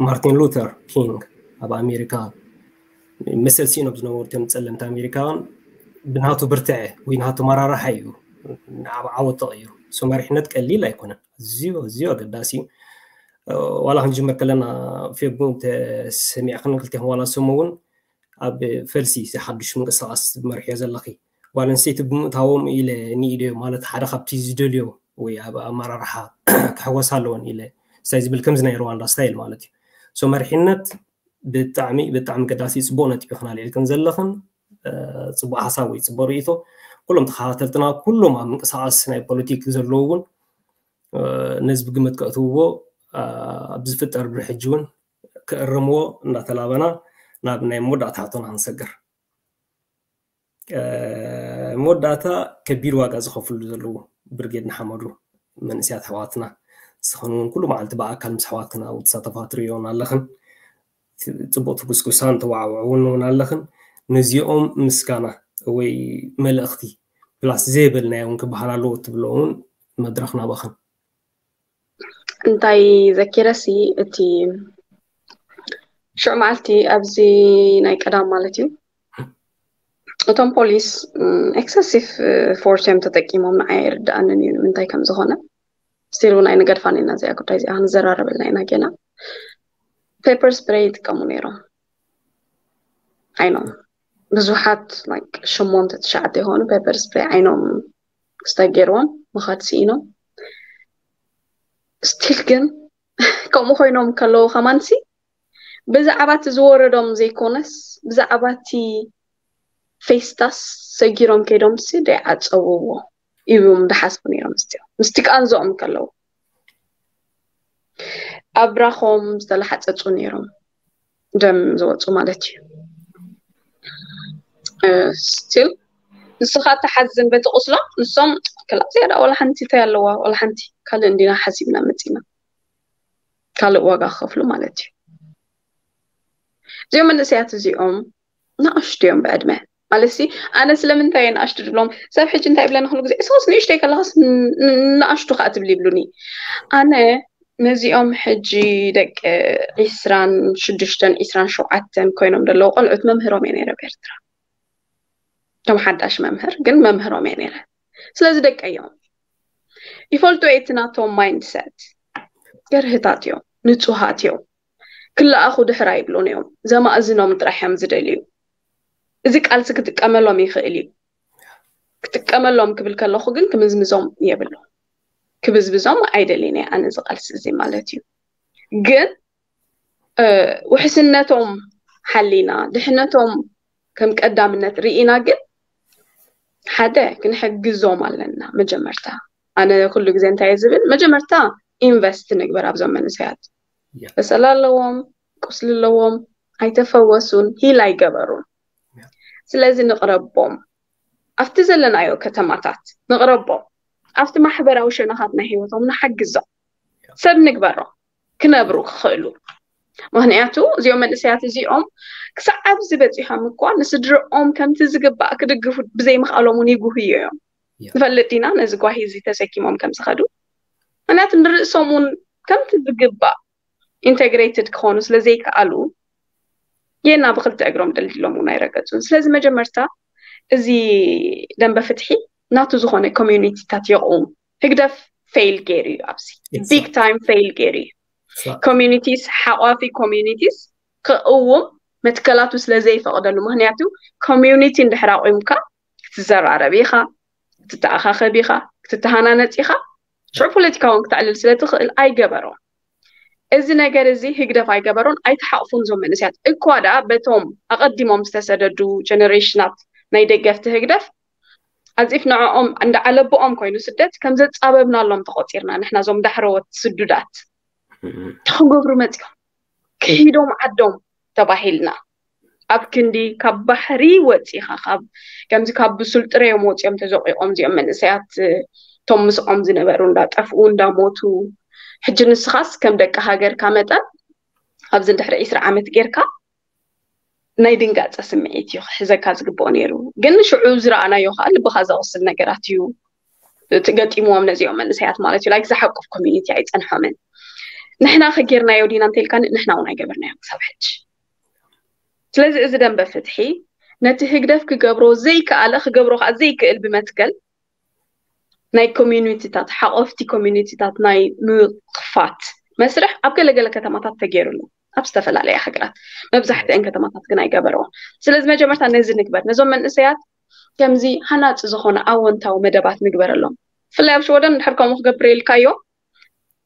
ማርቲን ሉተር ኪንግ ኣብ ኣሜሪካ መሰል ሲኖም ዝነበሩ እቶም ጸለምቲ ኣሜሪካውያን ብናቱ ብርትዐ ወይ ናቱ መራርሓ እዩ ንዓብ ዓወት ተቐይሩ። ሶ መሪሕነት ቀሊል ኣይኮነን። እዚዮ እዚዮ ኣገዳሲ እዩ። ዋላ ክንጅምር ከለና ፌቡ ተሰሚዕክን ክልቴኹም ዋላ ሰሙ እውን ኣብ ፈልሲ ሓዱሽ ምንቅስቃስ መርሕዮ ዘለኺ ጓል ኣንስተይቲ ብምእታዎም ኢለ ንኢደዮ ማለት ሓደ ካብቲ ዝደልዮ ወይ ኣብ ኣመራርሓ ክሕወስ ኣለዎን ኢለ ሳይ ዝብል ከምዚ ናይ ሩዋንዳ ስታይል ማለት እዩ። ሶ መሪሕነት ብጣዕሚ ብጣዕሚ ገዳሲ ጽቡቅ ነጥቢ ክናልዕልክን ዘለኽን ጽቡቅ ሓሳብ ወይ ጽቡቅ ርእይቶ ኩሎም ተኸታተልትና ኩሎም ኣብ ምንቅስቃስ ናይ ፖለቲክ ዘለዉ እውን ነዚ ብግምት ከእትውዎ ኣብ ዝፍጠር ብሕጂ እውን ክእርምዎ እናተላበና ናብ ናይ መወዳእታ ሕቶና ክንሰግር። መወዳእታ ከቢድ ዋጋ ዝኸፍሉ ዘለዉ ብርጌድ ንሓመዱ መንእስያት ኣሕዋትና ዝኸውን እውን ኩሉ መዓልቲ ብኣካል ምስ ኣሕዋትና ኣብ ትሳተፋ ትርእዮን ኣለኽን። ጽቡቅ ትጉስጉሳን ተዋዕውዕውን እውን ኣለኽን። ነዚኦም ምስጋና ወይ መልእኽቲ ፕላስ ዘይበልናዮ እውን ክበሃል ኣለዎ እትብሎ እውን መድረኽ ናባኽን። እንታይ ዘኪረሲ እቲ ሽዑ መዓልቲ ኣብዚ ናይ ቀዳም ማለት እዩ እቶም ፖሊስ ኤክሰሲቭ ፎርስ እዮም ተጠቂሞም። ንዓይ ኣይርድኣንን እዩ ንምንታይ ከም ዝኾነ። ስቲል እውን ኣይንገድፋን ኢና እዚኣ ጉዳይ እዚኣ ክንዘራረበልና ኢና ጌና። ፔፐር ስፕሬይ ይጥቀሙ ነይሮም። ኣይኖም ብዙሓት ላይክ ሸሞንተ ትሽዓተ ይኾኑ ፔፐር ስፕሬይ ዓይኖም ክስታይ ገይርዎም ምኻድ ስኢኖም። ስቲል ግን ከምኡ ኮይኖም ከለዉ ከማንሲ ብዛዕባ እቲ ዝወረዶም ዘይኮነስ ብዛዕባ እቲ ፌስታስ ሰጊሮም ከይዶም ሲ ደይዓፀውዎ እዮም ዝሓስቡ ነይሮም። ስ ምስቲ ቃንዝኦም ከለዉ ኣብራኾም ዝተላሓፀፁ ነይሮም ደም ዝወፁ ማለት እዩ። ስቲል ንስኻ ተሓዝን በቲ ቁስሎም ንሶም ክላ ዝያዳ ወላ ሓንቲ እንታይ ኣለዋ ወላ ሓንቲ ካልእ እንዲና ሓሲብና መፂና ካልእ ዋጋ ክኸፍሉ ማለት እዩ። እዚኦም መንእሰያት እዚኦም ንኣሽቱ እዮም ብዕድመ ማለት ሲ ኣነ ስለምንታይ እየ ንኣሽቱ ዝብሎም ሰብ ሕጂ እንታይ ይብለኒ ኩሉ ግዜ እሶስ ንእሽተይ ከለኻስ ንኣሽቱ ከዓ ትብል ይብሉኒ። ኣነ ነዚኦም ሕጂ ደቂ ዒስራን ሽዱሽተን ዒስራን ሸውዓተን ኮይኖም ዘለዉ ቆልዑት መምህሮም እየ ነይረ ብኤርትራ። እቶም ሓዳሽ መምህር ግን መምህሮም እየ ነይረ። ስለዚ ደቀዮም ይፈልጡ እቲ ናቶም ማይንድሰት ገርህታት እዮም፣ ንጹሃት እዮም። ክለኣኹ ድሕር ኣይብሉን እዮም። ዘማእዝኖም ጥራሕ እዮም ዝደልዩ። እዚ ቃልሲ ክጥቀመሎም ይኽእል እዩ። ክጥቀመሎም ክብል ከለኹ ግን ክምዝምዞም የብሉ። ክብዝብዞም ኣይደልን እየ ኣነ እዚ ቃልሲ እዚ ማለት እዩ። ግን ውሕስነቶም ሓሊና ድሕነቶም ከም ቀዳምነት ርኢና ግን ሓደ ክንሕግዞም ኣለና። መጀመርታ ኣነ ኩሉ ግዜ እንታይ ዝብል መጀመርታ ኢንቨስት ንግበር ኣብዞም መንእሰያት። በሰላ ኣለዎም፣ ቁስሊ ኣለዎም፣ ኣይተፈወሱን፣ ሂል ኣይገበሩን። ስለዚ ንቕረቦም፣ ኣብቲ ዘለናዮ ከተማታት ንቕረቦም፣ ኣብቲ ማሕበራዊ ሸነኻት ናይ ህይወቶም ንሓግዞም፣ ሰብ ንግበሮም ክነብሩ ክኽእሉ። ምክንያቱ እዚኦም መንእሰያት እዚኦም ክሳዕ ኣብዚ በፂሖም እኳ ንስድርኦም ከምቲ ዝግባእ ክድግፉ ብዘይምኽኣሎም እውን ይጉህዩ እዮም። ንፈልጥ ኢና ነዚ ጓሂ እዚ ተሰኪሞም ከም ዝኸዱ። ምክንያቱ ንርእሶም እውን ከምቲ ዝግባእ ኢንተግሬትድ ክኾኑ ስለ ዘይከኣሉ ጌና ብክልተ እግሮም ደልዲሎም እውን ኣይረገፁን። ስለዚ መጀመርታ እዚ ደንበ ፍትሒ ናቱ ዝኾነ ኮሚዩኒቲታት የቕውም። ህግደፍ ፌይል ገይሩ እዩ ኣብዚ ቢግ ታይም ፌይል ገይሩ እዩ። ኮሚዩኒቲስ ሓቋፊ ኮሚዩኒቲስ ክእውም መትከላቱ ስለ ዘይፈቕደሉ ምክንያቱ ኮሚዩኒቲ እንድሕር ኣቑምካ ክትዘራረብ ኢኻ፣ ክትተኣኻኸብ ኢኻ፣ ክትተሃናነፅ ኢኻ። ሽዑ ፖለቲካውን ክተዕልል ስለ ትኽእል ኣይገበሮን። እዚ ነገር እዚ ህግደፍ ኣይገበሮን፣ ኣይተሓቕፉን። እዞም መንእሰያት እኳ ደኣ በቶም ኣቐዲሞም ዝተሰደዱ ጀነሬሽናት ናይ ደገፍቲ ህግደፍ ኣዚፍ ንዕኦም እንዳ ዓለብኦም ኮይኑ ስደት ከም ዘጻበብናሎም ተቖጺርና ንሕና እዞም ዳሕረዎት ስዱዳት። እንታይ ክገብሩ መጺኦም? ክሂዶም ዓዶም ተባሂልና ኣብ ክንዲ ካብ ባሕሪ ወፂኻ ካብ ከምዚ ካብ ብሱል ጥረዮም ወፂኦም ተዘቂቖም እዚኦም መንእሰያት እቶም ምስኦም ዝነበሩ እንዳጠፍኡ እንዳሞቱ ሕጂ ንስኻስ ከም ደቂ ሃገርካ መጠን ኣብዚ ድሕሪ ዒስራ ዓመት ጌርካ ናይ ድንጋፀ ስምዒት እዩ ክሕዘካ ዝግብኦ ነይሩ። ግን ሽዑ ዝረኣናዮ ከዓ ልብኻ ዘቕስል ነገራት እዩ ትገጢምዎም ነዚኦም መንእሰያት ማለት እዩ። ላይክ ዝሓቁፍ ኮሚኒቲ ኣይፀንሖምን። ንሕና ከጌርናዮ ዲና እንተልካ ንሕና እውን ኣይገበርናዮ ክሳብ ሕጂ። ስለዚ እዚ ደንበ ፍትሒ ነቲ ህግደፍ ክገብሮ ዘይከኣለ ክገብሮ ከዓ ዘይክእል ብመትከል ናይ ኮሚኒቲታት ሓቆፍቲ ኮሚኒቲታት ናይ ምኽፋት መስርሕ ኣብ ገለገለ ከተማታት ተገይሩሉ ኣብ ዝተፈላለያ ሃገራት መብዛሕትአን ከተማታት ግን ኣይገበረውን። ስለዚ መጀመርታ ነዚ ንግበር፣ ነዞም መንእሰያት ከምዚ ሃናፂ ዝኾነ ኣወንታዊ መደባት ንግበረሎም። ብፍላይ ኣብ ሽወደን እንድሕር ከምኡ ክገብር ኢልካዮ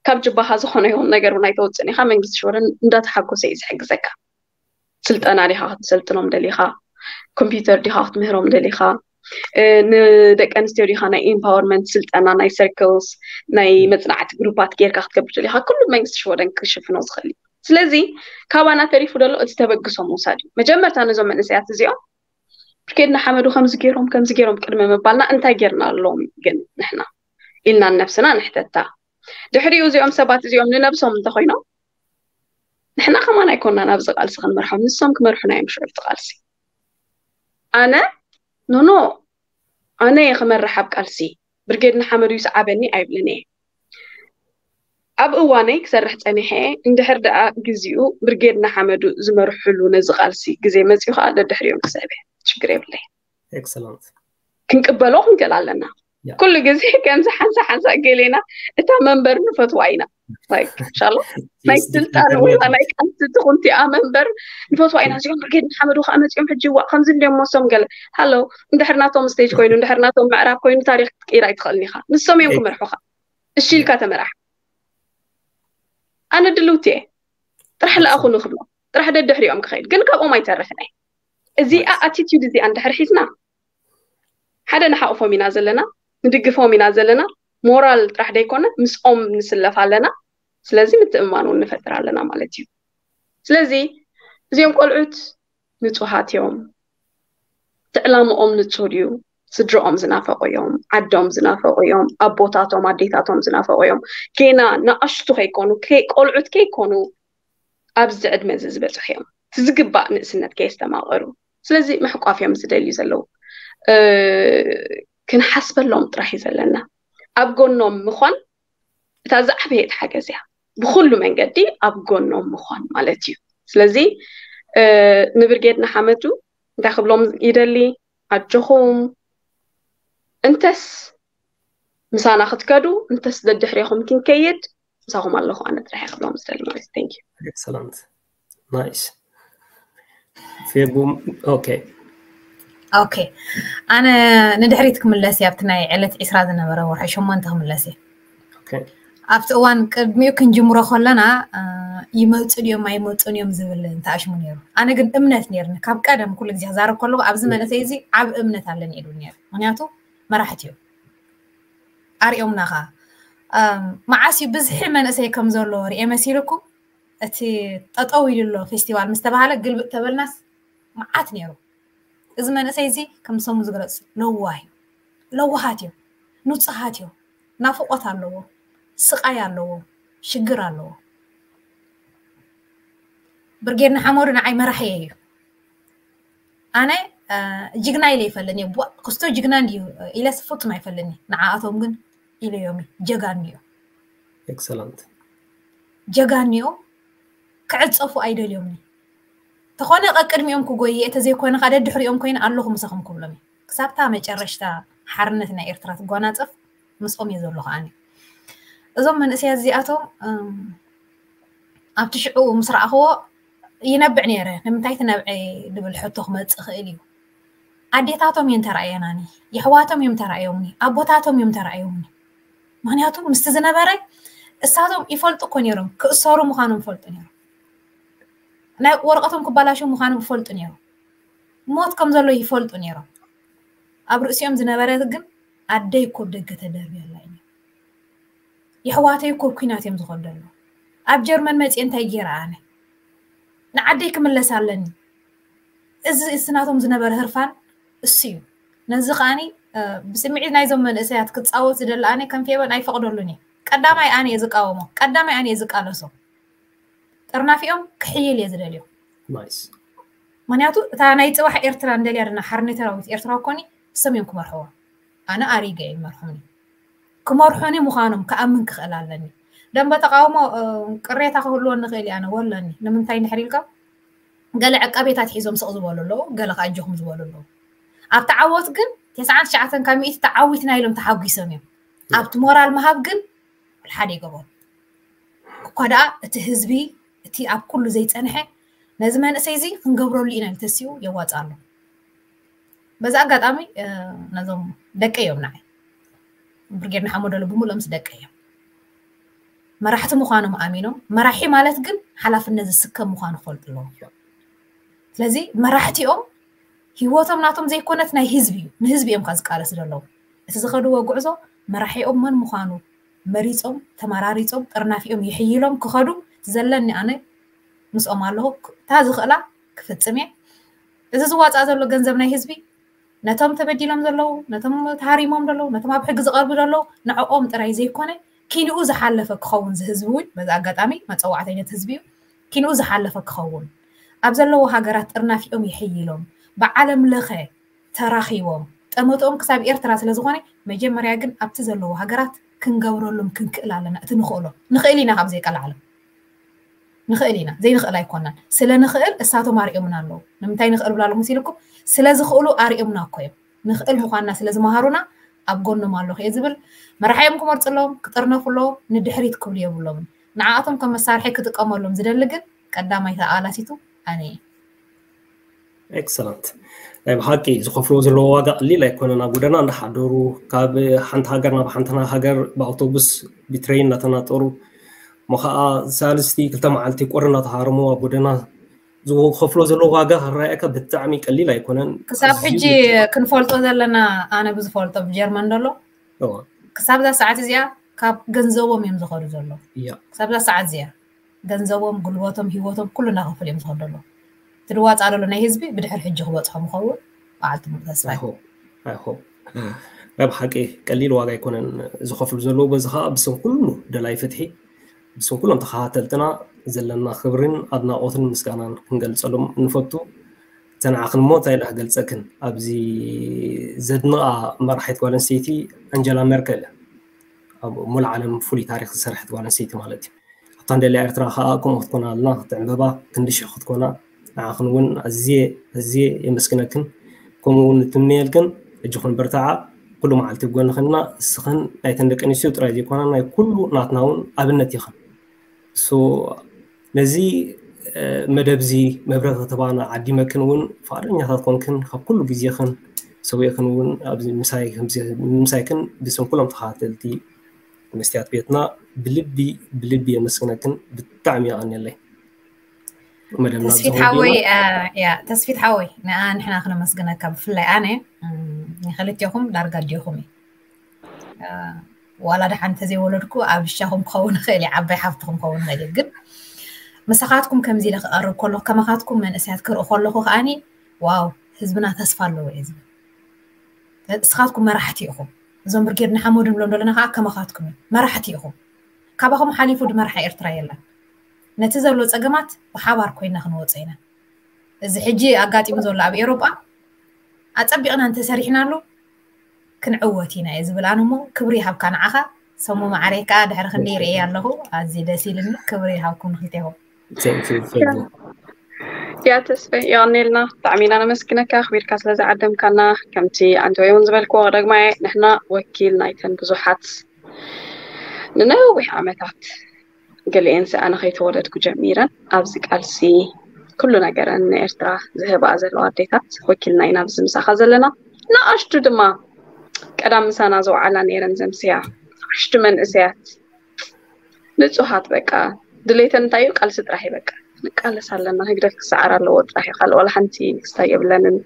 ካብ ጅባኻ ዝኾነ ይኹን ነገር እውን ኣይተውፅእን ኢኻ። መንግስቲ ሽወደን እንዳተሓጎሰ እዩ ዝሕግዘካ። ስልጠና ዲኻ ክትሰልጥኖም ደሊኻ፣ ኮምፒውተር ዲኻ ክትምህሮም ደሊኻ፣ ንደቂ ኣንስትዮ ዲኻ ናይ ኢምፓወርመንት ስልጠና ናይ ሰርክልስ ናይ መፅናዕቲ ግሩፓት ጌርካ ክትገብር ደሊኻ ኩሉ መንግስቲ ሽወደን ክሽፍኖ ዝኽእል እዩ። ስለዚ ካባና ተሪፉ ደሎ እቲ ተበግሶ ምውሳድ እዩ። መጀመርታ ነዞም መንእሰያት እዚኦም ብርጌድ ንሓመዱ ከምዚ ገይሮም ከምዚ ገይሮም ቅድሚ ምባልና እንታይ ጌርና ኣለዎም ግን ንሕና ኢልና ንነብስና ንሕተታ። ድሕሪኡ እዚኦም ሰባት እዚኦም ንነብሶም እንተኮይኖም ንሕና ከማን ኣይኮናን ኣብዚ ቃልሲ ክንመርሖም፣ ንሶም ክመርሑና እዮም ሽዑ እቲ ቃልሲ። ኣነ ኖኖ ኣነ እየ ክመርሕ ኣብ ቃልሲ፣ ብርጌድ ንሓመዱ ይስዓበኒ ኣይብልን እየ። ኣብ እዋነይ ክሰርሕ ፀኒሐ እየ። እንድሕር ደኣ ግዚኡ ብርጌድ ንሓመዱ ዝመርሕሉ ነዚ ቃልሲ ግዜ መፂኡ ከዓ ደድሕሪኦም ክስዕብ እየ። ሽግር የብለይ። ኤክሰለንት። ክንቅበሎ ክንክእል ኣለና። ኩሉ ግዜ ከምዚ ሓንሳ ሓንሳ ገሌና እታ መንበር ንፈትዋ ኢና። ሻሎ ናይ ስልጣን ወይ ናይ ቃልሲ ትኹንቲኣ መንበር ንፈትዋ ኢና። እዚኦም ብርጌድ ንሓመዱ ከዓ መፂኦም ሕጂ ዋእ ከምዚ እንዲዮም መሶም ገለ ሃሎ እንድሕር ናቶም ስቴጅ ኮይኑ እንድሕር ናቶም ምዕራብ ኮይኑ ታሪክ ክትቅይር ኣይትኽእልን ኢኻ። ንሶም እዮም ክመርሑኻ። እሺ ኢልካ ተመራሕ። ኣነ ድልውቲ እየ። ጥራሕ ለኣኹ ንክብሎ ጥራሕ ደድሕሪኦም ክኸይድ ግን ካብኦም ኣይተርፍን እየ። እዚኣ ኣቲቲዩድ እዚኣ እንድሕር ሒዝና ሓደ ንሓቕፎም ኢና ዘለና፣ ንድግፎም ኢና ዘለና። ሞራል ጥራሕ ደይኮነ ምስኦም ንስለፍ ኣለና። ስለዚ ምትእምማን እውን ንፈጥር ኣለና ማለት እዩ። ስለዚ እዚኦም ቆልዑት ንጹሃት እዮም። እቲ ዕላምኦም ንጹር እዩ። ስድርኦም ዝናፈቑ እዮም፣ ዓዶም ዝናፈቑ እዮም፣ ኣቦታቶም ኣዴታቶም ዝናፈቑ እዮም። ጌና ንኣሽቱ ከይኮኑ ቆልዑት ከይኮኑ ኣብዚ ዕድመ እዚ ዝበፅሑ እዮም። እቲ ዝግባእ ንእስነት ከየስተማቐሩ ስለዚ ምሕቋፍ እዮም ዝደልዩ ዘለዉ። ክንሓስበሎም ጥራሕ እዩ ዘለና። ኣብ ጎኖም ምዃን እታ ዝዓበየት ሓገዝ እያ። ብኩሉ መንገዲ ኣብ ጎኖም ምዃን ማለት እዩ። ስለዚ ንብርጌድ ንሓመዱ እንታይ ክብሎም ይደሊ? ኣጆኹም እንተስ ምሳና ክትከዱ እንተስ ደድሕሬኹም ክንከይድ ምሳኹም ኣለኹ ኣነ ጥራሕ ክብሎም ዝደሊ ማለት። Thank you። Excellent. Nice. ፌቡ። ኦኬ። ኦኬ፣ ኣነ ንድሕሪት ክምለስ እየ። ኣብቲ ናይ ዕለት ዒስራ ዝነበረ ወርሒ ሸሞንተ ክምለስ እየ። ኣብቲ እዋን ቅድሚኡ ክንጅምሮ ከለና ይመፁ ድዮም ኣይመፁን እዮም ዝብል እንተኣሽሙ ነይሩ። ኣነ ግን እምነት ነይርኒ ካብ ቀደም ኩሉ ግዜ ክዛረብ ከለኩ ኣብዚ መንእሰይ እዚ ዓብ እምነት ኣለኒ ኢሉ ነይሩ። ምክንያቱ መራሕቲ እዮም ኣሪኦምና ከዓ። መዓስ እዩ ብዝሒ መንእሰይ ከም ዘሎ ርኤ መሲልኩም? እቲ ጠጠው ኢሉ ኣሎ ፌስቲቫል ምስ ተባሃለ ግልብጥ ተበልናስ መዓት ነይሩ። እዚ መንእሰይ እዚ ከም ሰሙ ዝግለፅ ለዋህ እዩ። ለዋሃት እዮም፣ ንፁሃት እዮም። ናፍቆት ኣለዎ፣ ስቃይ ኣለዎ፣ ሽግር ኣለዎ። ብርጌድ ንሓመዱ ንዓይ መራሕየ እዩ። ኣነ ጅግና ኢለ ይፈልኒ እየ። ክስቶ ጅግና እንድዩ ኢለስ ፍጹም ኣይፈልኒ። ንዓኣቶም ግን ኢለዮም ጀጋኑ እዮም። ኤክሰለንት። ጀጋኑ እዮም። ክዕፀፉ ኣይደልዮምኒ። ተኾነ ቀቅድሚኦም ክጎየ እተ ዘይኮነ ካደ ድሕሪኦም ኮይነ ኣለኹ ምሳኹም ክብሎም እየ። ክሳብታ መጨረሽታ ሓርነት ናይ ኤርትራ ትጓናፀፍ ምስኦም እየ ዘሎ ከዓኒ። እዞም መንእሰያት እዚኣቶም ኣብቲ ሽዑ ምስ ረኣኽዎ ይነብዕ ነይረ። ንምንታይ ትነብዐ ዝብል ሕቶ ክመፅእ ይኽእል እዩ። ኣዴታቶም እየን ተራእየናኒ፣ የሕዋቶም እዮም ተራእዮምኒ፣ ኣቦታቶም እዮም ተራእዮምኒ። ምክንያቱ ምስቲ ዝነበረ እሳቶም ይፈልጡ እኮ ነይሮም፣ ክእሰሩ ምዃኖም ይፈልጡ ነይሮም። ናይ ወረቐቶም ክባላሸው ምዃኖም ይፈልጡ ነይሮም። ሞት ከም ዘሎ ይፈልጡ ነይሮም። ኣብ ርእሲኦም ዝነበረ ግን ኣደይ እኮ ደገ ተደርብያ ኣላ እዩ። የሕዋተይ እኮ ኩናት እዮም ዝኸዱ ኣለዉ። ኣብ ጀርመን መፅየ እንታይ ገይረ ኣነ? ንዓደይ ክምለስ ኣለኒ። እዚ እስናቶም ዝነበረ ህርፋን እሱ እዩ። ነዚ ከዓኒ ብስምዒት ናይዞም መንእሰያት ክፃወት ዝደሊ ኣነ ከም ፌበን ኣይፈቕደሉን እየ። ቀዳማይ ኣነ እየ ዝቃወሞ፣ ቀዳማይ ኣነ እየ ዝቃለሶ። ጥርናፊኦም ክሕይል እየ ዝደልዮ። ናይስ። ምክንያቱ እታ ናይ ፅባሕ ኤርትራ እንደልያ ድና ሓርነታዊት ኤርትራ ኮኒ እሶም እዮም ክመርሕዎ። ኣነ ኣሪገ እዮም ይመርሑኒ። ክመርሑኒ ምዃኖም ክኣምን ክኽእል ኣለኒ። ደንበ ተቃውሞ ቅሬታ ክህልዎ ንኽእል እየ ኣነ ወለኒ። ንምንታይ እንድሕር ኢልካ ገለ ዕቃቤታት ሒዞም ስቕ ዝበሉ ኣለዉ፣ ገለ ከኣጀኹም ዝበሉ ኣለዉ። ኣብቲ ዓወት ግን ተስዓን ትሽዓተን ካብ ሚእቲ ተዓዊትና ኢሎም ተሓጒሶም እዮም። ኣብቲ ሞራል ምሃብ ግን ሓደ ይገበሩ። እኳ ደኣ እቲ ህዝቢ እቲ ኣብ ኩሉ ዘይጸንሐ ነዚ መንእሰይ እዚ ክንገብረሉ ኢና ኢሉ ተሲኡ የዋጽእ ኣሎ። በዚ ኣጋጣሚ ነዞም ደቀ እዮም ንዓይ ብርጌድ ንሓመዱ ብምሉኦም ምስ ደቀ እዮም መራሕቲ ምዃኖም ኣሚኖም፣ መራሒ ማለት ግን ሓላፍነት ዝስከም ምዃኑ ክፈልጡ ኣለዎም። ስለዚ መራሕቲኦም ህይወቶም ናቶም ዘይኮነት ናይ ህዝቢ እዩ። ንህዝቢ እዮም ካብ ዝቃለሱ ዘለዉ። እቲ ዝኸድዎ ጉዕዞ መራሒኦም መን ምዃኑ መሪጾም፣ ተመራሪጾም፣ ጥርናፊኦም ይሕይሎም ክኸዱ ዘለኒ ኣነ ምስኦም ኣለኹ። እታ ዝኽእላ ክፍጽም እየ። እዚ ዝዋጻእ ዘሎ ገንዘብ ናይ ህዝቢ ነቶም ተበዲሎም ዘለዉ፣ ነቶም ተሃሪሞም ዘለዉ፣ ነቶም ኣብ ሕጊ ዝቐርቡ ዘለዉ ንዕኦም ጥራይ ዘይኮነ ኪንኡ ዝሓለፈ ክኸውን ዝህዝቢ እውን በዚ ኣጋጣሚ መጸዋዕተኛ ህዝቢ እዩ። ኪንኡ ዝሓለፈ ክኸውን ኣብ ዘለዎ ሃገራት ጥርናፊኦም ይሕይሎም ብዓለም ለኸ ተራኺቦም ጠመትኦም ክሳብ ኤርትራ ስለ ዝኾነ መጀመርያ ግን ኣብቲ ዘለዎ ሃገራት ክንገብረሎም ክንክእል ኣለና። እቲ ንኽእሎ ንኽእል ኢና ካብ ዘይቀላዕሎም ንኽእል ኢና ዘይንኽእል ኣይኮናን። ስለ ንኽእል እሳቶም ኣርእዮምና ኣለዉ። ንምንታይ ንኽእል ብላ ኣለኹ መሲልኩም? ስለ ዝኽእሉ ኣርእዮምና እኮ እዮም። ንኽእል ምዃንና ስለ ዝመሃሩና ኣብ ጎኖም ኣለኹ እየ ዝብል። መራሒኦም ክመርፁ ኣለዎም፣ ክጥርነፉ ኣለዎም፣ ንድሕሪት ክብሉ የብሎምን። ንዓኣቶም ከም መሳርሒ ክጥቀመሎም ዝደሊ ግን ቀዳማይ ተቓላሲቱ ኣነ እየ። ኤክሰለንት። ናይ ብሓቂ ዝኸፍልዎ ዘለዎ ዋጋ ቀሊል ኣይኮነን። ኣብ ጎደና እንዳሓደሩ ካብ ሓንቲ ሃገር ናብ ሓንቲ ሃገር ብኣውቶቡስ ብትሬን እናተናጠሩ እሞ ከዓ ሳልስቲ ክልተ መዓልቲ ቁሪ እናተሃረሙ ኣብ ጎደና ዝኸፍሎ ዘሎ ዋጋ ክረኣየካ ብጣዕሚ ቀሊል ኣይኮነን። ክሳብ ሕጂ ክንፈልጦ ዘለና ኣነ ብዝፈልጦ ብጀርመን ዘሎ ክሳብ እዛ ሰዓት እዚኣ ካብ ገንዘቦም እዮም ዝኸዱ ዘለዉ። ክሳብ እዛ ሰዓት እዚኣ ገንዘቦም፣ ጉልበቶም፣ ህይወቶም ኩሉ እናኸፈሉ እዮም ዝኸዱ ዘለዉ። እቲ ዝዋፃእ ዘሎ ናይ ህዝቢ ብድሕር ሕጂ ክበፅሖም ይኸውን በዓልቲ ሙሉ ተስፋ ናይ ብሓቂ ቀሊል ዋጋ ኣይኮነን ዝኸፍሉ ዘለዉ። በዚ ከዓ ብስም ኩሉ ደላይ ፍትሒ ብስም ኩሎም ተኸታተልትና ዘለና ክብርን ኣድናቖትን ምስጋናን ክንገልጸሎም ንፈቱ። ተንዓኽን እሞ እንታይ ኢለ ክገልጸክን፣ ኣብዚ ዘድንቓ መራሒት ጓል ኣንስተይቲ ኣንጀላ ሜርከል፣ ኣብ ሙሉእ ዓለም ፍሉይ ታሪኽ ዝሰርሐት ጓል ኣንስተይቲ ማለት እዩ። ኣብታ ንደልያ ኤርትራ ከዓ ከምኡ ክትኮና ኣለና፣ ክትዕምበባ ክንዲ ሽሕ ክትኮና። ንዓኽን እውን ኣዝየ ኣዝየ የመስግነክን። ከምኡ እውን ንትምነየልክን። እጅኹን በርትዓ፣ ኩሉ መዓልቲ ኣብ ጎንኽን ኢና። እስኽን ናይተን ደቂ ኣንስትዮ ጥራይ ዘይኮና ናይ ኩሉ ናትና እውን ኣብነት ኢኽን። ሶ ነዚ መደብ እዚ መብረኺ ከተባና ዓዲመክን እውን ፍቓደኛታት ኮንክን ካብ ኩሉ ግዜኽን ሰዊእክን እውን ኣብዚ ምሳይ ምሳይክን ብስም ኩሎም ተኸታተልቲ መስትያት ቤትና ብልቢ ብልቢ የመስግነክን። ብጣዕሚ የቐንየለይ። ተስፊት ሓወይ ያ ተስፊት ሓወይ ንኣ ንሕና ክነመስግነካ ብፍላይ ኣነ ንክልቴኹም ዳርጋ ኣዴኹም እዩ። ዋላ ደሓን እንተዘይወለድኩ ኣብ ሻኹም ክኸውን ይኽእል እዩ፣ ዓባይ ሓፍትኹም ክኸውን ይኽእል እዩ። ግን ምሳኻትኩም ከምዚ ኢለ ክቐርብ ከለኹ ከማኻትኩም መንእሰያት ክርኢ ከለኹ ከዓኒ ዋው ህዝብና ተስፋ ኣለዎ እየ ዝብል። እስኻትኩም መራሕቲ ኢኹም። እዞም ብርጌድ ንሓመዱ ንብሎም ዘለና ከዓ ከማኻትኩም እዮም መራሕቲ ኢኹም። ካባኹም ሓሊፉ ድመርሓ ኤርትራ የለን። ነቲ ዘሎ ፀገማት ብሓባር ኮይና ክንወፆ ኢና። እዚ ሕጂ ኣጋጢሙ ዘሎ ኣብ ኤውሮጳ ኣፀቢቕና እንተሰሪሕናሉ ክንዕወት ኢና እየ ዝብል ኣነ። እሞ ክብሪ ይሃብካ ንዓኻ ሰሙ ማዕረይ ከዓ ድሕሪ ክንደይ ርእየ ኣለኹ። ኣዝዩ ደስ ኢልኒ። ክብሪ ይሃብኩም ንክልቴኹም። Thank you, thank you. ያ ተስፈ የቐኔልና ብጣዕሚ ኢና ነመስግነካ ኣኽቢርካ ስለ ዝዓደምካና። ከምቲ ኣንተ እውን ዝበልክዎ ደግማ ንሕና ወኪል ናይተን ብዙሓት ንነዊሕ ዓመታት ገሊኤን ሰኣነ ከይተወለድኩ ጀሚረን ኣብዚ ቃልሲ ኩሉ ነገረን ንኤርትራ ዝህባ ዘለዋ ኣዴታት ወኪልና ኢና ኣብዚ ምሳኻ ዘለና። ንኣሽቱ ድማ ቀዳም ምሳና ዝወዓላ ነይረን ዘምስያ ንኣሽቱ መንእሰያት ንጹሃት በቃ ድሌተን እንታይ እዩ? ቃልሲ ጥራሕ እዩ በቃ። ንቃለስ ኣለና። ህግደፍ ክሰዓር ኣለዎ ጥራሕ እዩ። ካልእ ዋላ ሓንቲ ክስታይ የብለንን።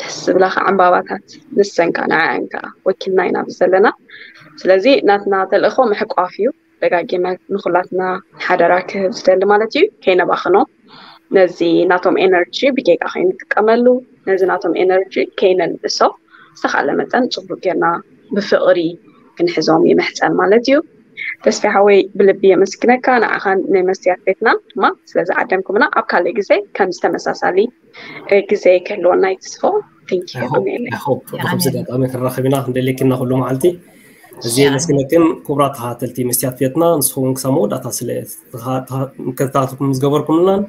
ደስ ዝብላኻ ዕምባባታት ንሰን ከኣ ንዓኣን ከኣ ወኪልና ኢና ኣብዚ ዘለና። ስለዚ ናትና ተልእኾ ምሕቋፍ እዩ። ደጋጊመ ንኹላትና ሓደራ ክህብ ዝደሊ ማለት እዩ። ከይነባኽኖ ነዚ ናቶም ኤነርጂ ብጌጋ ከይንጥቀመሉ ነዚ ናቶም ኤነርጂ ከይነንእሶ ዝተኻለ መጠን ጽቡቅ ጌርና ብፍቕሪ ክንሕዞም ይምሕጸን ማለት እዩ። ተስፋ ሓወይ ብልቢ የመስግነካ ንዓኻን ናይ መስትያት ቤትናን ድማ ስለዚ ዓደምኩምና ኣብ ካልእ ግዜ ከምዚ ተመሳሳሊ ግዜ ክህልወና ይትስፎ። Thank you። ብከምዚ ኣጋጣሚ ክንራኸብ ኢና ክንደልየኪና ኩሉ መዓልቲ። እዚ የመስግነክን ክቡራት ተኸታተልቲ መስትያት ቤትና ንስኹም ክሳብ መወዳእታ ስለ ምክትታልኩም ዝገበርኩምናን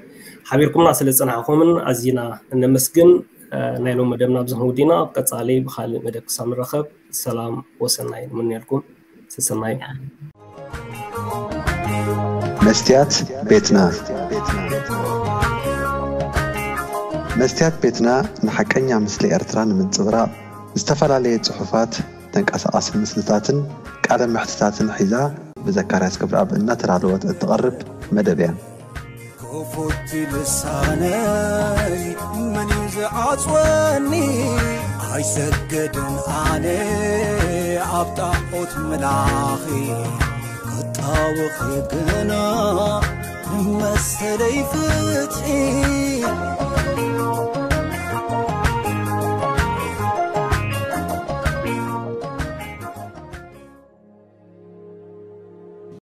ሓቢርኩምና ስለ ዝጸናሕኩምን ኣዚና እነመስግን። ናይ ሎም መደብና ኣብዚ ክንውዲና ኣብ ቀጻሊ ብካልእ መደብ ክሳብ ንራኸብ ሰላም ወሰናይ ንምንየልኩም። ሰሰናይ። መስትያት ቤትና። መስትያት ቤትና ንሓቀኛ ምስሊ ኤርትራ ንምንጽብራቕ ዝተፈላለየ ጽሑፋት፣ ተንቀሳቓሲ ምስልታትን ቃለ መሕትታትን ሒዛ ብዘካርያስ ክብረኣብ እናተዳለወት እትቐርብ መደብ እያ። ክፉት ልሳነይ መን እዩ ዝዓጽወኒ? ኣይሰገድን ኣነ ኣብ ጣዖት ምላኺ ክጣወኺ ግና መሰለይ ፍትሒ